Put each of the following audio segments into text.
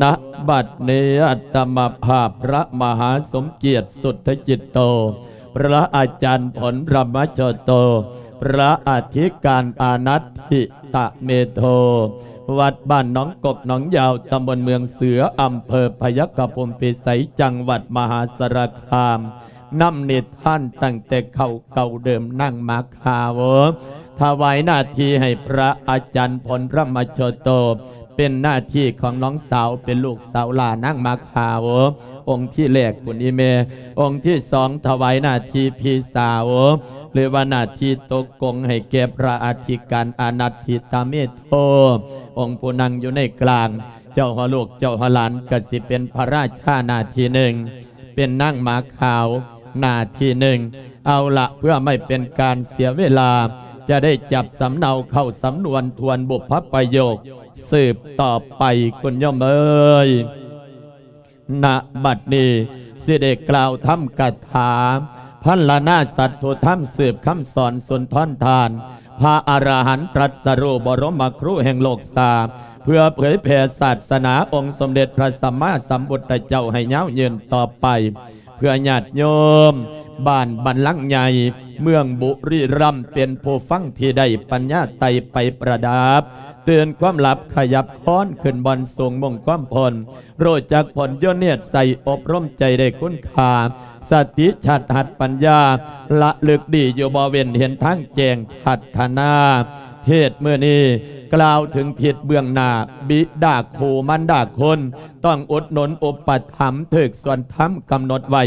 ນະບັດນີ້ ອາດຕະມະພາບ ພະມະຫາສົມກຽດ ສຸດທະຈິດໂຕ ພະອາຈານ ຜົນທຳມະໂຈໂຕ ພະອະທິການອານັດທິຕະເມໂທ ວັດບ້ານໜອງກົກໜອງຍາວ ຕຳບົນເມືອງເສືອ ອຳເພີພະຍັກຂະພູມພິໄສ ຈັງຫວັດມະຫາສາລະຄາມ ນຳນິທານຕັ້ງແຕ່ເກົ່າເກົ່າເດີມ ນາງມາຂາວ ຖວາຍໜ້າທີ່ໃຫ້ພະອາຈານ ຜົນທຳມະໂຈໂຕ ເປັນໜ້າທີ່ຂອງນ້ອງສາວ ເປັນລູກສາວຫຼ້ານາງມາຂາວ ອົງທີແລກພຸ້ນອີ່ແມ່ ອົງທີສອງ ຖວາຍໜ້າທີ່ພີ່ສາວ ຫຼືວ່າໜ້າທີ່ຕົກກົງໃຫ້ແກ່ພະອະທິການອານັດທິຕະເມໂທ ອົງຜູ້ນັ່ງຢູ່ໃນກລາງ ເຈົ້າຫົວລູກເຈົ້າຫົວຫຼານ ກະຊິເປັນພະລາຊາໜ້າທີ່ໜຶ່ງ ເປັນນາງໝາຂາວໜ້າທີ່ໜຶ່ງ. ເອົາລະ ເພື່ອໄມ່ເປັນການເສຍເວລາ ຈະໄດ້ຈັບສຳເນົາເຂົ້າສຳນວນທວນບຸບພະປະໂຫຍກສືບຕໍ່ໄປ ຄຸນໂຍມເອີຍ. ນະບັດນີ້ ຊິໄດ້ກ່າວທຳກະຖາພັນລະນາສັດຖຸທຳ ສືບຄຳສອນສຸນທອນທານ ພະອະລະຫັນຕລັດສະຮູ້ ບໍລົມມະຄູແຫ່ງໂລກສາ ເພື່ອເຜີຍແຜ່ສາສະໜາອົງສົມເດັດພະສຳມາສຳພຸດທະເຈົ້າໃຫ້ຍາວຍືນຕໍ່ໄປ ເພື່ອຍາດໂຍມບ້ານບັນລັງໃຫຍ່ ເມືອງບຸຣີລຳ ເປັນຜູ້ຟັງທີ່ໄດ້ປັນຍາໄຕ່ໄປປະດັບ ຕື່ນຄວາມຫຼັບຂະຫຍັບຄອນຂຶ້ນບ່ອນສູງມຸ່ງຄວາມພົ້ນ ຮູ້ຈັກຜົນຢູ່ເນດໃສ ອົບຮົມໃຈໄດ້ຄຸນຄ່າ ສະຕິຊາດຫັດປັນຍາ ລະລຶກດີຢູ່ບໍ່ເວັ້ນ ເຫັນທາງແຈ້ງພັດທະນາ. ເທດມື້ນີ້ກ່າວເຖິງທິດເບື້ອງໜ້າ ບິດາຄູມານດາຄຸນ ຕ້ອງອຸດໜູນອຸປະຖຳ ຖືກສ່ວນທຳກຳນົດໄວ້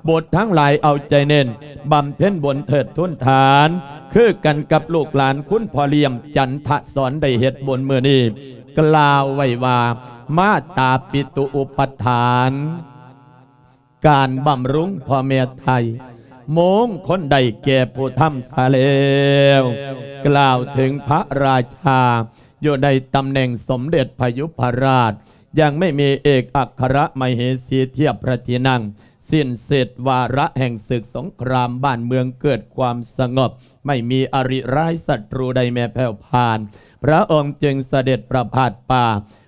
ບຸດທັງຫຼາຍເອົາໃຈເນັ້ນ ບຳເພັນບຸນເທີດທູນທານ ຄືກັນກັບລູກຫຼານຄຸນພໍ່ລ້ຽມຈັນທະສອນ ໄດ້ເຮັດບຸນມື້ນີ້ ກ່າວໄວ້ວ່າ ມາຕາປິຕຸອຸປະຖານ ການບຳລຸງພໍ່ແມ່ໄທ ມົງຄົນໄດ້ແກ່ຜູ້ທຳສາແລ້ວ. ກ່າວເຖິງພະລາຊາ ຢູ່ໃນຕຳແໜ່ງສົມເດັດພະຍຸພະລາດ ຍັງໄມ່ມີເອກອັກຄະລະມະເຫສີທຽບພະທີ່ນັ່ງ ສິ້ນເສດວາລະແຫ່ງສຶກສົງຄຣາມ ບ້ານເມືອງເກີດຄວາມສະຫງົບ ໄມ່ມີອະລິຮ້າຍສັດຕູໃດແມ້ແຜ່ວຜ່ານ ພະອົງຈຶ່ງສະເດັດປະພາດປ່າ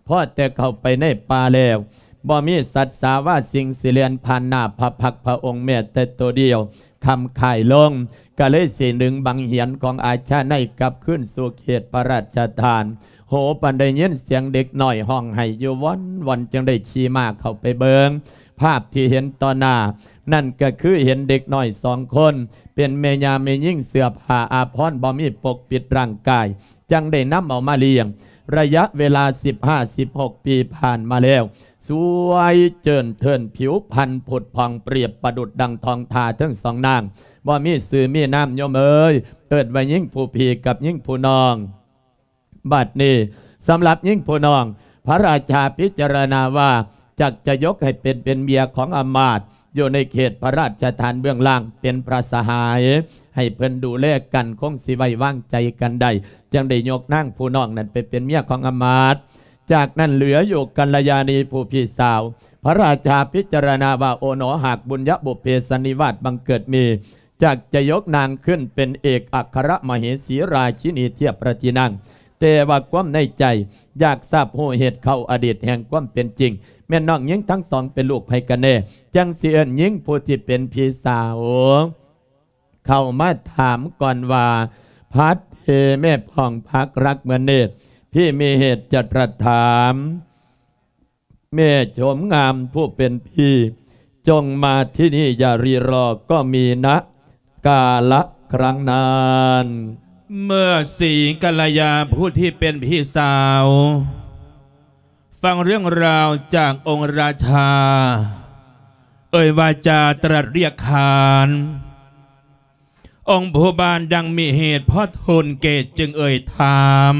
ພໍແຕ່ເຂົ້າໄປໃນປ່າແລ້ວ ບໍ່ມີສັດສາວາສິ່ງຊິແລ່ນຜ່ານໜ້າພະພັກພະອົງແມ້ແຕ່ໂຕດຽວ ຄ່ຳຄ້າຍລົງ ກະເລີຍຊິດຶງບັງຫຽນຂອງອາຊາໄນກັບຄືນສູ່ເຂດພະລາຊະທານ. ໂຫ ປານໄດ້ຍິນສຽງເດັກນ້ອຍຮ້ອງໄຫ້ຢູ່ວ່ອນໆ ຈຶ່ງໄດ້ຂີ່ມ້າເຂົ້າໄປເບິ່ງ ພາບທີ່ເຫັນຕໍ່ໜ້ານັ້ນກະຄືເຫັນເດັກນ້ອຍສອງຄົນ ເປັນແມ່ຍ່າແມ່ຍິງ ເສື້ອຜ້າອາພອນບໍ່ມີປົກປິດຮ່າງກາຍ ຈັ່ງໄດ້ນຳເອົາມາລ້ຽງ. ໄລຍະເວລາສິບຫ້າ ສິບຫົກປີຜ່ານມາແລ້ວ ສວຍເຈີນເທີນ ຜິວພັນຜຸດຜ່ອງປຽບປະດຸດດັ່ງທອງທາທັງສອງນາງ ບໍ່ມີຊື່ມີນາມໂຍມເອີຍ ເອີ້ນວ່າຍິງຜູ້ພີ່ກັບຍິງຜູ້ນ້ອງ. ບັດນີ້ສຳລັບຍິງຜູ້ນ້ອງ ພະລາຊາພິຈາລະນາວ່າ ຈັກຈະຍົກໃຫ້ເປັນ ເປັນເມຍຂອງອຳມາດ ຢູ່ໃນເຂດພະລາຊະທານເບື້ອງລ່າງ ເປັນພະສະຫາຍ ໃຫ້ເພິ່ນດູແລກັນ ຄົງຊິໄວ້ວາງໃຈກັນໄດ້ ຈຶ່ງໄດ້ຍົກນາງຜູ້ນ້ອງນັ້ນໄປເປັນເມຍຂອງອຳມາດ. ຈາກນັ້ນເຫຼືອຢູ່ກັນລະຍານີຜູ້ພີ່ສາວ ພະລາຊາພິຈາລະນາວ່າ ໂອໜໍ ຫາກບຸນຍະບຸບເພສັນນິວາດບັງເກີດມີ ຈັກຈະຍົກນາງຂຶ້ນເປັນເອກອັກຄະລະມະເຫສີລາຊິນີທຽບພະທີ່ນັ່ງ ແຕ່ວ່າຄວາມໃນໃຈຢາກຊາບຮູ້ເຫດເຂົ້າອະດີດແຫ່ງຄວາມເປັນຈິງ ແມ່ນນ້ອງຍິງທັງສອງເປັນລູກໃຜກັນແນ່ ຈັ່ງຊິເອີ້ນຍິງຜູ້ທີ່ເປັນພີ່ສາວ ເຂົ້າມາຖາມກ່ອນວ່າ ພັດເທແມ່ພ້ອງພັກລັກເໝືອນເນດ ພີ່ມີເຫດຈະຕະຖາມ ແມ່ໂສມງາມຜູ້ເປັນພີ່ ຈົ່ງມາທີ່ນີ້ຢ່າລີລໍ ກໍມີນະກາລະຄັ້ງນັ້ນ. ເມື່ອສີກັນລະຍາຜູ້ທີ່ເປັນພີ່ສາວ ຟັງເລື່ອງລາວຈາກອົງລາຊາ ເອີ່ຍວາຈາຕລັດລຽກຂານ ອົງພໍ່ບ້ານດັ່ງມີເຫດພໍທົນແກ່ຈຶ່ງເອີ່ຍຖາມ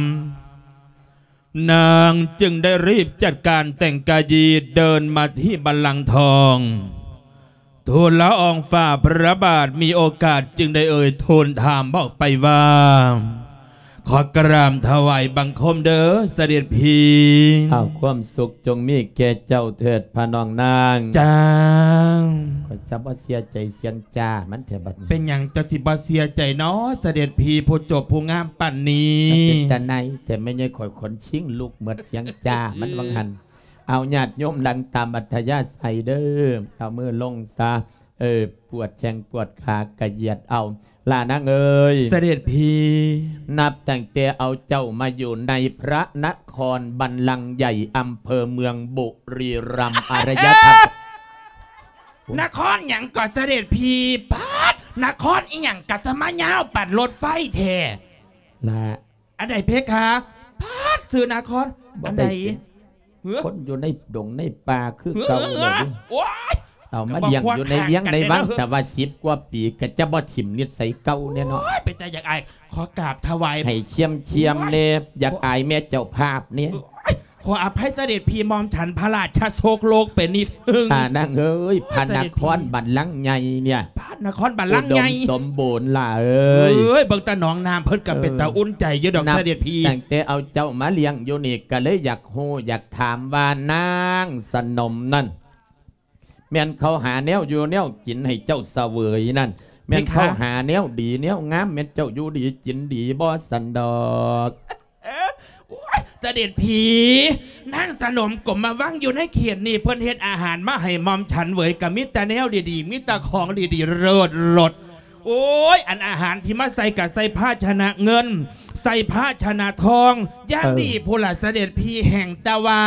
ນາງຈຶ່ງໄດ້ຣີບຈັດການແຕ່ງກາຍ ເດີນມາທີ່ບັນລັງທອງ ທູນລະອອງຝ່າພະລະບາດ ມີໂອກາດຈຶ່ງໄດ້ເອີ່ຍທູນຖາມອອກໄປວ່າ ຂໍກາບຖວາຍບັງຄົມເດີສະເດັດພີ່. ອ້າວ ຄວາມສຸກຈົ່ງມີແກ່ເຈົ້າເທີດພະນ້ອງນາງ. ຈ້າ. ຂ້ອຍຈະບໍ່ເສຍໃຈສຽງຈ້າມັນແທ້ບັດນີ້. ເປັນຫຍັງເຈົ້າຊິບໍ່ເສຍໃຈນໍ ສະເດັດພີ່ ຜູ້ຈົບຜູ້ງາມປານນີ້? ມັນເປັນຕາໜ່າຍແທ້ ແມ່ໃຫຍ່ຂ້ອຍຂົນຊິງລຸກໝົດສຽງຈ້າມັນວ່າງຫັ້ນ. ເອົາ ຍາດໂຍມນັ່ງຕາມອັດທະຍາໄສເດີ້ ເອົາມືລົງຊະ ເອີ ປວດແຂ້ງປວດຂາກະຢຽດເອົາ ຫຼ້ານາງເອີຍ ສະເດັດພີ ນັບຕັ້ງແຕ່ເອົາເຈົ້າມາຢູ່ໃນພະນະຄອນບັນລັງໃຫຍ່ ອຳເພີເມືອງບຸຣີລັມ ອາລະຍະທຳ ນະຄອນຫຍັງກໍສະເດັດພີ ປາດ ນະຄອນອີ່ຫຍັງກະສະມາຍາວປານລົດໄຟແທ້ ລະ ອັນໃດເພຄະ? ປາດ ຊື່ນະຄອນ ບໍ່ ອັນໃດ? ໄດ້ເປັນ ເອີ ຄົນຢູ່ໃນດົງໃນປ່າຄືເກົ່າ ເອີ ເລີຍ ໂອ້ຍ ເອົາມາລ້ຽງຢູ່ໃນວຽງໃນວັງ ແຕ່ວ່າສິບກວ່າປີ ກໍຈະບໍ່ຖິ້ມນິດໄສເກົ່າແນ່ເນາະ ໂອ້ຍ ເປັນຕາຢາກອາຍ ຂໍກາບຖະວາຍ ໃຫ້ຊຽມໆແນ່ ໂອ້ຍ ຢາກອາຍແມ່ເຈົ້າພາບແນ່ ໂອ້ຍ ຂໍອະໄພສະເດັດພີ ໝ່ອມສັນພະລາຊະໂຊກໂລກໄປນິດໜຶ່ງ ອ່າ ນາງເອີຍ ໂອ້ຍ ພະນະຄອນບັນລັງໃຫຍ່ເນຍ ພະນະຄອນບັນລັງໃຫຍ່ ອຸດົມສົມບູນຫຼ້າເອີຍ ເອີຍ ເບິ່ງແຕ່ໜອງນ້ຳເພິ່ນກໍເປັນຕາອຸ່ນໃຈຢູ່ດອກ ເອີ ສະເດັດພີ ນັບຕັ້ງແຕ່ເອົາເຈົ້າມາລ້ຽງຢູ່ນີ້ ກໍເລີຍຢາກຮູ້ຢາກຖາມວ່າ ນາງສະໜົມນັ້ນ ແມ່ນເຂົາຫາແນວຢູ່ແນວກິນໃຫ້ເຈົ້າສະເຫວີຍນັ້ນ ແມ່ນເຂົາຫາແນວດີແນວງາມ ແມ່ນເຈົ້າຢູ່ດີກິນດີບໍ່ຊັ້ນດອກ? ໂອ້ຍ ສະເດັດພີ ນາງສະໜົມກົມມະວັງຢູ່ໃນເຂດນີ້ ເພິ່ນເຮັດອາຫານມາໃຫ້ໝ່ອມສັນເຫວີຍ ກໍມີແຕ່ແນວດີໆ ມີແຕ່ຂອງດີໆ ເລີດລົດ ໂອ້ຍ ອັນອາຫານທີ່ມາໃສ່ກໍໃສ່ພາຊະນະເງິນ ໃສ່ພາຊະນະທອງ ຢ່າງ ເອີ ດີພຸ້ນລະ ສະເດັດພີ ແຮ່ງແຕ່ວ່າ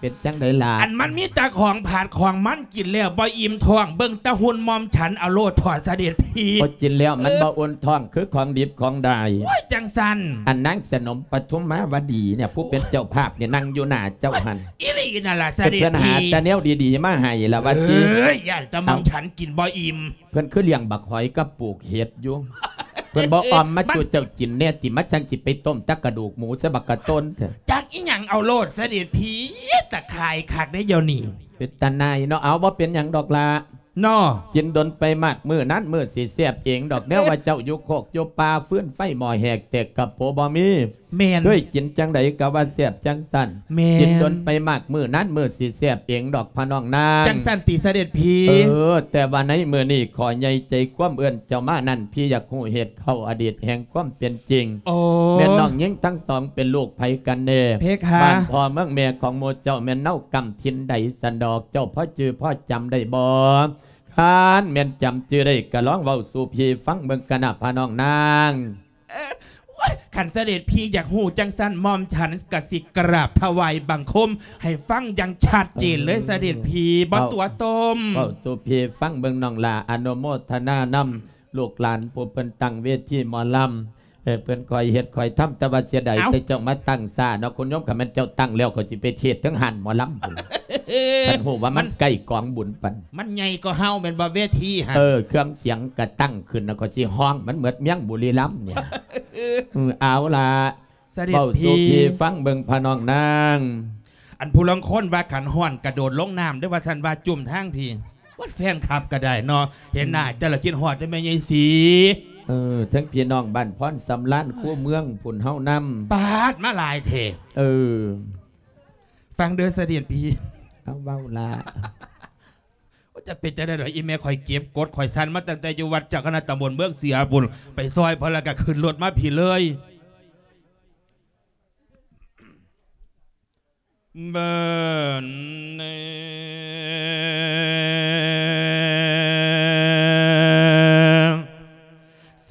ເປັນຈັ່ງໃດລະ? ອັນມັນມີແຕ່ຂອງຜາດຂອງມັນ ກິນແລ້ວບໍ່ອີ່ມທ້ອງ ເບິ່ງແຕ່ຫຸ່ນໝ່ອມສັນເອົາໂລດເຖາະ ສະເດັດພີ ບໍ່ກິນແລ້ວມັນ ເອີ ບໍ່ອຸ່ນທ້ອງ ຄືຂອງດິບຂອງດາຍ ໂອ້ຍ ຈັ່ງຊັ້ນ ອັນນາງສະໜົມປະທຸມມາວະດີເນຍ ຜູ້ເປັນເຈົ້າພາບເນຍ ນັ່ງຢູ່ໜ້າເຈົ້າຫັ້ນ ອີ່ຫຼີນັ້ນລະ ສະເດັດພີ ເພິ່ນຫາແຕ່ແນວດີໆມາໃຫ້ລະວ່າຕິ ເອີຍ ຢ້ານແຕ່ໝ່ອມ ເອົ້າ ສັນກິນບໍ່ອີ່ມ ເພິ່ນຄືລ້ຽງບັກຫອຍກັບປູກເຫັດຢູ່ ເພິ່ນບໍ່ອ່ອມມາສູ່ເຈົ້າກິນແດ່ຕິ ມາຈັ່ງຊິໄປຕົ້ມແຕ່ກະດູກໝູໃສ່ບັກກະຕົ້ນແທ້ ຈັກອີ່ຫຍັງເອົາໂລດ ສະເດັດພີ ຕາຄ້າຍຄັກເດ້ດຽວນີ້ ເປັນຕາໜ່າຍເນາະ ເອົາ ບໍ່ເປັນຫຍັງດອກລະ ເນາະ ກິນດົນໄປມາກ ມື້ນັ້ນມື້ຊິແຊບເອງດອກ ແນວວ່າເຈົ້າຢູ່ໂຄກຢູ່ປ່າ ຟືນໄຟໝໍ້ແຫກແຕກກະໂປບໍ່ມີ ແມ່ນ ເຄີຍກິນຈັ່ງໃດກໍວ່າແຊບຈັ່ງຊັ້ນ ແມ່ນ ກິນດົນໄປມາກ ມື້ນັ້ນມື້ຊິແຊບເອງດອກພະນ້ອງນາງ ຈັ່ງຊັ້ນຕິສະເດັດພີ ເອີ ແຕ່ວ່າໃນມື້ນີ້ ຂໍໃຫຍ່ໃຈຄວາມເອີ້ນເຈົ້າມານັ້ນ ພີ່ຢາກຮູ້ເຫດເຂົ້າອະດີດແຫ່ງຄວາມເປັນຈິງ ໂອ້ ແມ່ນນ້ອງຍິງທັງສອງເປັນລູກໃຜກັນແນ່? ເພຄະ ບ້ານພໍ່ເມືອງແມ່ຂອງໝູ່ເຈົ້າແມ່ນເນົາກຳຖິ່ນໃດຊັ້ນດອກ? ເຈົ້າພໍຈື່ພໍຈຳໄດ້ບໍ່? ຄັນແມ່ນຈຳຈື່ໄດ້ ກໍລອງເວົ້າສູ່ພີ່ຟັງເບິ່ງກະນະພະນ້ອງນາງ. ເອີ ໂອ້ຍ ຄັນສະເດັດພີ່ຢາກຮູ້ຈັ່ງຊັ້ນ ໝ່ອມສັນກະຊິກະລາບຖະຫວາຍບັງຄົມໃຫ້ຟັງຢ່າງຊັດເຈນເລີຍ ເອີ ສະເດັດພີ່ ບໍ່ຕົວະຕົ້ມ ເວົ້າສູ່ພີ່ຟັງເບິ່ງນ້ອງຫຼ້າ ອະນຸໂມທະນານຳລູກຫຼານຜູ້ເພິ່ນຕັ້ງເວທີໝໍລຳ ເອີ ເພິ່ນຄ່ອຍເຮັດຄ່ອຍທຳ ແຕ່ວ່າເສຍດາຍ ເອົ້າ ແຕ່ເຈົ້າມາຕັ້ງຊ້າເນາະ ຄຸນໂຍມ ຄັນແມ່ນເຈົ້າຕັ້ງແລ້ວ ຂ້ອຍຊິໄປເທດເທິງຮ້ານໝໍລຳພຸ້ນ ຄັນຮູ້ວ່າມັນ ມັນໃກ້ກອງບຸນປານ ມັນໃຫຍ່ກວ່າເຮົາແມ່ນບໍ່ເວທີຫັ້ນ? ເອີ ເຄື່ອງສຽງກະຕັ້ງຂຶ້ນ ແລ້ວກໍຊິຮ້ອງມັນເໝິດເມືອງບຸຣີລັມນີ້ ເອີ ເອົາລະ ສະເດັດ ເວົ້າສູ່ ພີ່ ພີ່ຟັງເບິ່ງພະນ້ອງນາງ. ອັນຜູ້ລາງຄົນວ່າຄັນຮ້ອນກະໂດດລົງນ້ຳເດີ້ ວ່າຊັ້ນວ່າຈຸ່ມທາງພີ້ ວັດແຟນຄລັບກະໄດ້ເນາະ ເຫັນໜ້າ ອືມ ເຈົ້າລະຄິດຮອດແຕ່ແມ່ໃຫຍ່ສີ ເອີ ເຖິງພີ່ນ້ອງບ້ານພອນສຳລານ ຄູເມືອງພຸ້ນເຮົານຳ ປາດ ມາຫຼາຍແທ້ ເອີ ຟັງເດີ້ສະເດັດພີ່ ເອົາເວົ້າລະ. ໂອ້ ຈະເປັນຈັ່ງໃດດອກ ອີ່ແມ່ຂ້ອຍເກັບກົດ ຂ້ອຍສັ່ນມາຕັ້ງແຕ່ຢູ່ວັດເຈົ້າຄະນະຕຳບົນເມືອງເສືອພຸ້ນ ໄປຊ່ອຍເພິ່ນແລ້ວກໍຂຶ້ນລົດມາພີ້ເລີຍ ເບິ່ງແນ່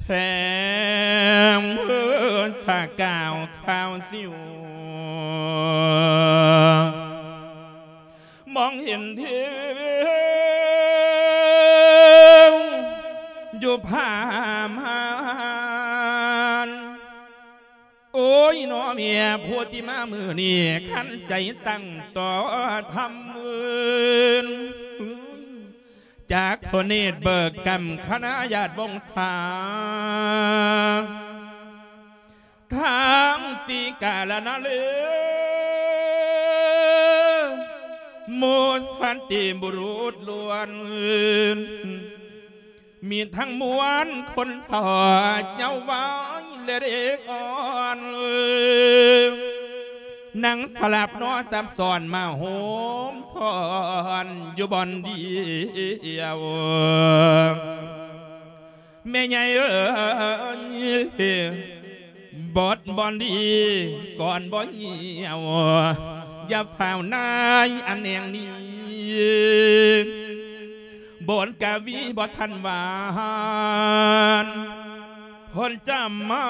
ແສງເພິ່ນສະກາວຂາວສິວ ມອງເຫັນເທວຢູ່ຜາມ່ານ ໂອ້ຍ ນ້ອງເມຍຜູ້ທີ່ມາມື້ນີ້ ຄັນໃຈຕັ້ງຕໍ່ທຳເອີນ ຈາກພະເນດເບີກກຳຄະນະຍາດວົງສາ ທັງສີກາລະນະເລີ ໝູ່ສັນຕິບຸລຸດລ້ວນ ມີທັງມວນຄົນເຖົ້າເຍົາວາຍ ແລະເດັກອ່ອນ ນັ່ງສະຫຼັບນອນສັບຊ້ອນມາໂຮມ ທ່ອນຢູ່ບ່ອນດຽວ ແມ່ໃຫຍ່ເອີຍ ບົດບ່ອນດີກ່ອນບໍ່ຫ່ຽວ ຢ່າຟ້າວນາຍອັນແນງນີ້ ບົດກະວີບໍ່ທັນຫວານ ເພິ່ນຈະມາ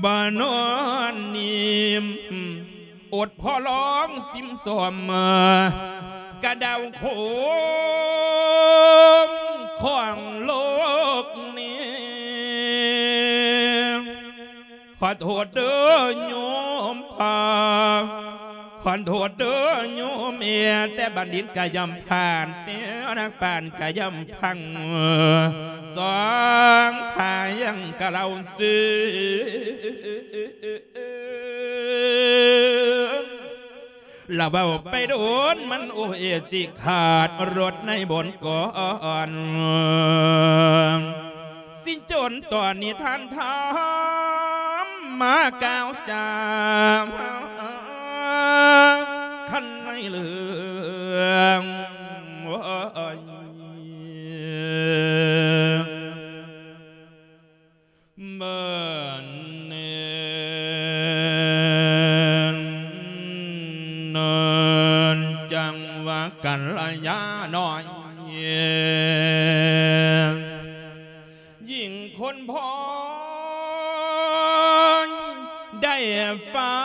ບໍ່ນອນນິ່ມ ອົດພໍລອງຊິມຊົມ ກະດາວໂຄງຂອງໂລກນີ້ ຂໍໂທດເດີໂຍມພາ ຂໍໂທດເດີໂຍມແມ່ ແຕ່ບັນດິດກະຍ່ອມຜ່ານ ແຕ່ນັກປານກະຍ່ອມພັງ ສອງພາຍັງກະເລົ່າຊື່ ລະເວົ້າໄປໂດນມັນໂອເອຊິຂາດລົດໃນບົນກ່ອນ ຊິຈົນຕອນນີ້ທ່ານທຳມາກ່າວຈາ ຄັນໃນເລື່ອງ ໂອ້ຍ ເບິ່ງແນ່ນ ຈັ່ງວ່າກັນລະຍານ້ອຍ ຍິ່ງຄົນພໍໄດ້ຟັ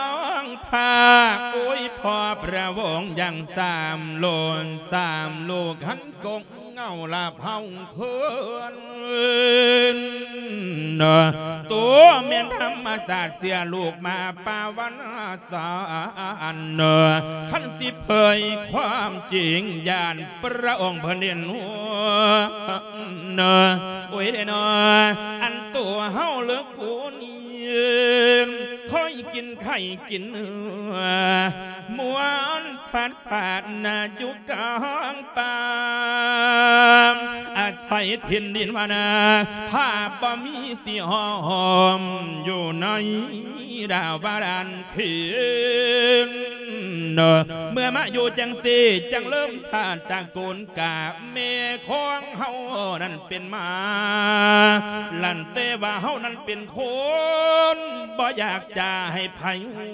ງພາກ ໂອ້ຍ ພໍ່ພະວົງຢ່າງສາມໂລ ສາມໂລຄັນກົງ ເງົາລະເຜົາເຂີນ ໂຕແມ່ນທຳມະຊາດເສຍລູກມາປາວັນສານ ຄັນຊິເຜີຍຄວາມຈິງ ຢ້ານພະອົງເພິ່ນເຫັນຫົວ ໂອ້ຍເດນໍ ອັນໂຕເຮົາເລີກກູນີ້ ຄ່ອຍກິນໄຂ່ກິນເນື້ອ ມ່ວນ ສາດສາດນາຢູ່ກາງປ່າ ອາໄສຖິ່ນດິນວານາ ພາບບໍ່ມີຊິຫອມ ຢູ່ໃນດາວບາດານເຂດ ເມື່ອມາຢູ່ຈັ່ງຊີ້ ຈັ່ງເລີ່ມຊາດຕະກູນກາ ແມ່ຂອງເຮົານັ້ນເປັນໝາ ລັນແຕ່ວ່າເຮົານັ້ນເປັນຄົນ ບໍ່ຢາກຈະໃຫ້ໃຜຮູ້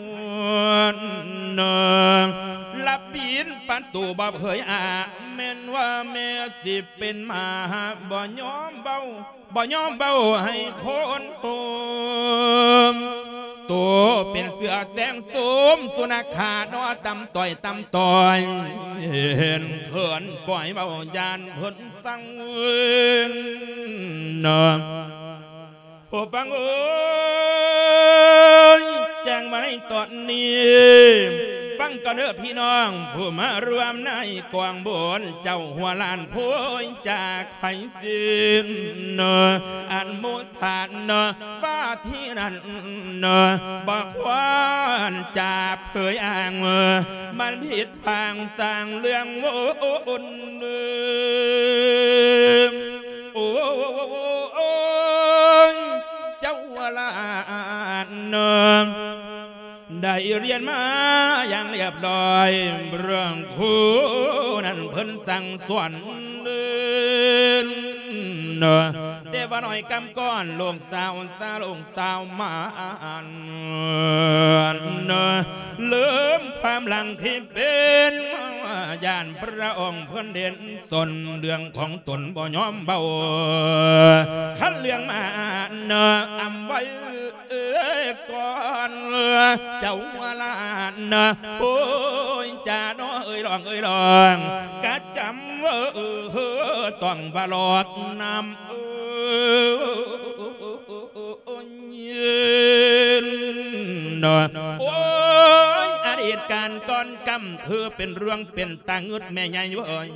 ລະປິດປະຕູບໍ່ເຜີຍອາ ແມ່ນວ່າແມ່ຊິເປັນໝາ ບໍ່ຍອມເວົ້າ ບໍ່ຍອມເວົ້າໃຫ້ຄົນຮູ້ ໂຕເປັນເສືອແຊງໂສມ ສຸນັກຂາເນາະ ຕຳຕ່ອຍ ຕຳຕ່ອຍ ເຫັນເຂີນປ່ອຍເວົ້າຢ້ານເພິ່ນ ສັງເວີນ ຜູ້ຟັງເອີຍ ແຈ້ງມາໃນຕອນນີ້ ຟັງກ່ອນເດີພີ່ນ້ອງ ຜູ້ມາຮ່ວມໃນກອງບຸນ ເຈົ້າຫົວລ້ານໂພຍຈາກໄຄສິນ ອັນໝູ່ສານວ່າທີ່ນັ້ນ ບໍ່ຄວນຈະເຜີຍອ້າງ ມັນຜິດ ທາງສ້າງເລື່ອງວົນ ໂອ້ຍ ເຈົ້າຫຼານ ໄດ້ຮຽນມາຢ່າງລຽບລ້ອຍ ເລື່ອງຄູນັ້ນເພິ່ນສັ່ງສອນ ແຕ່ວ່ານ້ອຍກຳກ່ອນ ລູກສາວສາ ລູກສາວມານ ເລີ່ມຄວາມຫຼັງທີ່ເປັນ ຢ້ານພະອົງເພິ່ນເດັ່ນສົນ ເລື່ອງຂອງຕົນບໍ່ຍອມເວົ້າ ຄັນເລື່ອງມານ ອຳໄວ້ ເອີ ກ່ອນ ເຈົ້າວ່າຫຼານ ໂອ້ຍ ຈານ້ອຍເອີຍ ລອງເອີຍ ລອງ ກະຈຳເອີ ຕ້ອງວ່າຫຼອກນຳ ໂອ້ຍ ອະດີດການກ່ອນກຳ ຄືເປັນເລື່ອງເປັນຕາງຶດແມ່ໃຫຍ່ເອີຍ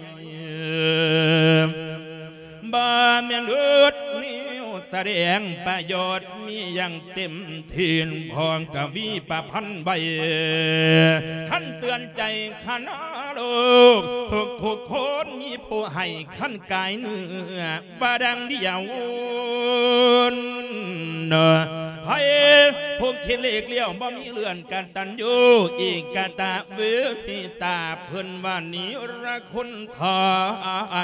ບໍ່ແມ່ນອຶດແນວສະແດງປະໂຫຍດ ມີຢ່າງເຕັມທີ່ ພໍ່ກະວີປະພັນໄວ້ ຄັນເຕືອນໃຈຄະນະໂລກ ທຸກໆຄົນມີຜູ້ໃຫ້ ຄັນກາຍເນື້ອ ວ່າດັ່ງດຽວ ໃຜຜູ້ຄິດເລກລ້ຽວ ບໍ່ມີເລື່ອນກະຕັນຍູ ອີກກະຕະເວທິຕາ ເພິ່ນວ່ານິລະຄຸນທາ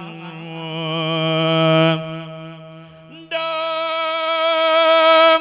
ນ ດອງ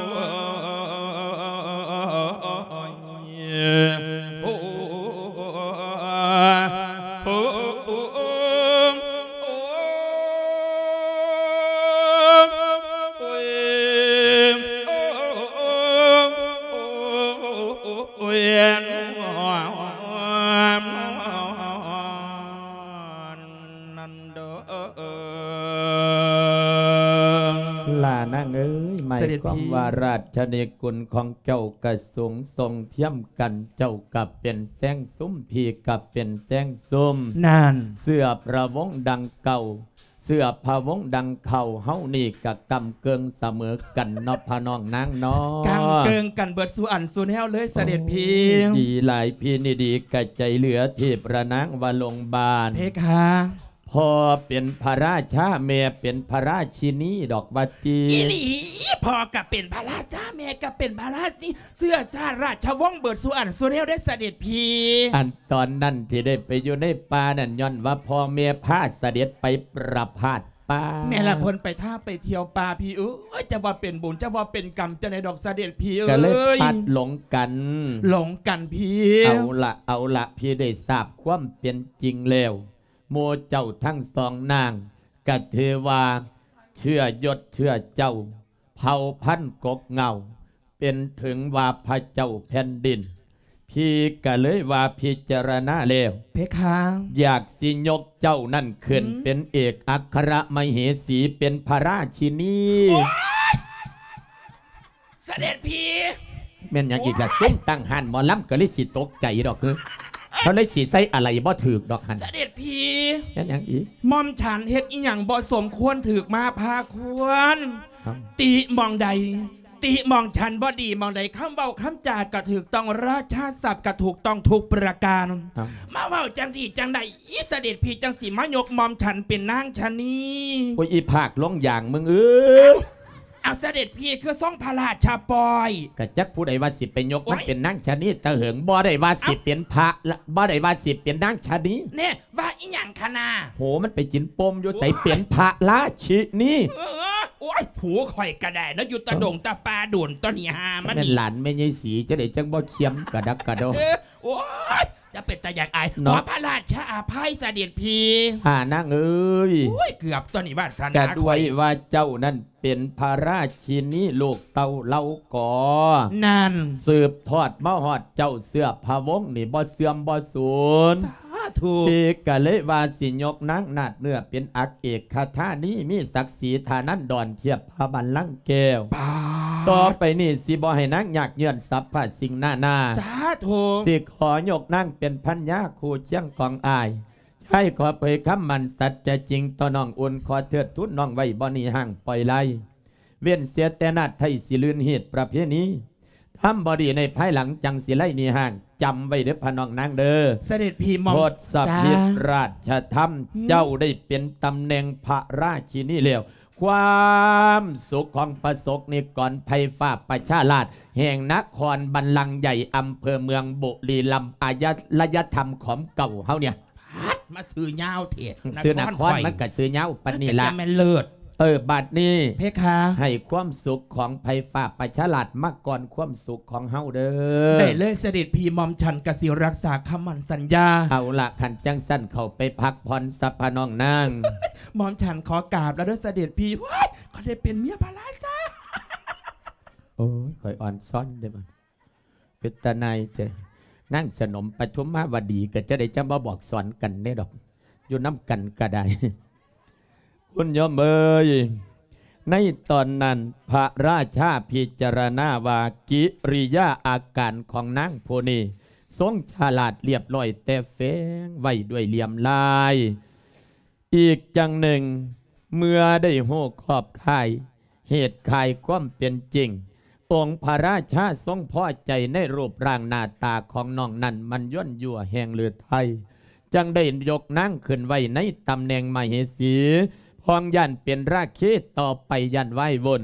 ໂອ້ ໝາຍຄວາມວ່າ ສະເດັດພີ່ ລາຊະນິກຸນຂອງເຈົ້າກະສູງສົ່ງທຽມກັນ ເຈົ້າກະເປັນແຊງຊຸມ ພີ່ກະເປັນແຊງຊຸມ ນັ້ນ ເຊື້ອພະວົງດັ່ງເກົ່າ ເຊື້ອພະວົງດັ່ງເກົ່າ ເຮົານີ້ກະກ້ຳເກິ່ງສະເໝີກັນເນາະ ພະນ້ອງນາງເນາະ ກ້ຳເກິ່ງກັນເບິດສູ່ອັນສູ່ແນວເລີຍ ສະເດັດພີ່ ໂອ້ຍ ດີຫຼາຍ ພີ່ນີ້ດີກະໃຈເຫຼືອ ເທບພະນາງວ່າໂລງບານ ເພຄາ ພໍ່ເປັນພະລາຊາ ແມ່ເປັນພະລາຊິນີດອກວ່າຕິ ອີ່ຫຼີ ພໍ່ກະເປັນພະລາຊາ ແມ່ກະເປັນພະລາຊິນີ ເຊື້ອຊາດລາຊະວົງເບິດສູ່ອັນສູ່ແນວເດ້ ສະເດັດພີ່ ອັນຕອນນັ້ນທີ່ໄດ້ໄປຢູ່ໃນປ່ານັ້ນ ຍ້ອນວ່າພໍ່ແມ່ພາສະເດັດໄປປະພາດປ່າ ແມ່ນລະ ເພິ່ນໄປທ່າໄປທ່ຽວປ່າ ພີ່ເອີຍ ຈະວ່າເປັນບຸນ ຈະວ່າເປັນກຳຈັ່ງໃດດອກ ສະເດັດພີ່ເອີຍ ກະເລີຍພັດຫຼົງກັນ ຫຼົງກັນພີ່ ເອົາລະ ເອົາລະ ພີ່ໄດ້ຊາບຄວາມເປັນຈິງແລ້ວ ໝູ່ເຈົ້າທັງສອງນາງ ກະຖືວ່າເຊື້ອຍົດເຊື້ອເຈົ້າ ເຜົ່າພັນກົກເຫງົ້າ ເປັນເຖິງວ່າພະເຈົ້າແຜ່ນດິນ ພີ່ກະເລີຍວ່າພິຈາລະນາແລ້ວ ເພຄາ ຢາກຊິຍົກເຈົ້ານັ້ນຂຶ້ນ ອືມ ເປັນເອກອັກຄະລະມະເຫສີ ເປັນພະລາຊິນີ ໂອ້ຍ ສະເດັດພີ່ ແມ່ນຫຍັງອີກລະ? ໂອ້ຍ ຊຸມຕັ້ງຮ້ານໝໍລຳກະເລີຍຊິຕົກໃຈດອກ ເຂົາເລີຍຊິໃສ່ອາໄລບໍ່ຖືກດອກຫັ້ນ ສະເດັດພີ່ ແມ່ນຫຍັງອີກ? ໝ່ອມສັນເຮັດອີ່ຫຍັງບໍ່ສົມຄວນຖືກມາພາຄວນ ເອົ້າ ຕິໝ່ອງໃດ ຕິໝ່ອມສັນບໍ່ດີໝ່ອງໃດ ຄຳເວົ້າຄຳຈາກະຖືກຕ້ອງ ລາຊາສັບກະຖືກຕ້ອງທຸກປະການ ເອົ້າ ມາເວົ້າຈັ່ງຊີ້ຈັ່ງໃດ ອີສະເດັດພີ່ຈັ່ງຊິມາຍົກໝ່ອມສັນເປັນນາງຊະນີ ໂອ້ຍ ອີພາກລົງຢາງມຶງເອີຍ ເອົ້າ ເອົ້າ ສະເດັດພີ່ຄືຊົງພະລາຊະປ່ອຍ ກະຈັກຜູ້ໃດວ່າຊິໄປຍົກມັນ ໂອ້ຍ ເປັນນາງຊະນີຕະເຫິງ ບໍ່ໄດ້ວ່າຊິເປັນພະລະ ບໍ່ໄດ້ວ່າຊິເປັນນາງຊະນີ ແນ່ ວ່າອີ່ຫຍັງຄະນາ ໂຫ ມັນໄປກິນປົ່ມຢູ່ໃສ ໂອ້ຍ ເປັນພະລາຊິນີ ເອີ ໂອ້ຍ ຜູ້ຂ້ອຍກະໄດ້ເນາະ ຢູ່ຕະດົງຕະປ່າດົນ ຕອນນີ້ຫາມັນ ແມ່ນຫຼານແມ່ໃຫຍ່ສີ ຈັ່ງໃດຈັ່ງບໍ່ຄຽມກະດັກກະດໍ ເອີ ໂອ້ຍ ຈະເປັນຕາຢາກອາຍ ເນາະ ຂໍພະລາຊະອະໄພສະເດັດພີ່ ຫານາງເອີຍ ໂອ້ຍ ເກືອບຕົວນີ້ວາສະນາ ກະດ້ວຍວ່າເຈົ້ານັ້ນເປັນພະລາຊິນີລູກເຕົ້າເຫຼົ່າກໍ ນັ້ນ ສືບທອດມາຮອດເຈົ້າ ເຊື້ອພະວົງນີ້ບໍ່ເສື່ອມບໍ່ສູນ ສາທຸ ພີ່ກະເລີຍວ່າຊິຍົກນາງນາດເນື້ອເປັນອັກເອກຄະທານີ ມີສັກສີທານັນດອນທຽບພະບັນລັງແກ້ວ ປາດ ຕໍ່ໄປນີ້ຊິບໍ່ໃຫ້ນາງຍາກເຫຍື້ອນສັບພະສິ່ງນານາ ສາທຸ ຊິຂໍຍົກນາງເປັນພັນຍາຄູ່ຄຽງຂອງອ້າຍ ຊາຍຂໍເຜີຍຄຳໝັ້ນສັດຈະຈິງຕໍ່ນ້ອງອຸ່ນ ຂໍເທີດທູນນ້ອງໄວ້ບໍ່ໜີຫ້າງປ່ອຍໄລ ເວັ້ນເສຍແຕ່ນາດໄທຊິລື່ນຮີດປະເພນີ ທຳບໍ່ດີໃນພາຍຫຼັງຈັ່ງຊິໄລໜີຫ້າງ ຈຳໄວ້ເດີພະນ້ອງນາງເດີ ສະເດັດພີ່ໝ່ອມ ທົດສະພິດ ຈ້າ ລາຊະທຳ ອືມ ເຈົ້າໄດ້ເປັນຕຳແໜ່ງພະລາຊິນີແລ້ວ ຄວາມສຸກຂອງປະສົກນິກອນໄພຟ້າປະຊາລາດ ແຫ່ງນະຄອນບັນລັງໃຫຍ່ ອຳເພີເມືອງບຸລີລຳ ອາຍະລະຍະທຳຂອງເກົ່າເຮົາເນຍ ພັດມາຊື່ຍາວແທ້ ຊື່ນະຄອນ ນະຄອນຂ້ອຍ ມັນກະຊື່ຍາວປານນີ້ລະ ມັນກະຈະແມ່ນເລີດ ເອີ ບາດນີ້ ເພຄາ ໃຫ້ຄວາມສຸກຂອງໄພຟ້າປະຊາລາດມາກ່ອນຄວາມສຸກຂອງເຮົາເດີ ໄດ້ເລີຍ ສະເດັດພີ່ ໝ່ອມສັນກະຊິຮັກສາຄຳໝັ້ນສັນຍາ ເອົາລະ ຄັນຈັ່ງຊັ້ນເຂົ້າໄປພັກຜ່ອນຊະພະນ້ອງນາງ ໝ່ອມສັນຂໍກາບລະເດີ ສະເດັດພີ່ ວ້າຍ ຂ້ອຍໄດ້ເປັນເມຍພະລາຊາ ໂອ້ຍ ຂ້ອຍອ່ອນຊອນເດ້ ເປັນຕາໜ່າຍແທ້ ນາງສະໜົມປະທຸມມາວະດີ ກະຈະໄດ້ຈຳມາບອກສອນກັນແດ່ດອກ ຢູ່ນຳກັນກະໄດ້ ຄຸນໂຍມເອີຍ ໃນຕອນນັ້ນພະລາຊາພິຈາລະນາວ່າ ກິລິຍາອາການຂອງນາງຜູ້ນີ້ ຊົງສະຫຼາດລຽບລ້ອຍ ແຕ່ແຝງໄວ້ດ້ວຍລ່ຽມລາຍ ອີກຢ່າງໜຶ່ງ ເມື່ອໄດ້ຮູ້ຂອບຂ່າຍ ເຫດຂ່າຍຄວາມເປັນຈິງ, ອົງພະລາຊາຊົງພໍໃຈໃນຮູບຮ່າງໜ້າຕາຂອງນ້ອງນັ້ນ ມັນຍົວນຍົວແຮງເລີດໄທ, ຈັ່ງໄດ້ຍົກນາງຂຶ້ນໄວ້ໃນຕຳແໜ່ງມະເຫສີ, ພອງຢ້ານເປັນລາຄີຕໍ່ໄປຢ້ານວາຍວົນ,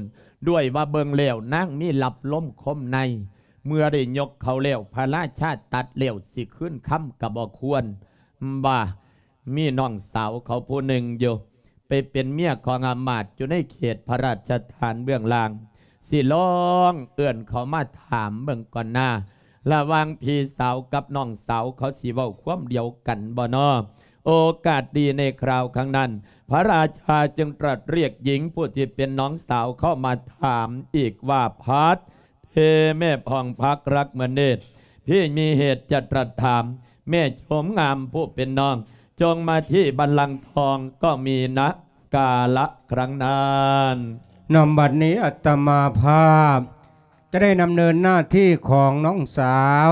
ດ້ວຍວ່າເບິ່ງແລ້ວນາງມີລັບລົມຄົມໃນ. ເມື່ອໄດ້ຍົກເຂົາແລ້ວ ພະລາຊາຕັດແລ້ວ ຊິຄືນຄຳກໍບໍ່ຄວນ ວ່າ ມີນ້ອງສາວເຂົາຜູ້ໜຶ່ງຢູ່ ໄປເປັນເມຍຂອງອາມາດຢູ່ໃນເຂດພະລາຊະຖານເບື້ອງລ່າງ, ຊິລອງເອີ້ນເຂົາມາຖາມເບິ່ງກ່ອນນາ, ລະຫວ່າງພີ່ສາວກັບນ້ອງສາວເຂົາຊິເວົ້າຄວາມດຽວກັນບໍ່ນໍ? ໂອກາດດີໃນຄຣາວຄັ້ງນັ້ນ ພະລາຊາຈຶ່ງຕລັດຮຽກຍິງຜູ້ທີ່ເປັນນ້ອງສາວເຂົ້າມາຖາມອີກວ່າ ພັດ ເພແມ່ຜ່ອງພັກລັກເໝືອນເນດ, ພີ່ມີເຫດຈະຕລັດຖາມ, ແມ່ຊົມງາມຜູ້ເປັນນ້ອງ, ຈົ່ງມາທີ່ບັນລັງທອງ ກໍມີນະກາລະຄັ້ງນັ້ນ. นำบัดนี้อาตมาภาพจะได้ดำเนินหน้าที่ของน้องสาว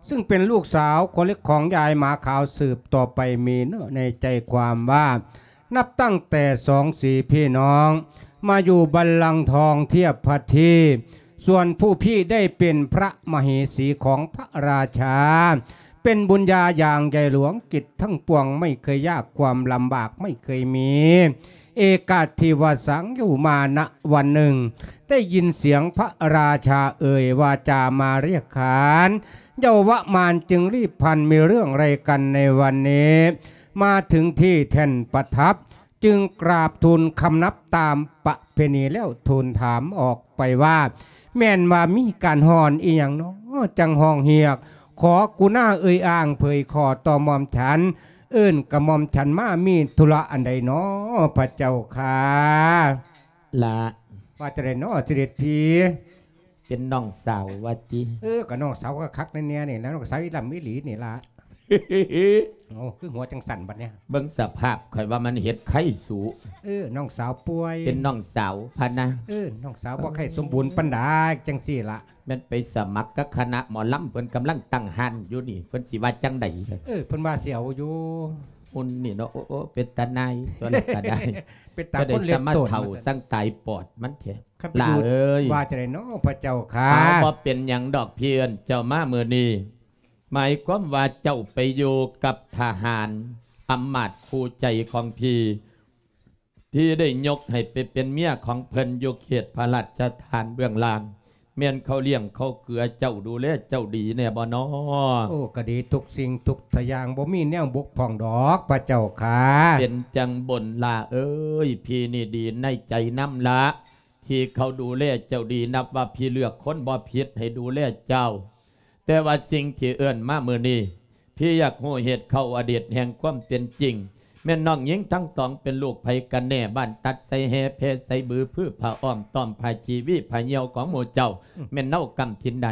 ซึ่งเป็นลูกสาวคนเล็กของยายหมาขาวสืบต่อไปมีเนื้อในใจความว่า นับตั้งแต่สองสีพี่น้องมาอยู่บัลลังก์ทองเทียบพระที่ ส่วนผู้พี่ได้เป็นพระมเหสีของพระราชา เป็นบุญญาอย่างใหญ่หลวง กิจทั้งปวงไม่เคยยาก ความลำบากไม่เคยมี เอกาทิวสังอยู่มาณวันหนึ่ง ได้ยินเสียงพระราชาเอ่ยวาจามาเรียกขาน เยาวมารจึงรีบพลัน มีเรื่องอะไรกันในวันนี้ มาถึงที่แท่นประทับ จึงกราบทูลคำนับตามประเพณีแล้วทูลถามออกไปว่า แม่นว่ามีการฮ้อนอีหยังน้อ จั่งฮ้องเฮียก ขอกุณาเอ่ยอ้างเผยขอต่อหม่อมฉัน เอิ้นกระหม่อมฉันมามีธุระอันใดน้อ พระเจ้าข้า ละ ว่าจั่งใดน้อเสด็จพี่ เป็นน้องสาวว่าติ เออ ก็น้องสาวก็คักแน่ๆ นี่นะ น้องสาวอีหล่ำอีหลีนี่ละ โอ้ คือหัวจั่งสั่นบัดเนี่ย เบิ่งสภาพข่อยว่ามันเฮ็ดไข้สู เออ น้องสาวป่วย เป็นน้องสาวพะนะ เออ น้องสาวบ่ไข้สมบูรณ์ปานใดจั่งซี่ละ แม่นไปสมัครกับคณะหมอลำ เพิ่นกำลังตั้งฮ้านอยู่นี่ เพิ่นสิว่าจั่งใด เออ เพิ่นว่าสิเอาอยู่ หุ่นนี่เนาะ โอ้ โอ้ เป็นตาหน่าย ตัวนั้นก็ได้ เป็นตา ก็ได้ คนเล็ก สมา โตน เฒ่า ว่าซั่น สั่งตายปอดมันแท้ คันไป หล่า อยู่ เอ้ย ว่าจั่งใดน้อ พระเจ้าข้า เอา บ่เป็นหยังดอก พี่เอิ้นเจ้ามามื้อนี้ หมายความว่าเจ้าไปอยู่กับทหาร อำมาตย์คู่ใจของพี่ ที่ได้ยกให้ไปเป็นเมียของเพิ่นอยู่เขตพระราชฐานเบื้องล่าง แม่นเขาเลี้ยงเขาเกือเจ้า ดูแลเจ้าดีแน่บ่น้อ โอ้ ก็ดีทุกสิ่งทุกอย่าง บ่มีแนวบกพร่องดอก พระเจ้าข้า เป็นจั่งบุญ หล่าเอ้ย พี่นี่ดีในใจนำละ ที่เขาดูแลเจ้าดี นับว่าพี่เลือกคนบ่ผิดให้ดูแลเจ้า แต่ว่าสิ่งที่เอิ้นมามื้อนี้ พี่อยากฮู้เหตุเข้าอดีตแห่งความเป็นจริง แม่นน้องหญิงทั้งสองเป็นลูกไผกันแน่ บ้านตัดไสแฮ แพไสบือ พือผ้าอ้อม ต้อมผ้าชีวี ผ้าเหี่ยวของหมู่เจ้า อืม แม่นเนาะกำถิ่นใด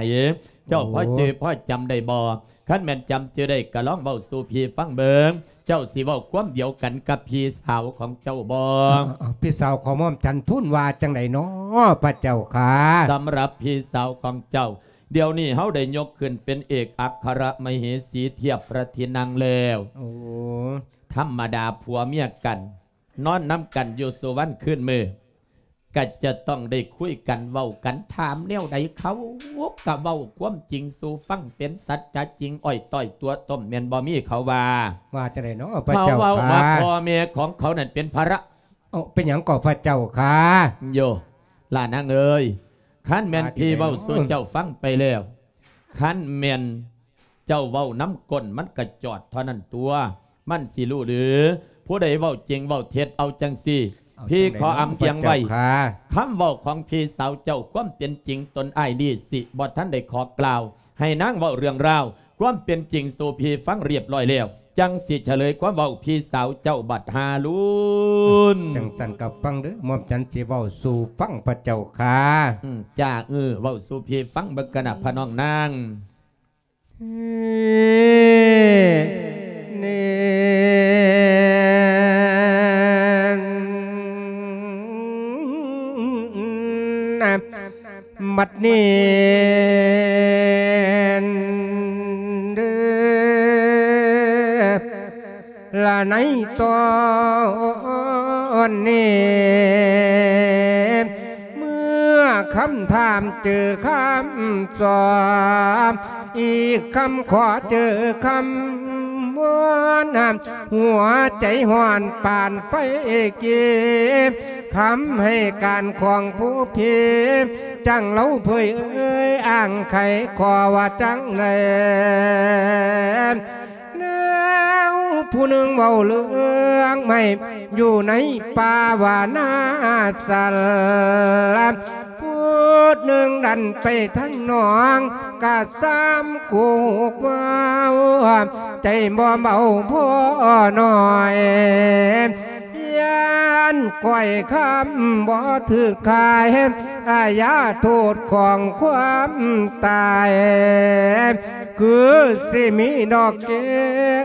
เจ้า โอ้ พอจื่อพอจำได้บ่ คันแม่นจำจื่อได้ก็ลองเว้าสู่พี่ฟังเบิ่ง เจ้าสิเว้าความเดียวกันกับพี่สาวของเจ้าบ่ เอ้า เอ้า เอ้า พี่สาวของหม่อมฉันทูลว่าจั่งใดน้อ พระเจ้าข้า สำหรับพี่สาวของเจ้า เดี๋ยวนี้เฮาได้ยกขึ้นเป็นเอกอัครมเหสีเทียบพระที่นั่งแล้ว โอ้ ธรรมดาผัวเมียกัน นอนนำกันอยู่สู่วันคืนมื้อ ก็จะต้องได้คุยกันเว้ากัน ถามแนวใดเขาก็เว้าความจริงสู่ฟัง เป็นสัจจะจริงอ้อยต้อยตั๋วต้ม แม่นบ่มีเขาว่า ว่าจั่งใดน้อ พระเจ้าข้า เขาเว้าว่าพ่อแม่ของเขานั่นเป็นภาระ เอ้า เป็นหยังก็พระเจ้าข้า โย หล่านางเอ้ย คันแม่น ว่าจั่งใดน้อ พี่เว้าสู่เจ้าฟังไปแล้ว คันแม่นเจ้าเว้านำก้นมันก็จอดเท่านั้นตั๋ว มันสิฮู้หรือ ผู้ใดเว้าจริงเว้าเท็จ เอาจั่งซี้ เอา พี่ จั่งใด ขออำเอียงไว้ น้อ พระเจ้าข้า คำเว้าของพี่สาวเจ้า ความเป็นจริงตนอ้ายนี่สิบ่ทันได้ขอกล่าว ให้นางเว้าเรื่องราว ความเป็นจริงสู่พี่ฟังเรียบร้อยแล้ว จั่งสิเฉลยความเว้าพี่สาวเจ้าบัดหาลุน จั่งซั่นก็ฟังเด้อ หม่อมฉันสิเว้าสู่ฟังพระเจ้าข้า อืม จ้า เออ เว้าสู่พี่ฟังเบิ่งกะนะ พระน้องนาง เน่ บัดนี้เด้อ ละในตอนนี้ เมื่อคำถามเจอคำตอบ อีกคำขอเจอคำวอน หัวใจฮ้อนปานไฟเกบ คำให้การของผู้พี่ จั่งเล่าเผยเอ่ยอ้างไขขอว่าจั่งใด แล้วผู้หนึ่งเว้าเรื่องไม่ อยู่ในป่าว่านาสัน ผู้หนึ่งดันไปทางหนอง กะซ้ำกูกเว้า ใจบ่เบาพอหน่อย ย้านก้อยคำบ่ถืกขาย อาญาโทษของความตาย คือสิมีดอกเก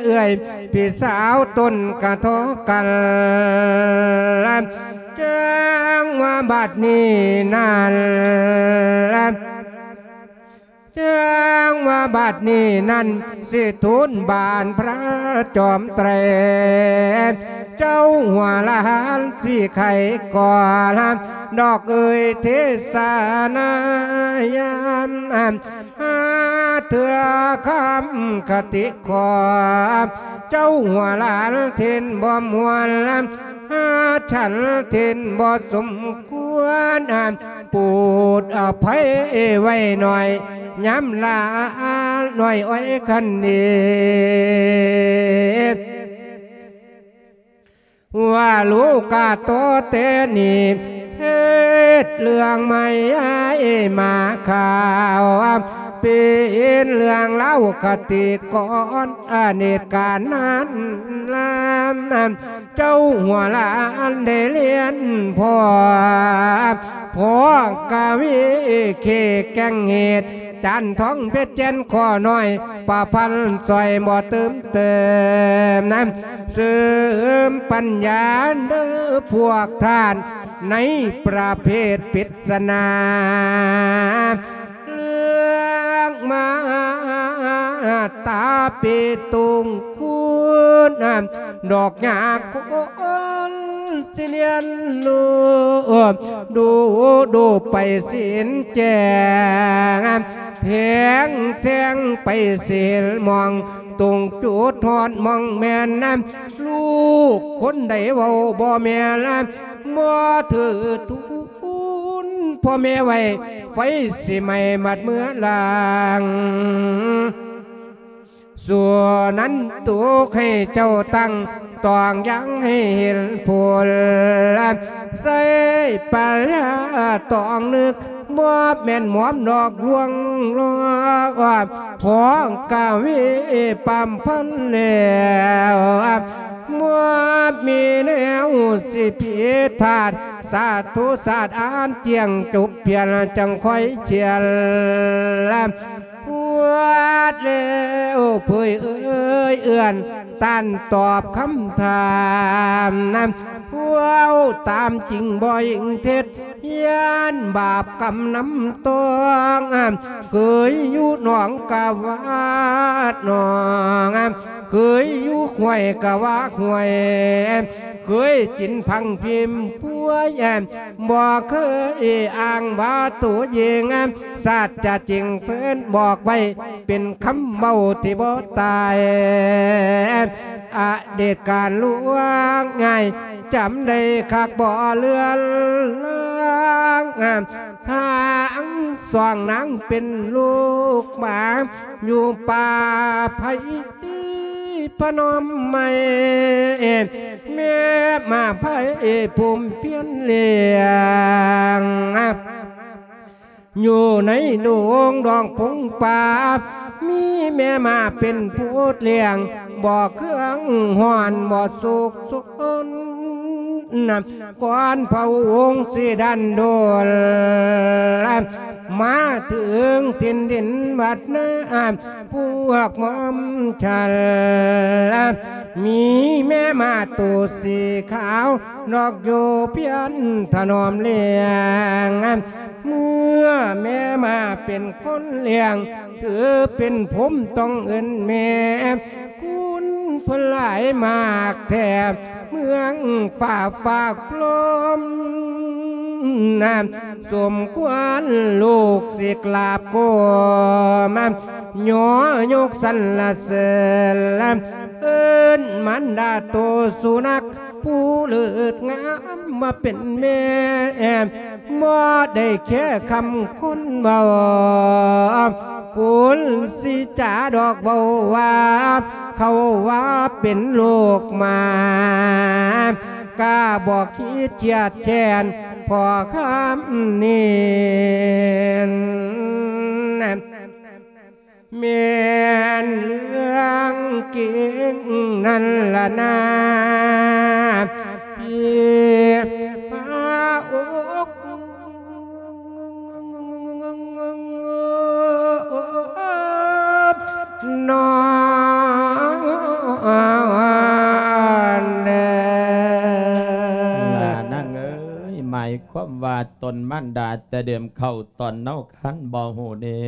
เอื้อย พี่สาวตนกะทอกัน ຈັ່ງວ່າບັດນີ້ນັ້ນ ຈັ່ງວ່າບັດນີ້ນັ້ນ ຊິທູນບານພະຈອມໄຕ ເຈົ້າຫົວຫຼານຊິໄຂກ່ອນ ດອກເອີຍເທສະນາຍາມ ຫາເທື່ອຄຳຄະຕິຂໍ ເຈົ້າຫົວຫຼານເທັນບໍ່ມ່ວນ ຫາສັນເທັນບໍ່ສົມຄວນ ໂປດອະໄພໄວ້ໜ້ອຍ ຍາມລານ້ອຍອ້ອຍຄັນດີ ວ່າລູກກາໂຕແຕ່ນີ້ ເຮັດເລື່ອງໃໝ່ໃຫ້ມາຂ່າວ ເປັນເລື່ອງລາວຄະຕິກອນ ອະເນດການນັ້ນລຳ ເຈົ້າຫົວຫຼານໄດ້ລຽນພໍ່ ພໍ່ກະວີເຄແກ່ງເຫດ ຈານທອງເພັດແກ່ນຂໍໜ້ອຍ ປະພັນຊ່ອຍບໍ່ຕື່ມເຕີມນຳ ເສີມປັນຍາເດີພວກທ່ານ ໃນປະເພດປິດສະໜາ ເລື່ອງມາຕາປີຕຸງຄຸນ ດອກຫຍ້າຄົນຊິລຽນຮູ້ ດູດູໄປສິນແຈ້ງ ແທງແທງໄປສິນມອງ ຕົງຈຸດຮອດມອງແມ່ນ ລູກຄົນໃດເວົ້າບໍ່ແມ່ນ ບໍ່ຖືກ ຄຸນພໍ່ແມ່ໄວ້ ໄຟຊິໄໝ້ໝາດເມືອລາງ ສ່ວນນັ້ນຕົກໃຫ້ເຈົ້າຕັ້ງ ຕ້ອງຍັງໃຫ້ເຫັນຜົນ ໃຊ້ປັນຍາຕ້ອງນຶກ ບໍ່ແມ່ນໝອມດອກລວງລອກ ພໍກະວີປຳພັນແລ້ວ ບໍ່ມີແນວຊິຜິດພາດ ສາທຸສາດອານຈຽງຈົບພຽນ ຈັ່ງຄ່ອຍຂຽນລະ ປວດແລ້ວເຜີຍເອີຍເອື້ອນ ຕ້ານຕອບຄຳຖາມນຳ ເວົ້າຕາມຈິງບໍ່ອີງເທັດ ຢ້ານບາບກຳນຳຕ້ອງ ເຄີຍຢູ່ໜອງກະວາດໜອງ ເຄີຍຢູ່ຫ້ວຍກະວາຫ້ວຍ ເຄີຍກິນຜັງພິມພວຍ ບໍ່ເຄີຍອ້າງວ່າໂຕເອງ ສາດຈະຈິງເພິ່ນບອກໄວ້ ເປັນຄຳເວົ້າທີ່ບໍ່ຕາຍ ອະດີດການລ່ວງງ່າຍ ຈຳໄດ້ຄັກບໍ່ເລືອນລາງ ທາງສອງນາງເປັນລູກໝາ ຢູ່ປ່າໄຜ່ພະນົມໃໝ່ ແມ່ໝາໄຜ່ພູມພຽນລ້ຽງ ຢູ່ໃນດົງດອງພົງປ່າ ມີແມ່ໝາເປັນຜູ້ລ້ຽງ ບໍ່ເຄືອງຮ້ອນບໍ່ສຸກສົນ ກ່ອນພະອົງຊິດັນໂດນ ມາເຖິງຖິ່ນດິນວັດນາ ພວກໝອມສັນ ມີແມ່ໝາໂຕສີຂາວ ນອກຢູ່ພຽນຖະໜອມລ້ຽງ ເມື່ອແມ່ໝາເປັນຄົນລ້ຽງ ຖືເປັນຜົມຕ້ອງເອີ້ນແມ່ ຄຸນເພິ່ນຫຼາຍມາກແທ້ ເມືອງຟ້າຟາກພຣມ ສົມຄວນລູກສິກລາບໂກມ ຍໍຍົກສັນລະເສີນ ເອີ້ນມານດາໂຕສຸນັກ ຜູ້ເລີດງາມມາເປັນແມ່ ບໍ່ໄດ້ແຄຄຳຄົນເວົ້າ ຄຸນຊິຈາດອກເວົ້າວ່າ ເຂົາວ່າເປັນລູກໝາ ກະບໍ່ຄິດຄຽດແຄ້ນພໍຄຳນີ້ ແມ່ນເລື່ອງຈິງນັ້ນລະນາ ພີ່ພະອົກນ້ອງເດີ ນາງເອີຍ. ຄວາມວ່າຕົນມານດາແຕ່ເດີມເຂົ້າຕອນເນົາຄັນບໍ່ຮູ້ເດ້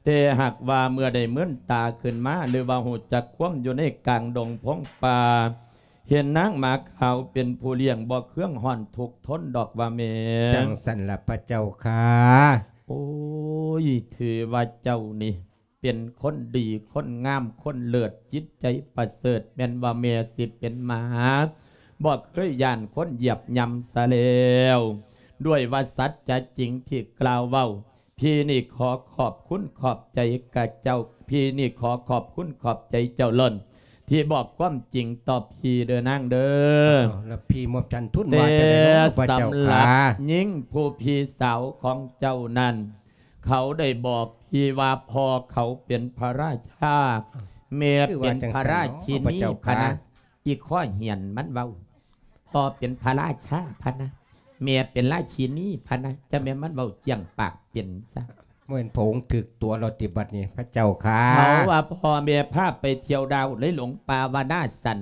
ແຕ່ຫາກວ່າເມື່ອໄດ້ເມີນຕາຂຶ້ນມາ ຫຼືວ່າຮູ້ຈັກຄວາມຢູ່ໃນກາງດົງພົງປ່າ ເຫັນນາງໝາຂາວເປັນຜູ້ລ້ຽງ ບໍ່ເຄືອງຮ້ອນທຸກທົນດອກວ່າແມ່. ຈັ່ງຊັ້ນລະພະເຈົ້າຂ້າ. ໂອ້ຍ ຖືວ່າເຈົ້ານີ້ ເປັນຄົນດີ ຄົນງາມ ຄົນເລີດ ຈິດໃຈປະເສີດ ແມ່ນວ່າແມ່ຊິເປັນໝາ ບໍ່ເຄີຍຢ້ານຄົນຢຽບຫຍ້ຳຊະແລ້ວ. ດ້ວຍວ່າສັດຈະຈິງທີ່ກ່າວເວົ້າ ພີ່ນີ້ຂໍຂອບຄຸນຂອບໃຈກະເຈົ້າ ພີ່ນີ້ຂໍຂອບຄຸນຂອບໃຈເຈົ້າລົ້ນ ທີ່ບອກຄວາມຈິງຕໍ່ພີ່ເດີນາງເດີ. ເອົາ ແລ້ວພີ່ໝົບຈັນທຸນວ່າຈັ່ງໃດເນາະ ພະເຈົ້າຂ້າ? ແຕ່ສຳລັບຍິງຜູ້ພີ່ສາວຂອງເຈົ້ານັ້ນ ເຂົາໄດ້ບອກພີ່ວ່າພໍ່ເຂົາເປັນພະລາຊາ ແມ່ເປັນພະລາຊິນີພະນະ. ອີ່ຂໍ້ຫຽນມັນເວົ້າ ພໍ່ເປັນພະລາຊາພະນະ ແມ່ເປັນລາຊິນີພະນະ ຈະແມ່ນມັນເວົ້າຈ້ຽງປາກເປັນຊະ. ບໍ່ແມ່ນພະອົງຖືກຕົວແລ້ວຕິບັດນີ້ ພະເຈົ້າຂ້າ? ເຂົາວ່າພໍ່ແມ່ພາໄປທ່ຽວດາວ ເລີຍຫຼົງປ່າວະນາສັນ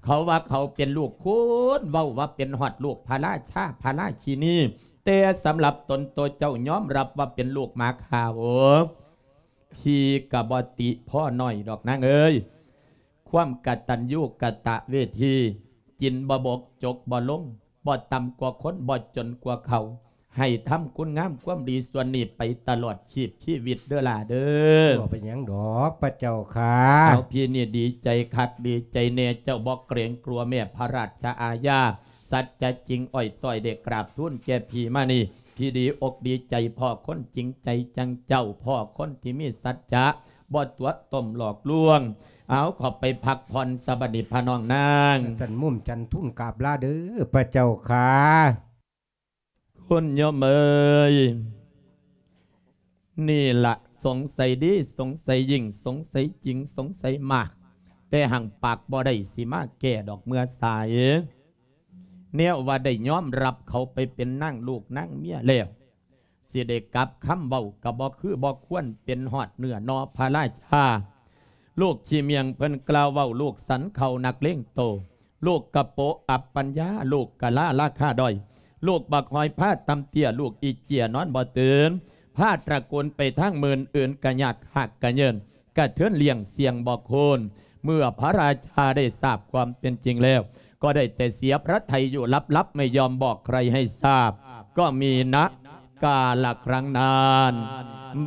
ເຂົາວ່າເຂົາເປັນລູກຄຸນ ເວົ້າວ່າເປັນຮອດລູກພະລາຊາ ພະລາຊິນີ ແຕ່ສຳລັບຕົນໂຕເຈົ້າຍອມຮັບວ່າເປັນລູກໝາຂາວ ພີ່ກະບໍ່ຕິພໍ່ນ້ອຍດອກນາງເອີຍ. ຄວາມກະຕັນຍູກະຕະເວທີ ກິນບໍ່ບົກ ຈົກບໍ່ລົງ ບໍ່ຕ່ຳກວ່າຄົນ ບໍ່ຈົນກວ່າເຂົາ ໃຫ້ທຳຄຸນງາມຄວາມດີສ່ວນນີ້ໄປຕະຫຼອດຊີບຊີວິດເດີຫຼ້າເດີ. ບໍ່ເປັນຫຍັງດອກພະເຈົ້າຂ້າ. ເອົາ ພີ່ນີ້ດີໃຈຄັກດີໃຈແນ່ ເຈົ້າບໍ່ເກງກົວແມ່ພະລາຊາອາຍາ ສັດຈະຈິງອ້ອຍຕ້ອຍໄດ້ກາບທູນແກ່ພີ່ມານີ້ ພີ່ດີອົກດີໃຈພໍ້ຄົນຈິງໃຈຈັ່ງເຈົ້າ ພໍ້ຄົນທີ່ມີສັດຈະ ບໍ່ຕົວະຕົ້ມຫຼອກລວງ. ເອົາ ເຂົ້າໄປພັກຜ່ອນສະບັດນີ້ພະນ້ອງນາງ. ຊັ້ນໝົບຈັນທຸນກາບລາເດີພະເຈົ້າຂ້າ. ຄຸນໂຍມເອີຍ ນີ້ລະ ສົງໄສດີ ສົງໄສຍິ່ງ ສົງໄສຈິງ ສົງໄສມາກ ແຕ່ຮັ່ງປາກບໍ່ໄດ້ ຊິມາແກ້ດອກເມື່ອສາຍ. ແນວວ່າໄດ້ຍອມຮັບເຂົາໄປເປັນນາງລູກນາງເມຍແລ້ວ ຊິໄດ້ກັບຄຳເວົ້າກະບໍ່ຄືບໍ່ຄວນ ເປັນຮອດເນື້ອໜໍ່ພະລາຊາ. ລູກຂີ້ໝ້ຽງເພິ່ນກ່າວເວົ້າ ລູກສັນເຂົ້ານັກເລງໂຕ ລູກກະໂປະອັບປັນຍາ ລູກກະລາລາຄາດ້ອຍ ລູກບັກຫອຍພາຕ່ຳເຕ້ຍ ລູກອີເຈ້ຍນອນບໍ່ຕື່ນ ພາຕະກູນໄປທາງມື່ນ ອື່ນກະຍາກຮາກກະເຍີ້ນ ກະເທີນລ້ຽງສ່ຽງບໍ່ໂຄນ. ເມື່ອພະລາຊາໄດ້ຊາບຄວາມເປັນຈິງແລ້ວ ກໍໄດ້ແຕ່ເສຍພະໄທຢູ່ລັບໆ ໄມ່ຍອມບອກໃຄໃຫ້ຊາບ ກໍມີນະກາລະຄັ້ງນັ້ນ.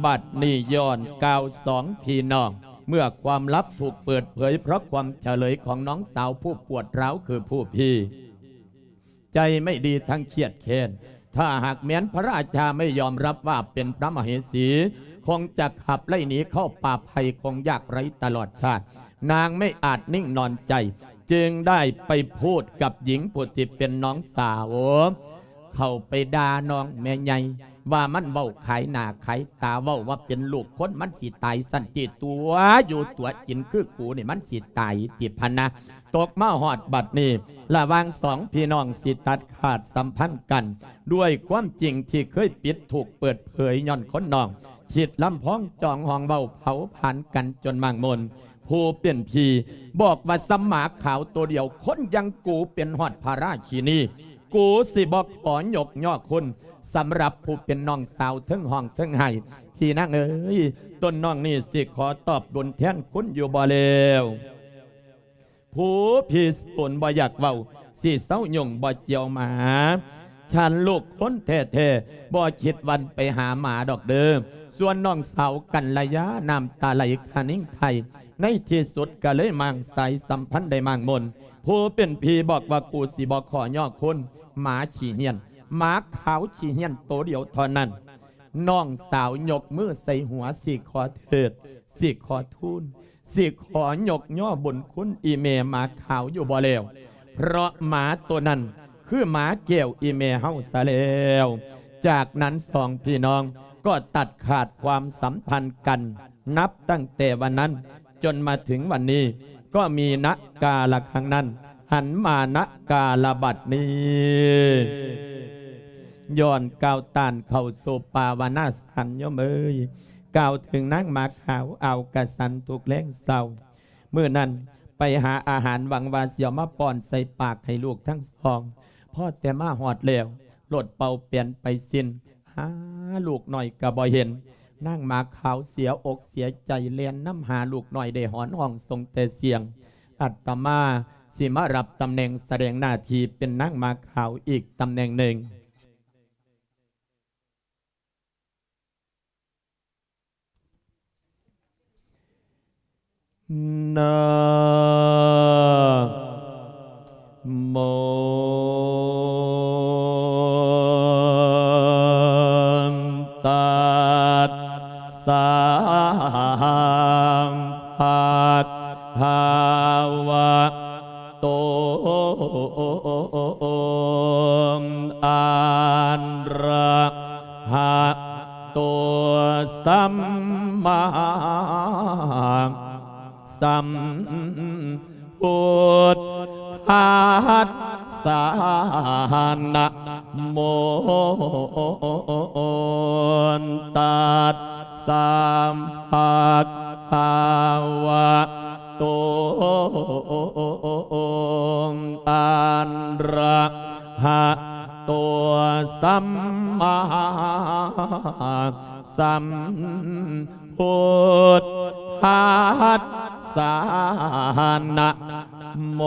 ບັດນີ້ຍ້ອນກ່າວສອງພີ່ນ້ອງ ເມື່ອຄວາມລັບຖືກເປີດເຜີຍ ເພາະຄວາມຈະເລີຍຂອງນ້ອງສາວຜູ້ປວດຮ້າວຄືຜູ້ພີ່ ໃຈໄມ່ດີທັງຄຽດແຄ້ນ ຖ້າຫາກແມ່ນພະລາຊາໄມ່ຍອມຮັບວ່າເປັນພະມະເຫສີ ຄົງຈະຂັບໄລ່ໜີເຂົ້າປ່າໄຜ່ ຄົງຍາກໄຮ້ຕະຫຼອດຊາດ. ນາງໄມ່ອາດນິ່ງນອນໃຈ ຈຶ່ງໄດ້ໄປພູດກັບຍິງຜູ້ທີ່ເປັນນ້ອງສາວ ເຂົ້າໄປດ່ານ້ອງແມ່ໃຫຍ່ ວ່າມັນເວົ້າຂາຍໜ້າຂາຍຕາ ເວົ້າວ່າເປັນລູກຄົນມັນຊິຕາຍຊັ້ນຕິ ຕົວຢູ່ຕົວກິນຄືກູນີ້ມັນຊິຕາຍຕິພະນະ. ຕົກມາຮອດບັດນີ້ ລະຫວ່າງສອງພີ່ນ້ອງຊິຕັດຂາດສຳພັນກັນ ດ້ວຍຄວາມຈິງທີ່ເຄີຍປິດຖືກເປີດເຜີຍ ຍ້ອນຄົນນ້ອງຄິດລຳພອງ ຈອງຫ້ອງເວົ້າເຜົາຜານກັນຈົນໝາກມົນ. ຜູ້ເປັນພີ່ບອກວ່າ ສ່ຳໝາຂາວໂຕດຽວ ຄົນຢ່າງກູເປັນຮອດພະລາຊິນີ ກູຊິບໍ່ຂໍຍົກຍໍ້ຄຸນ ສຳລັບຜູ້ເປັນນ້ອງສາວ ເທິງຮ້ອງເທິງໄຫ້. ພີ່ນາງເອີຍ ຕົນນ້ອງນີ້ຊິຂໍຕອບບຸນແທນຄຸນຢູ່ບໍ່ແລ້ວ? ຜູ້ພີ່ສູນບໍ່ຢາກເວົ້າ ຊິເຊົາຫຍຸ້ງບໍ່ຈຽວໝາ. ສັນລູກຄົນແທ້ໆ ບໍ່ຄິດວັນໄປຫາໝາດອກເດີ. ສ່ວນນ້ອງສາວກັນລະຍາ ນ້ຳຕາໄຫຼຄະນິງໄຄ ໃນທີ່ສຸດກໍເລີຍມ້າງສາຍສຳພັນໄດ້ໝາກມົນ. ຜູ້ເປັນພີ່ບອກວ່າ ກູຊິບໍ່ຂໍຍໍ້ຄຸນ ໝາຂີ້ຫ້ຽນ ໝາຂາວຂີ້ຫ້ຽນໂຕດຽວເທົ່ານັ້ນ. ນ້ອງສາວຍົກມືໃສ່ຫົວ ຊິຂໍເທີດ ຊິຂໍທູນ ຊິຂໍຍົກຍໍ້ບຸນຄຸນອີ່ແມ່ໝາຂາວຢູ່ບໍ່ແລ້ວ ເພາະໝາໂຕນັ້ນຄືໝາແກ້ວອີ່ແມ່ເຮົາຊະແລ້ວ. ຈາກນັ້ນສອງພີ່ນ້ອງກໍຕັດຂາດຄວາມສຳພັນກັນ ນັບຕັ້ງແຕ່ວັນນັ້ນຈົນມາເຖິງວັນນີ້ ກໍມີນະກາລະຄັ້ງນັ້ນ ຫັນມານະກາລະບັດນີ້. ຍ້ອນກ່າວຕ້ານເຂົ້າສູ່ປາວະນາສັນໂຍມເອີຍ ກ່າວເຖິງນາງໝາຂາວອ່າວກະສັນທຸກແລງເຊົ້າ. ມື້ນັ້ນໄປຫາອາຫານ ຫວັງວ່າຊິເອົາມາປ້ອນໃສ່ປາກໃຫ້ລູກທັງສອງ. ພໍແຕ່ມາຮອດແລ້ວ ລົດເປົ່າແປນໄປສິ້ນ ຫາລູກນ້ອຍກໍບໍ່ເຫັນ. ນາງໝາຂາວເສຍອົກເສຍໃຈ ແລ່ນນຳຫາລູກນ້ອຍ ໄດ້ຮ້ອງຮ້ອງສົ່ງແຕ່ສຽງ. ອາດຕະມາຊິມາຮັບຕຳແໜ່ງສະແດງໜ້າທີ່ເປັນນາງໝາຂາວອີກຕຳແໜ່ງໜຶ່ງ. ນະໂມຕັດສະ ພະຄະວະ ໂຕ ອະລະຫະໂຕ ສຳມາສຳພຸດທັດສະ ນະໂມຕັດສະ ພະຄະວະ ໂຕ ອະລະຫະໂຕ ສຳມາສຳພຸດທັດສະ ນະໂມ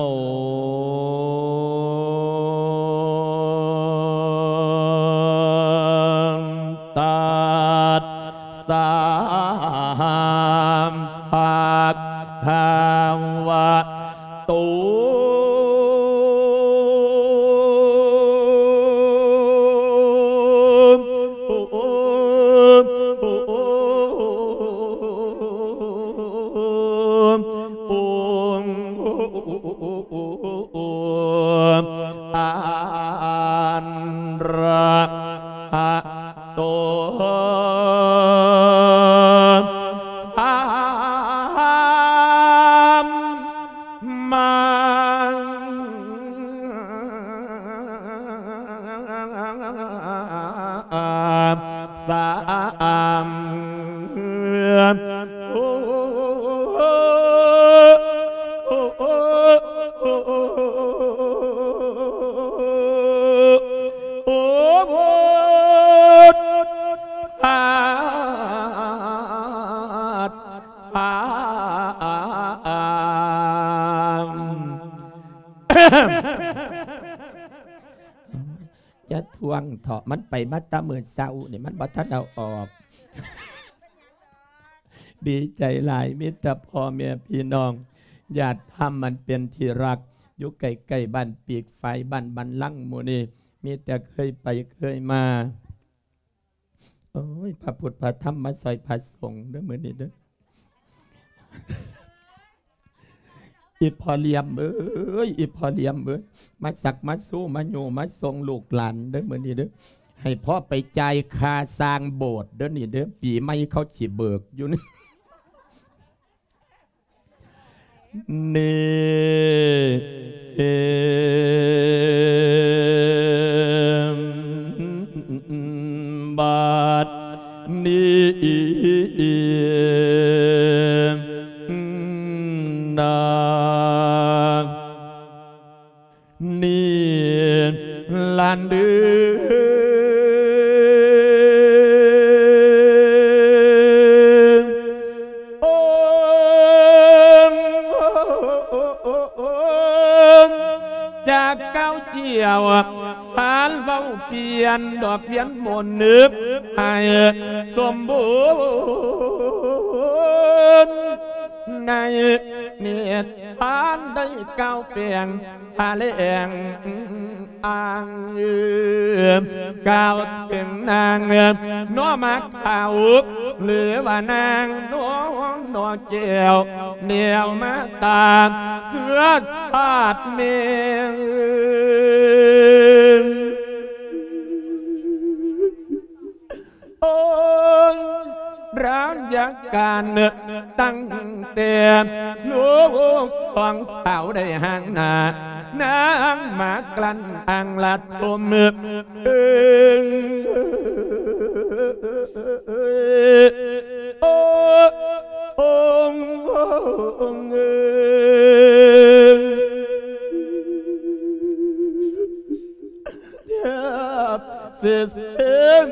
ຕັດ ສະ ພະຄະວະໂຕ ອັນຣະຫະໂຕ ສຳມາ ສະ ຈະທວງເຖາະ ມັນໄປມາແຕ່ມື້ເຊົ້ານີ້ ມັນບໍ່ທັນເອົາອອກ. ດີໃຈຫຼາຍ ມີແຕ່ພໍ່ແມ່ພີ່ນ້ອງ ຍາດທຳອັນເປັນທີ່ຮັກ ຢູ່ໃກ້ໆ ບ້ານປີກຝາຍ ບ້ານບັນລັງໝູ່ນີ້ ມີແຕ່ເຄີຍໄປເຄີຍມາ. ໂອ້ຍ ພະພຸດພະທຳມາຊ່ອຍພະສົງເດີ້ມື້ນີ້ເດີ້ ອີ່ພໍ່ຫຼຽມເອີຍ ອີ່ພໍ່ຫຼຽມເອີຍ ມາຊັກມາຊູມາຍູ້ມາສົ່ງລູກຫຼານເດີ້ມື້ນີ້ເດີ້ ໃຫ້ພໍ່ໄປຈ່າຍຄ່າສ້າງໂບດເດີ້ນີ້ເດີ້ ປີໃໝ່ເຂົາຊິເບີກຢູ່ນີ້. ນີ້ ບັດນີ້ນາ ນີ້ຫຼານເອີຍ ໂອ້ ຈາກເກົ່າຈຽວ ພານເວົ້າປ່ຽນ ດອກພຽນມົນນຶກໃຫ້ສົມບູນ ໃນນິທານໄດ້ກ່າວແປງ ພະແລງອ້າງ ກ່າວເຖິງນາງໜໍ່ໝາກຂາວ ຫຼືວ່ານາງໜໍ່ ໜໍ່ແກ້ວ ແນວມາຕາມເຊື້ອຊາດແມ່ ໂອ້ຍ ລາຍະການຕັ້ງແຕ່ລູກສອງສາວໄດ້ຫ່າງໜ້າ ນາງມາກລັ້ນອ່າງລະທົມ ເອີ ໂອ້ ໂອ້ ໂອ້ ເອີ. ແທບ ຊື່ເສີງ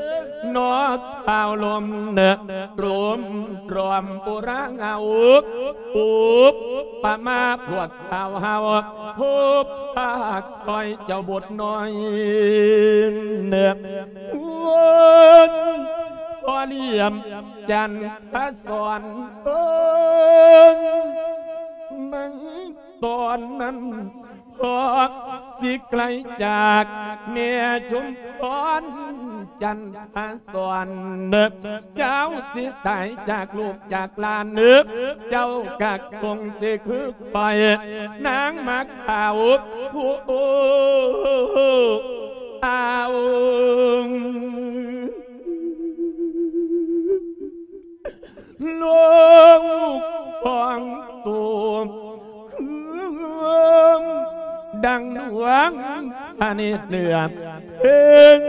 ເນາະ ທ້າວລົມເນາະ ລົມດອມໂບລານເຮົາ ອຸປະມາພວກຊາວເຮົາ ພົບພາກຄອຍເຈົ້າບົດນ້ອຍເນາະ ເພິ່ນພໍລຽມຈັນທະສອນ ເອີ້ນໃນຕອນນັ້ນ ພວກຊິໄກລຈາກແມ່ຊຸມພອນຈັນທະສອນ ເຈົ້າຊິຕາຍຈາກລູກຈາກຫຼານ ເຈົ້າກະຄົງຊິຄືຂ້ອຍ ນາງໝາກຂາວຜູ້ອາວ ລູກຂອງໂຕ ຄືດັ່ງດວງພະເນດເຫຼືອ ເພິ່ນ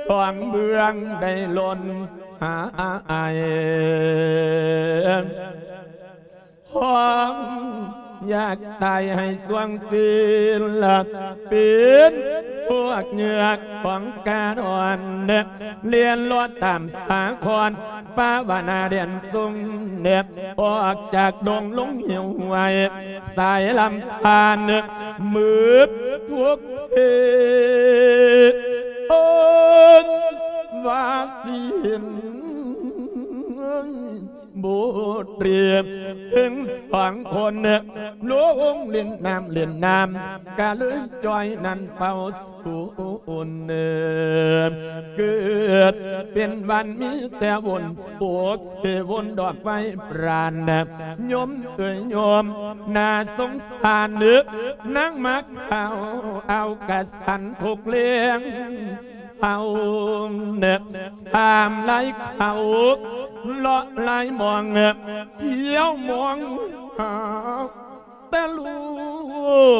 ສອງເບື້ອງໄດ້ຫຼົ່ນຫາຍ ຄວາມຢາກຕາຍໃຫ້ສວງສິລະປິນ ພວກເຫຍື່ອຂອງກາດອນ ລຽນລອດຕາມສາຄອນ ປາວະນາແດນຊົງ ອອກຈາກດົງລົງຫິວຫ້ວຍ ສາຍລຳທານ ມືດທຸກເພດ ໂອນວ່າສິນ ບຸດເຣຍ ເຖິງສອງຄົນ ລົງຫຼິ້ນນ້ຳຫຼິ້ນນ້ຳ ກະເລີຍຈ່ອຍນັ້ນເປົ່າສູນ ເກີດເປັນວັນມີແຕ່ວຸນ ໂອກເສວົນດອກໄມ້ປານ ໂຍມເອີຍໂຍມ ໜ້າສົງສານ ນາງໝາກຂາວ ເອົາກະສັນທຸກແລງ ເຮົາ ຖາມໄລ່ເຂົາ ເລາະໄລ່ມອງ ທ່ຽວມອງຫາແຕ່ລູ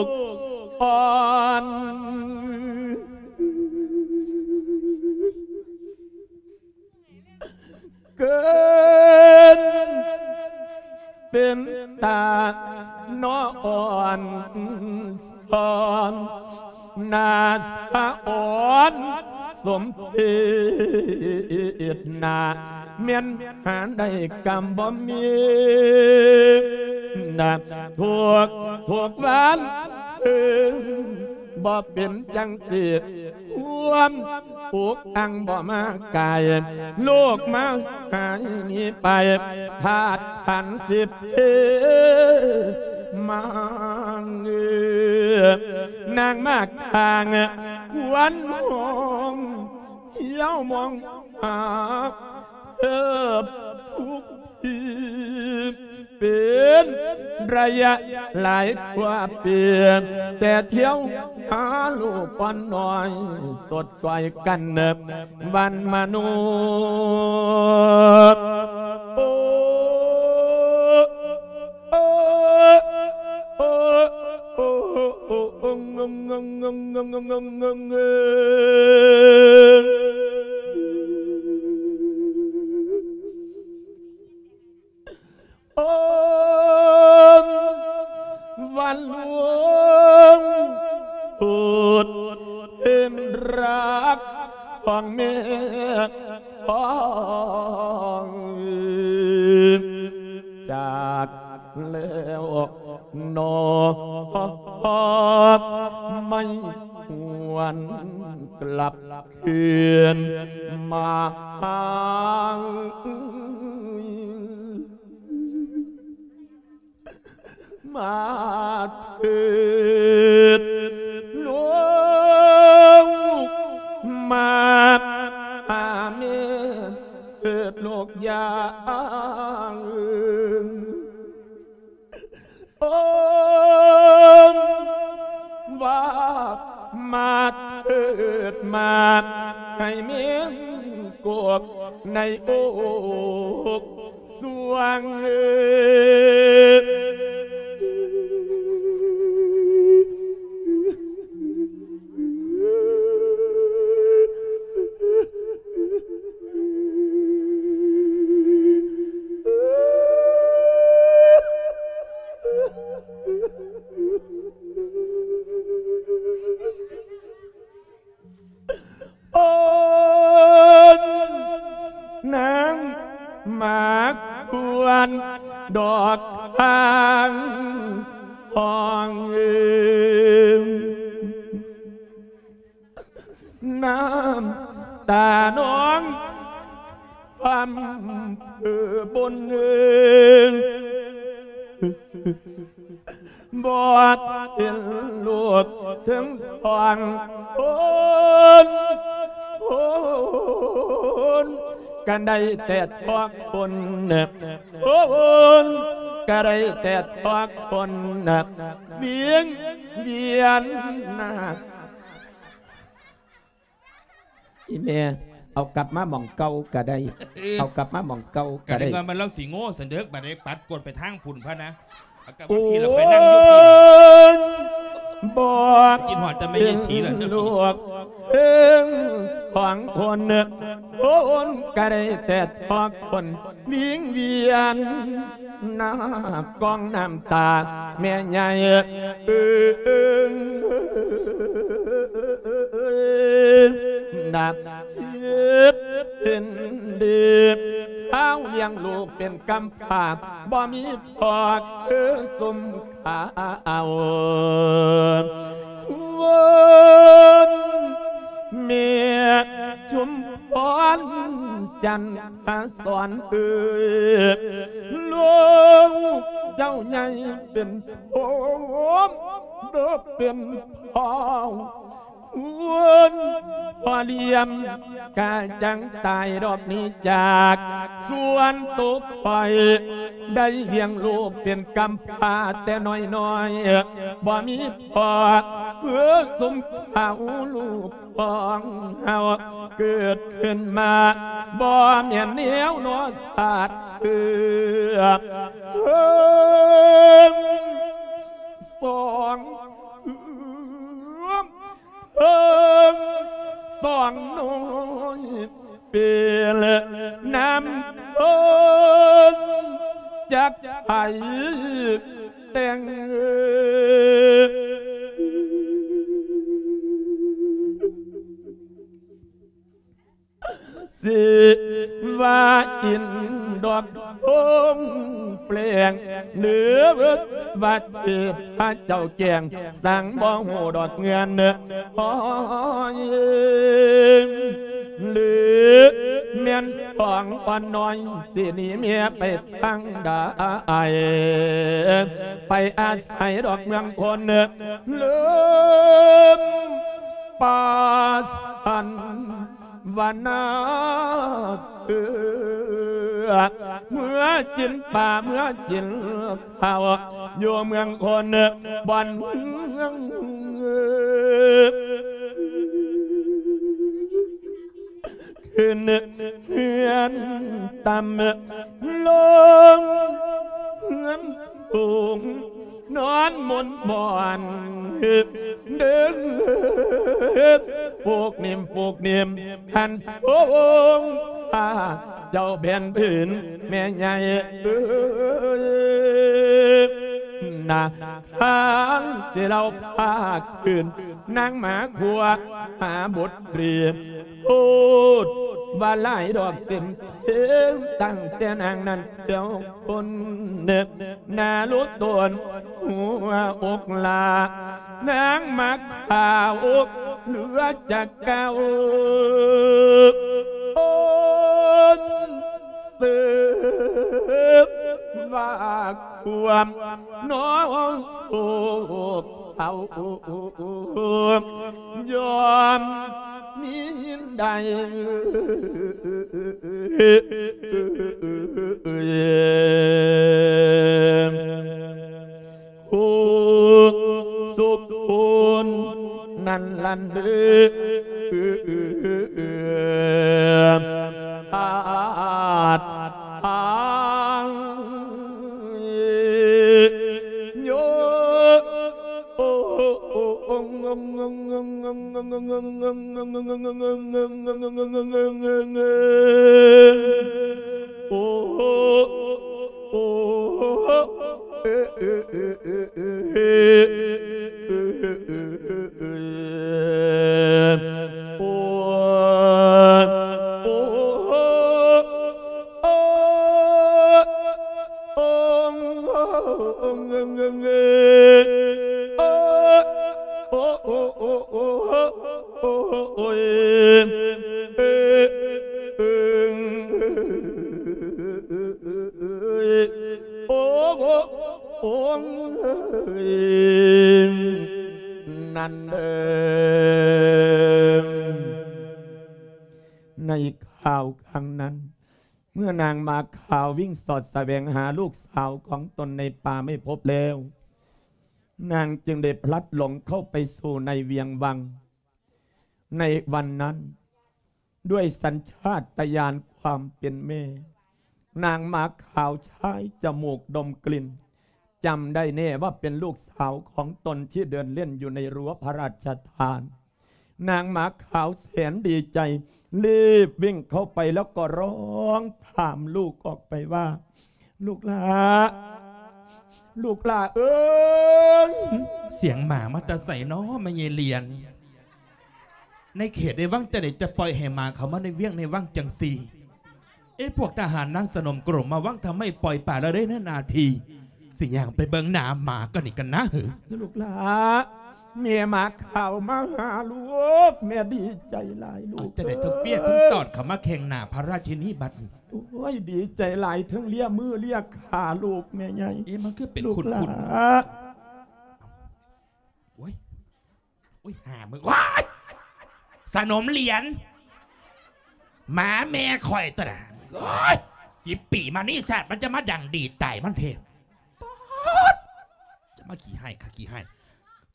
ກອ່ອນ ເກີນເປັນຕາໜໍ່ອ່ອນສອນ ໜ້າສະອອນສົມເພດ ໜ້າແມ່ນຫາໄດ້ກຳບໍ່ມີ ນະ ທຸກ ທຸກວັນ ເອີ ບໍ່ເປັນຈັ່ງຊີ້ ຄວາມ ອົກອັ່ງບໍ່ມາກາຍ ໂລກມາຫາຍໜີໄປ ທາດຂັນສິບເພມາງ ນາງມາກທາງ ຄວັນຫ້ອງ ທ່ຽວມອງຫາ ເອີ ທຸກທີ່ ເປັນໄລຍະຫຼາຍກວ່າປີ ແຕ່ທ່ຽວຫາລູກອ່ອນນ້ອຍ ສົດຊ່ອຍກັນວັນມະນຸດ ໂອ ໂອ ໂອ ໂອ ໂອ ໂອ ວັນລວງສຸດເປັນລັກຂອງແມ່ຂອງ ຈາກແລ້ວໜໍ່ ໄມ່ຫວນກລັບ ຄືນມາຫາ ມາເທີດລູກ ມາຫາແມ່ເທີດລູກຢາງ ໂອມວ່າມາເທີດມາ ໃຫ້ແມ່ນກົກໃນອົກສວງເອີ. ອງ ນ້ຳຕານອງ ຄວາມເພີບົນ ບໍ່ເຫັນລູກເຖິງສອງຄົນ ຄົນ ກະໄດ້ແຕ່ທອກຄົນ ຄົນ ກະໄດ້ແຕ່ທອກຄົນ ວຽງວຽນນາ ອີແມ່ ເອົາກັບມາໝ່ອງເກົ່າກະໄດ້ ເອີ ເອົາກັບມາໝ່ອງເກົ່າກະໄດ້ ກະນຶກວ່າມັນລາວຊິໂງ່ຊັ້ນເດີ ບາດນີ້ປັດກົດໄປທາງພຸ້ນພະນະ ເອົາກັບມາພີ້ລະ ໂອ້ຍ ຂ້ອຍນັ່ງຢູ່ພີ້ລະ ບໍ່ ຄິດຮອດແຕ່ແມ່ຍາຍສີລະ ເຫັນລູກເຖິງສອງຄົນ ຄົນກະໄດ້ແຕ່ທອກຄົນ ວິງວຽນ ນາກອງນ້ຳຕາແມ່ໃຫຍ່ ເອີ ນາເຈັບເປັນເດັບ ເອົາລ້ຽງລູກເປັນກຳພ້າ ບໍ່ມີພໍ່ຄືຊຸມເຂົາ ວອນແມ່ ຊຸມພອນ ຈັນທະສອນເອີຍ ລູກເຈົ້າໃຫຍ່ເປັນໂພມ ເດີເປັນພໍ່ ຄວນພໍ່ລ້ຽງກະຈັ່ງຕາຍດອກໜີຈາກ ສ່ວນໂຕຂ້ອຍໄດ້ລ້ຽງລູກເປັນກຳພ້າແຕ່ນ້ອຍໆ ບໍ່ມີພໍ່ຄືຊຸມເຂົາ ລູກ ຂອງເຮົາເກີດຂຶ້ນມາ ບໍ່ແມ່ນແນວນໍຊາດເຊື້ອ ເພິ່ງສອງເພື່ອມ ເພິ່ງສອງນ້ອຍ ເປັນນຳເພິ່ນຈັກໃຜແຕ່ງ ຊິວ່າອິນດອກໂພງແປງ ຫຼືວ່າເທບພະເຈົ້າແກງ ສັງບໍ່ຮູ້ດອກເງື່ອນ ໂອ້ຍ ຫຼືແມ່ນສອງອ່ອນນ້ອຍ ຊິໜີເມຍໄປທາງໃດ ໄປອາໄສດອກເມືອງຄົນ ເລີ່ມປາສັນວະນາເສືອ ເມືອກິນປາ ເມືອກິນເຂົ້າ ຢູ່ເມືອງຄົນ ບ່ອນເມືອງ ຂຶ້ນເຮືອນຕ່ຳ ລົງເຮືອນສູງ ນອນໝົນໝອນ ເດີນໂຟກນິມໂຟກນິມ ຫັນສົງພາເຈົ້າແຜ່ນພື້ນ ແມ່ໃຫຍ່ເອີຍ ນາທາງຊິເລົ່າພາກພື້ນ ນາງມາຂົວຫາບົດ ເລີຍໂພດວ່າຫຼາຍດອກເຕັມເພງ ຕັ້ງແຕ່ນາງນັ້ນແຖວຄົນ ໜ້າລຸຕົນຫົວອົກຫຼ້າ ນາງມາຂາວເຫຼືອຈາກເກົ່າ ໂອນເສີບວ່າຄວາມ ນ້ອງໂສກເສົ້າ ຍອມມີໄດ້ ຜູ້ສຸກຄົນນັ້ນລັນເດີ ສາດທາງໂຍ ໂອ້ ໂອ້ ໂອ້ ໂອ້ ໂອ້ ໂອ້ ໂອ້ ໂອ້ ໂອ້ ໂອ້ ໂອ້ ໂອ້ ໂອ້ ໂອ້ ນັ້ນເອີ ໃນຄາວຄັ້ງນັ້ນ ເມື່ອນາງໝາຂາວວິ່ງສອດສະແຫວງຫາລູກສາວຂອງຕົນໃນປ່າໄມ່ພົບແລ້ວ, ນາງຈຶ່ງໄດ້ພລັດຫຼົງເຂົ້າໄປສູ່ໃນວຽງວັງ. ໃນວັນນັ້ນ, ດ້ວຍສັນຊາດຕະຍານຄວາມເປັນແມ່, ນາງໝາຂາວຊາຍຈະມູກດົມກິ່ນ, ຈຳໄດ້ແນ່ວ່າເປັນລູກສາວຂອງຕົນທີ່ເດີນເລ່ນຢູ່ໃນຮົ້ວພະລາຊະທານ. ນາງໝາຂາວແສນດີໃຈ, ລີບວິ່ງເຂົ້າໄປແລ້ວກໍຮ້ອງຖາມລູກອອກໄປວ່າ, ລູກຫຼ້າ, ລູກຫຼ້າເອີຍ! ສຽງໝາມາແຕ່ໃສນໍ ແມ່ໃຫຍ່ຫຼຽນ? ໃນເຂດໃນວັງຈັ່ງໃດຈະປ່ອຍໃຫ້ໝາເຂົ້າມາໃນວຽງໃນວັງຈັ່ງຊີ້? ເອ ພວກທະຫານນາງສະໜົມໂກຣມມາວັງທຳໄມປ່ອຍປະລະເລີຍໃນໜ້າທີ່. ຊິຍ່າງໄປເບິ່ງໜ້າໝາກ່ອນນີ້ກັນນະ. ລູກຫຼ້າ, ແມ່ໝາຂາວມາຫາລູກ, ແມ່ດີໃຈຫຼາຍລູກ. ເອົາ ຈັ່ງໃດເຖິງເຟຍເຖິງຕອດເຂົ້າມາແຂ່ງໜ້າພະລາຊິນີບັດນີ້? ໂອ້ຍ ດີໃຈຫຼາຍ, ເຖິງເລຍມືເລຍຂາລູກແມ່ໃຫຍ່. ເອ ມັນຄືເປັນຄຸ້ນໆ. ລູກຫຼ້າ. ໂອ້ຍ ໂອ້ຍ ຫາມຶງ ໂອ້ຍ ສະໜົມຫຼຽນ ໝາແມ່ຂ້ອຍຕົວນະ. ໂອ້ຍ ສິບປີມານີ້ຊາດ ມັນຈະມາດັງດີຕາຍມັນເທ. ປາດ ຈະມາຂີ້ຮ້າຍຄັກຂີ້ຮ້າຍ.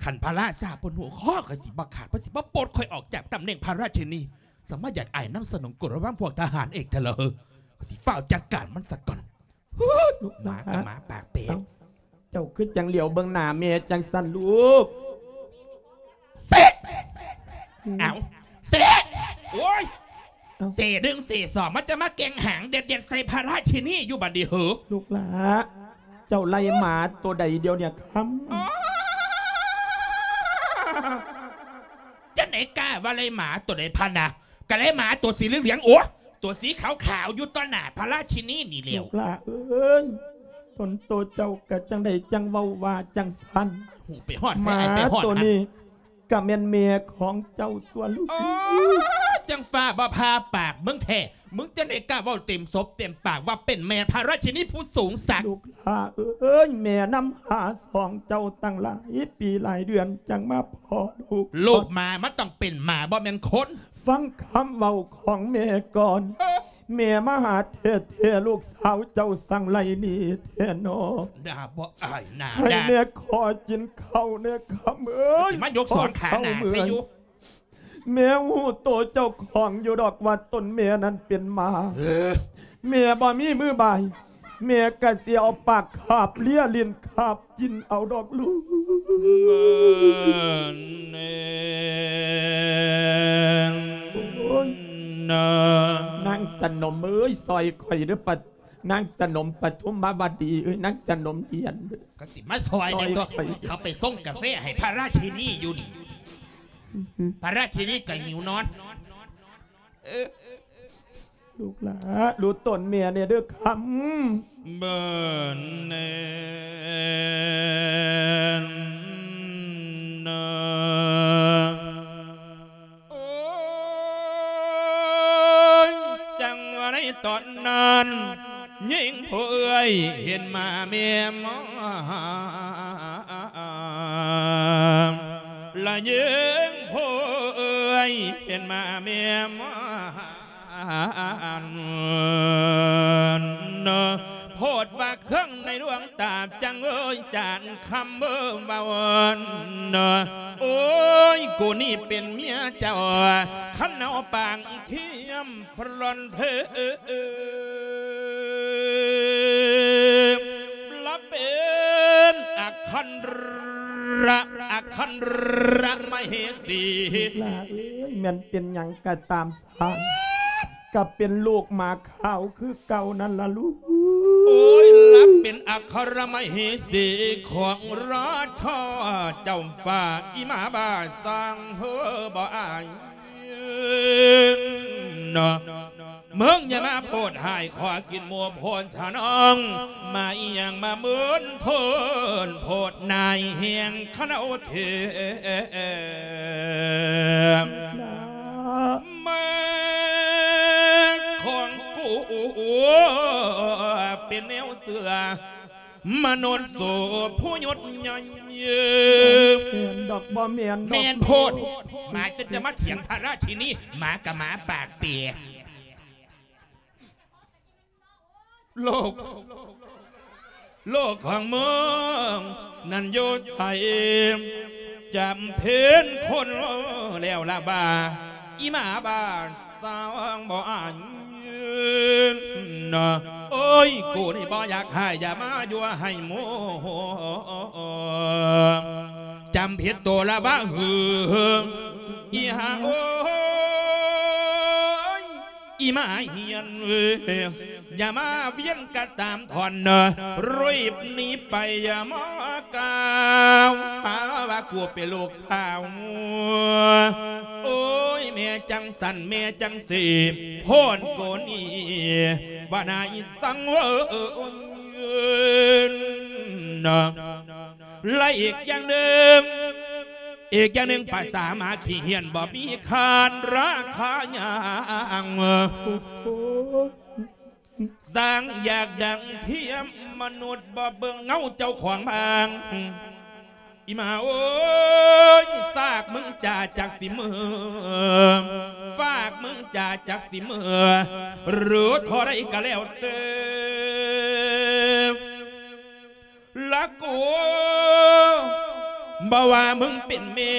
ຄັນພະລາຊາເພິ່ນຮູ້ ຄໍກໍຊິບໍ່ຂາດ, ເພິ່ນຊິບໍ່ປົດຂ້ອຍອອກຈາກຕຳແໜ່ງພະລາຊິນີ. ສະມາຢາກອາຍນາງສະໜົມໂກຣມນຳພວກທະຫານເອກເທື່ອລະເຮີ. ຂ້ອຍຊິຟ້າວຈັດການມັນສະກ່ອນ. ລູກຫຼ້າ ໝາກໍໝາປາກເປ. ເອົ້າ ເຈົ້າຄືຈັ່ງຫຼຽວເບິ່ງໜ້າແມ່ຈັ່ງຊັ້ນລູກ? ເສະ ອືມ ເອົ້າ ເສະ ໂອ້ຍ ເອົ້າ ເສະໜຶ່ງເສະສອງ ມັນຈະມາແກ່ງຫາງເດັດໆໃສ່ພະລາຊິນີຢູ່ບັດນີ້ເຫີ? ລູກຫຼ້າ ເຈົ້າໄລ່ໝາໂຕໃດດຽວນີ້ຄຳ? ອໍ ຈັ່ງໃດກ້າວ່າໄລ່ໝາໂຕໃດພະນະ? ກະໄລ່ໝາຕົວສີເຫຼືອງໆ ໂອ້ ຕົວສີຂາວໆ ຢູ່ຕໍ່ໜ້າພະລາຊິນີນີ້ແລ້ວ. ລູກຫຼ້າເອີຍ ຕົນໂຕເຈົ້າກະຈັ່ງໃດຈັ່ງເວົ້າວ່າຈັ່ງຊັ້ນ? ຫູໄປຮອດໃສ ໄປຮອດຫັ້ນ. ໝາໂຕນີ້ກະແມ່ນແມ່ຂອງເຈົ້າຕົວະລູກ. ອໍ ຈັ່ງຟ້າບໍ່ຜ່າປາກມຶງແທ້ ມຶງຈັ່ງໃດກ້າເວົ້າເຕັມສົບເຕັມປາກວ່າເປັນແມ່ພະລາຊິນີຜູ້ສູງສັກ? ລູກຫຼ້າເອີຍ ແມ່ນຳຫາສອງເຈົ້າຕັ້ງຫຼາຍປີຫຼາຍເດືອນຈັ່ງມາພໍ້ລູກ. ລູກໝາມັນຕ້ອງເປັນໝາ ບໍ່ແມ່ນຄົນ. ຟັງຄຳເວົ້າຂອງແມ່ກ່ອນ. ເອີ ແມ່ມາຫາແທ້ໆ ລູກສາວເຈົ້າສັງໄລ່ໜີແທ້ນໍ? ໜ້າບໍ່ອາຍໜ້າດ້ານ. ໃຫ້ແມ່ຂໍກິນເຂົ້າແດ່ຄຳເອີຍ. ຊິມາຍົກສອງຂາໜ້າໃສ່ຢູ່. ແມ່ຮູ້ໂຕເຈົ້າຂອງຢູ່ດອກວ່າຕົນແມ່ນັ້ນເປັນໝາ. ເອີ ແມ່ບໍ່ມີມືບາຍ ແມ່ກະຊິເອົາປາກຄາບເລຍ ຫຼິ້ນຄາບກິນເອົາດອກລູກ. ໂອ້ຍ ນາງສະໜົມເອີຍ ຊ່ອຍຂ້ອຍເດີ້ ປະ ນາງສະໜົມປະທຸມມາວະດີເອີຍ ນາງສະໜົມຫຼຽນເດີ້. ກໍຊິມາຊ່ອຍແດ່ຕົວະ ຂ້ອຍເຂົ້າໄປຊົງກາແຟໃຫ້ພະລາຊິນີຢູ່ນີ້ ພະລາຊິນີກໍຫິວນອນ. ເອີ ລູກຫຼ້າ ດູຕົນແມ່ແດ່ເດີ້ຄຳ. ເບິ່ງແນ່ນະ ໂອ້ຍ ຈັ່ງວ່າໃນຕອນນັ້ນ ຍິງຜູ້ເອື້ອຍເຫັນໝາແມ່ມອນ ລະຍິງຜູ້ເອື້ອຍເຫັນໝາແມ່ມອນ ໂພດວ່າເຄື່ອງໃນດວງຕາ ຈັ່ງເອີຍຈານຄຳເອີຍເວົ້າ ໂອ້ຍ ກູນີ້ເປັນເມຍເຈົ້າ ຄັນເອົາປາກທຽມ ພຣອນເທ ລະເປັນອັກຄັນຣະ ອັກຄັນຣະມະເຫສີ. ລູກຫຼ້າເອີຍ ແມ່ນເປັນຫຍັງກະຕາມຊ່າງ ກະເປັນລູກໝາຂາວຄືເກົ່ານັ້ນລະລູກ. ໂອ້ຍ ລະເປັນອັກຄະຣະມະເຫສີຂອງລາຊາເຈົ້າຟ້າ ອີ່ໝາບ້າຊ່າງເຮີບໍ່ອາຍ ນະ. ມຶງຢ່າມາໂພດຮ້າຍ ຂໍກິນໝູ່ໂພດທະນອງ ມາອີ່ຫຍັງມາເມີນເທີນ ໂພດນາຍແຮງຂະເນົາເທ ແມ່ຂອງກູເປັນແນວເຊື່ອ ມະນຸດໂສຜູ້ຍົດໃຫຍ່ ບໍ່ແມ່ນດອກ ບໍ່ແມ່ນດອກ ແມ່ນໂພດ ໝາຈົນຈະມາຖຽງພະລາຊິນີ ໝາກະໝາປາກເປຍ ໂລກ ໂລກຂອງມຶງນັ້ນຢູ່ໃສ ຈຳເພັນຄົນແລ້ວລະວ່າ ອີ່ໝາບ້າ ສາວບໍ່ອາຍ ໂອ້ຍ ກູນີ້ບໍ່ຢາກຮ້າຍ ຢ່າມາຍົວໃຫ້ໂມ ຈຳຜິດໂຕລະວ່າຫື ອີ່ຫ່າ ໂອ້ຍ ອີ່ໝາຮຽນ ຢ່າມາວຽນກະຕາມທ່ອນ ເນາະ ຣີບໜີໄປ ຢ່າມາກ່າວຫາວ່າກູເປັນລູກ ສາວ ໂອ້ຍ ແມ່ຈັ່ງຊັ້ນ ແມ່ຈັ່ງຊີ້ ໂພດໂກນີ້ ວ່ານາອີສັງເວີນ ແລະອີກຢ່າງໜຶ່ງ ອີກຢ່າງໜຶ່ງ ພາສາໝາຂີ້ເຫື່ອນ ບໍ່ມີຄ່ານລາຄາຫຍັງ ຊ່າງຢາກດັງທຽມມະນຸດ ບໍ່ເບິ່ງເງົາເຈົ້າຂອງບາງ ອີ່ໝາເອີຍ ຊາກມຶງຈາຈັກຊິເມີ ຟາກມຶງຈາຈັກຊິເມີ ຫຼືທໍ່ໃດກະແລ້ວແຕ່ ລະກູ ບໍ່ວ່າມຶງເປັນແມ່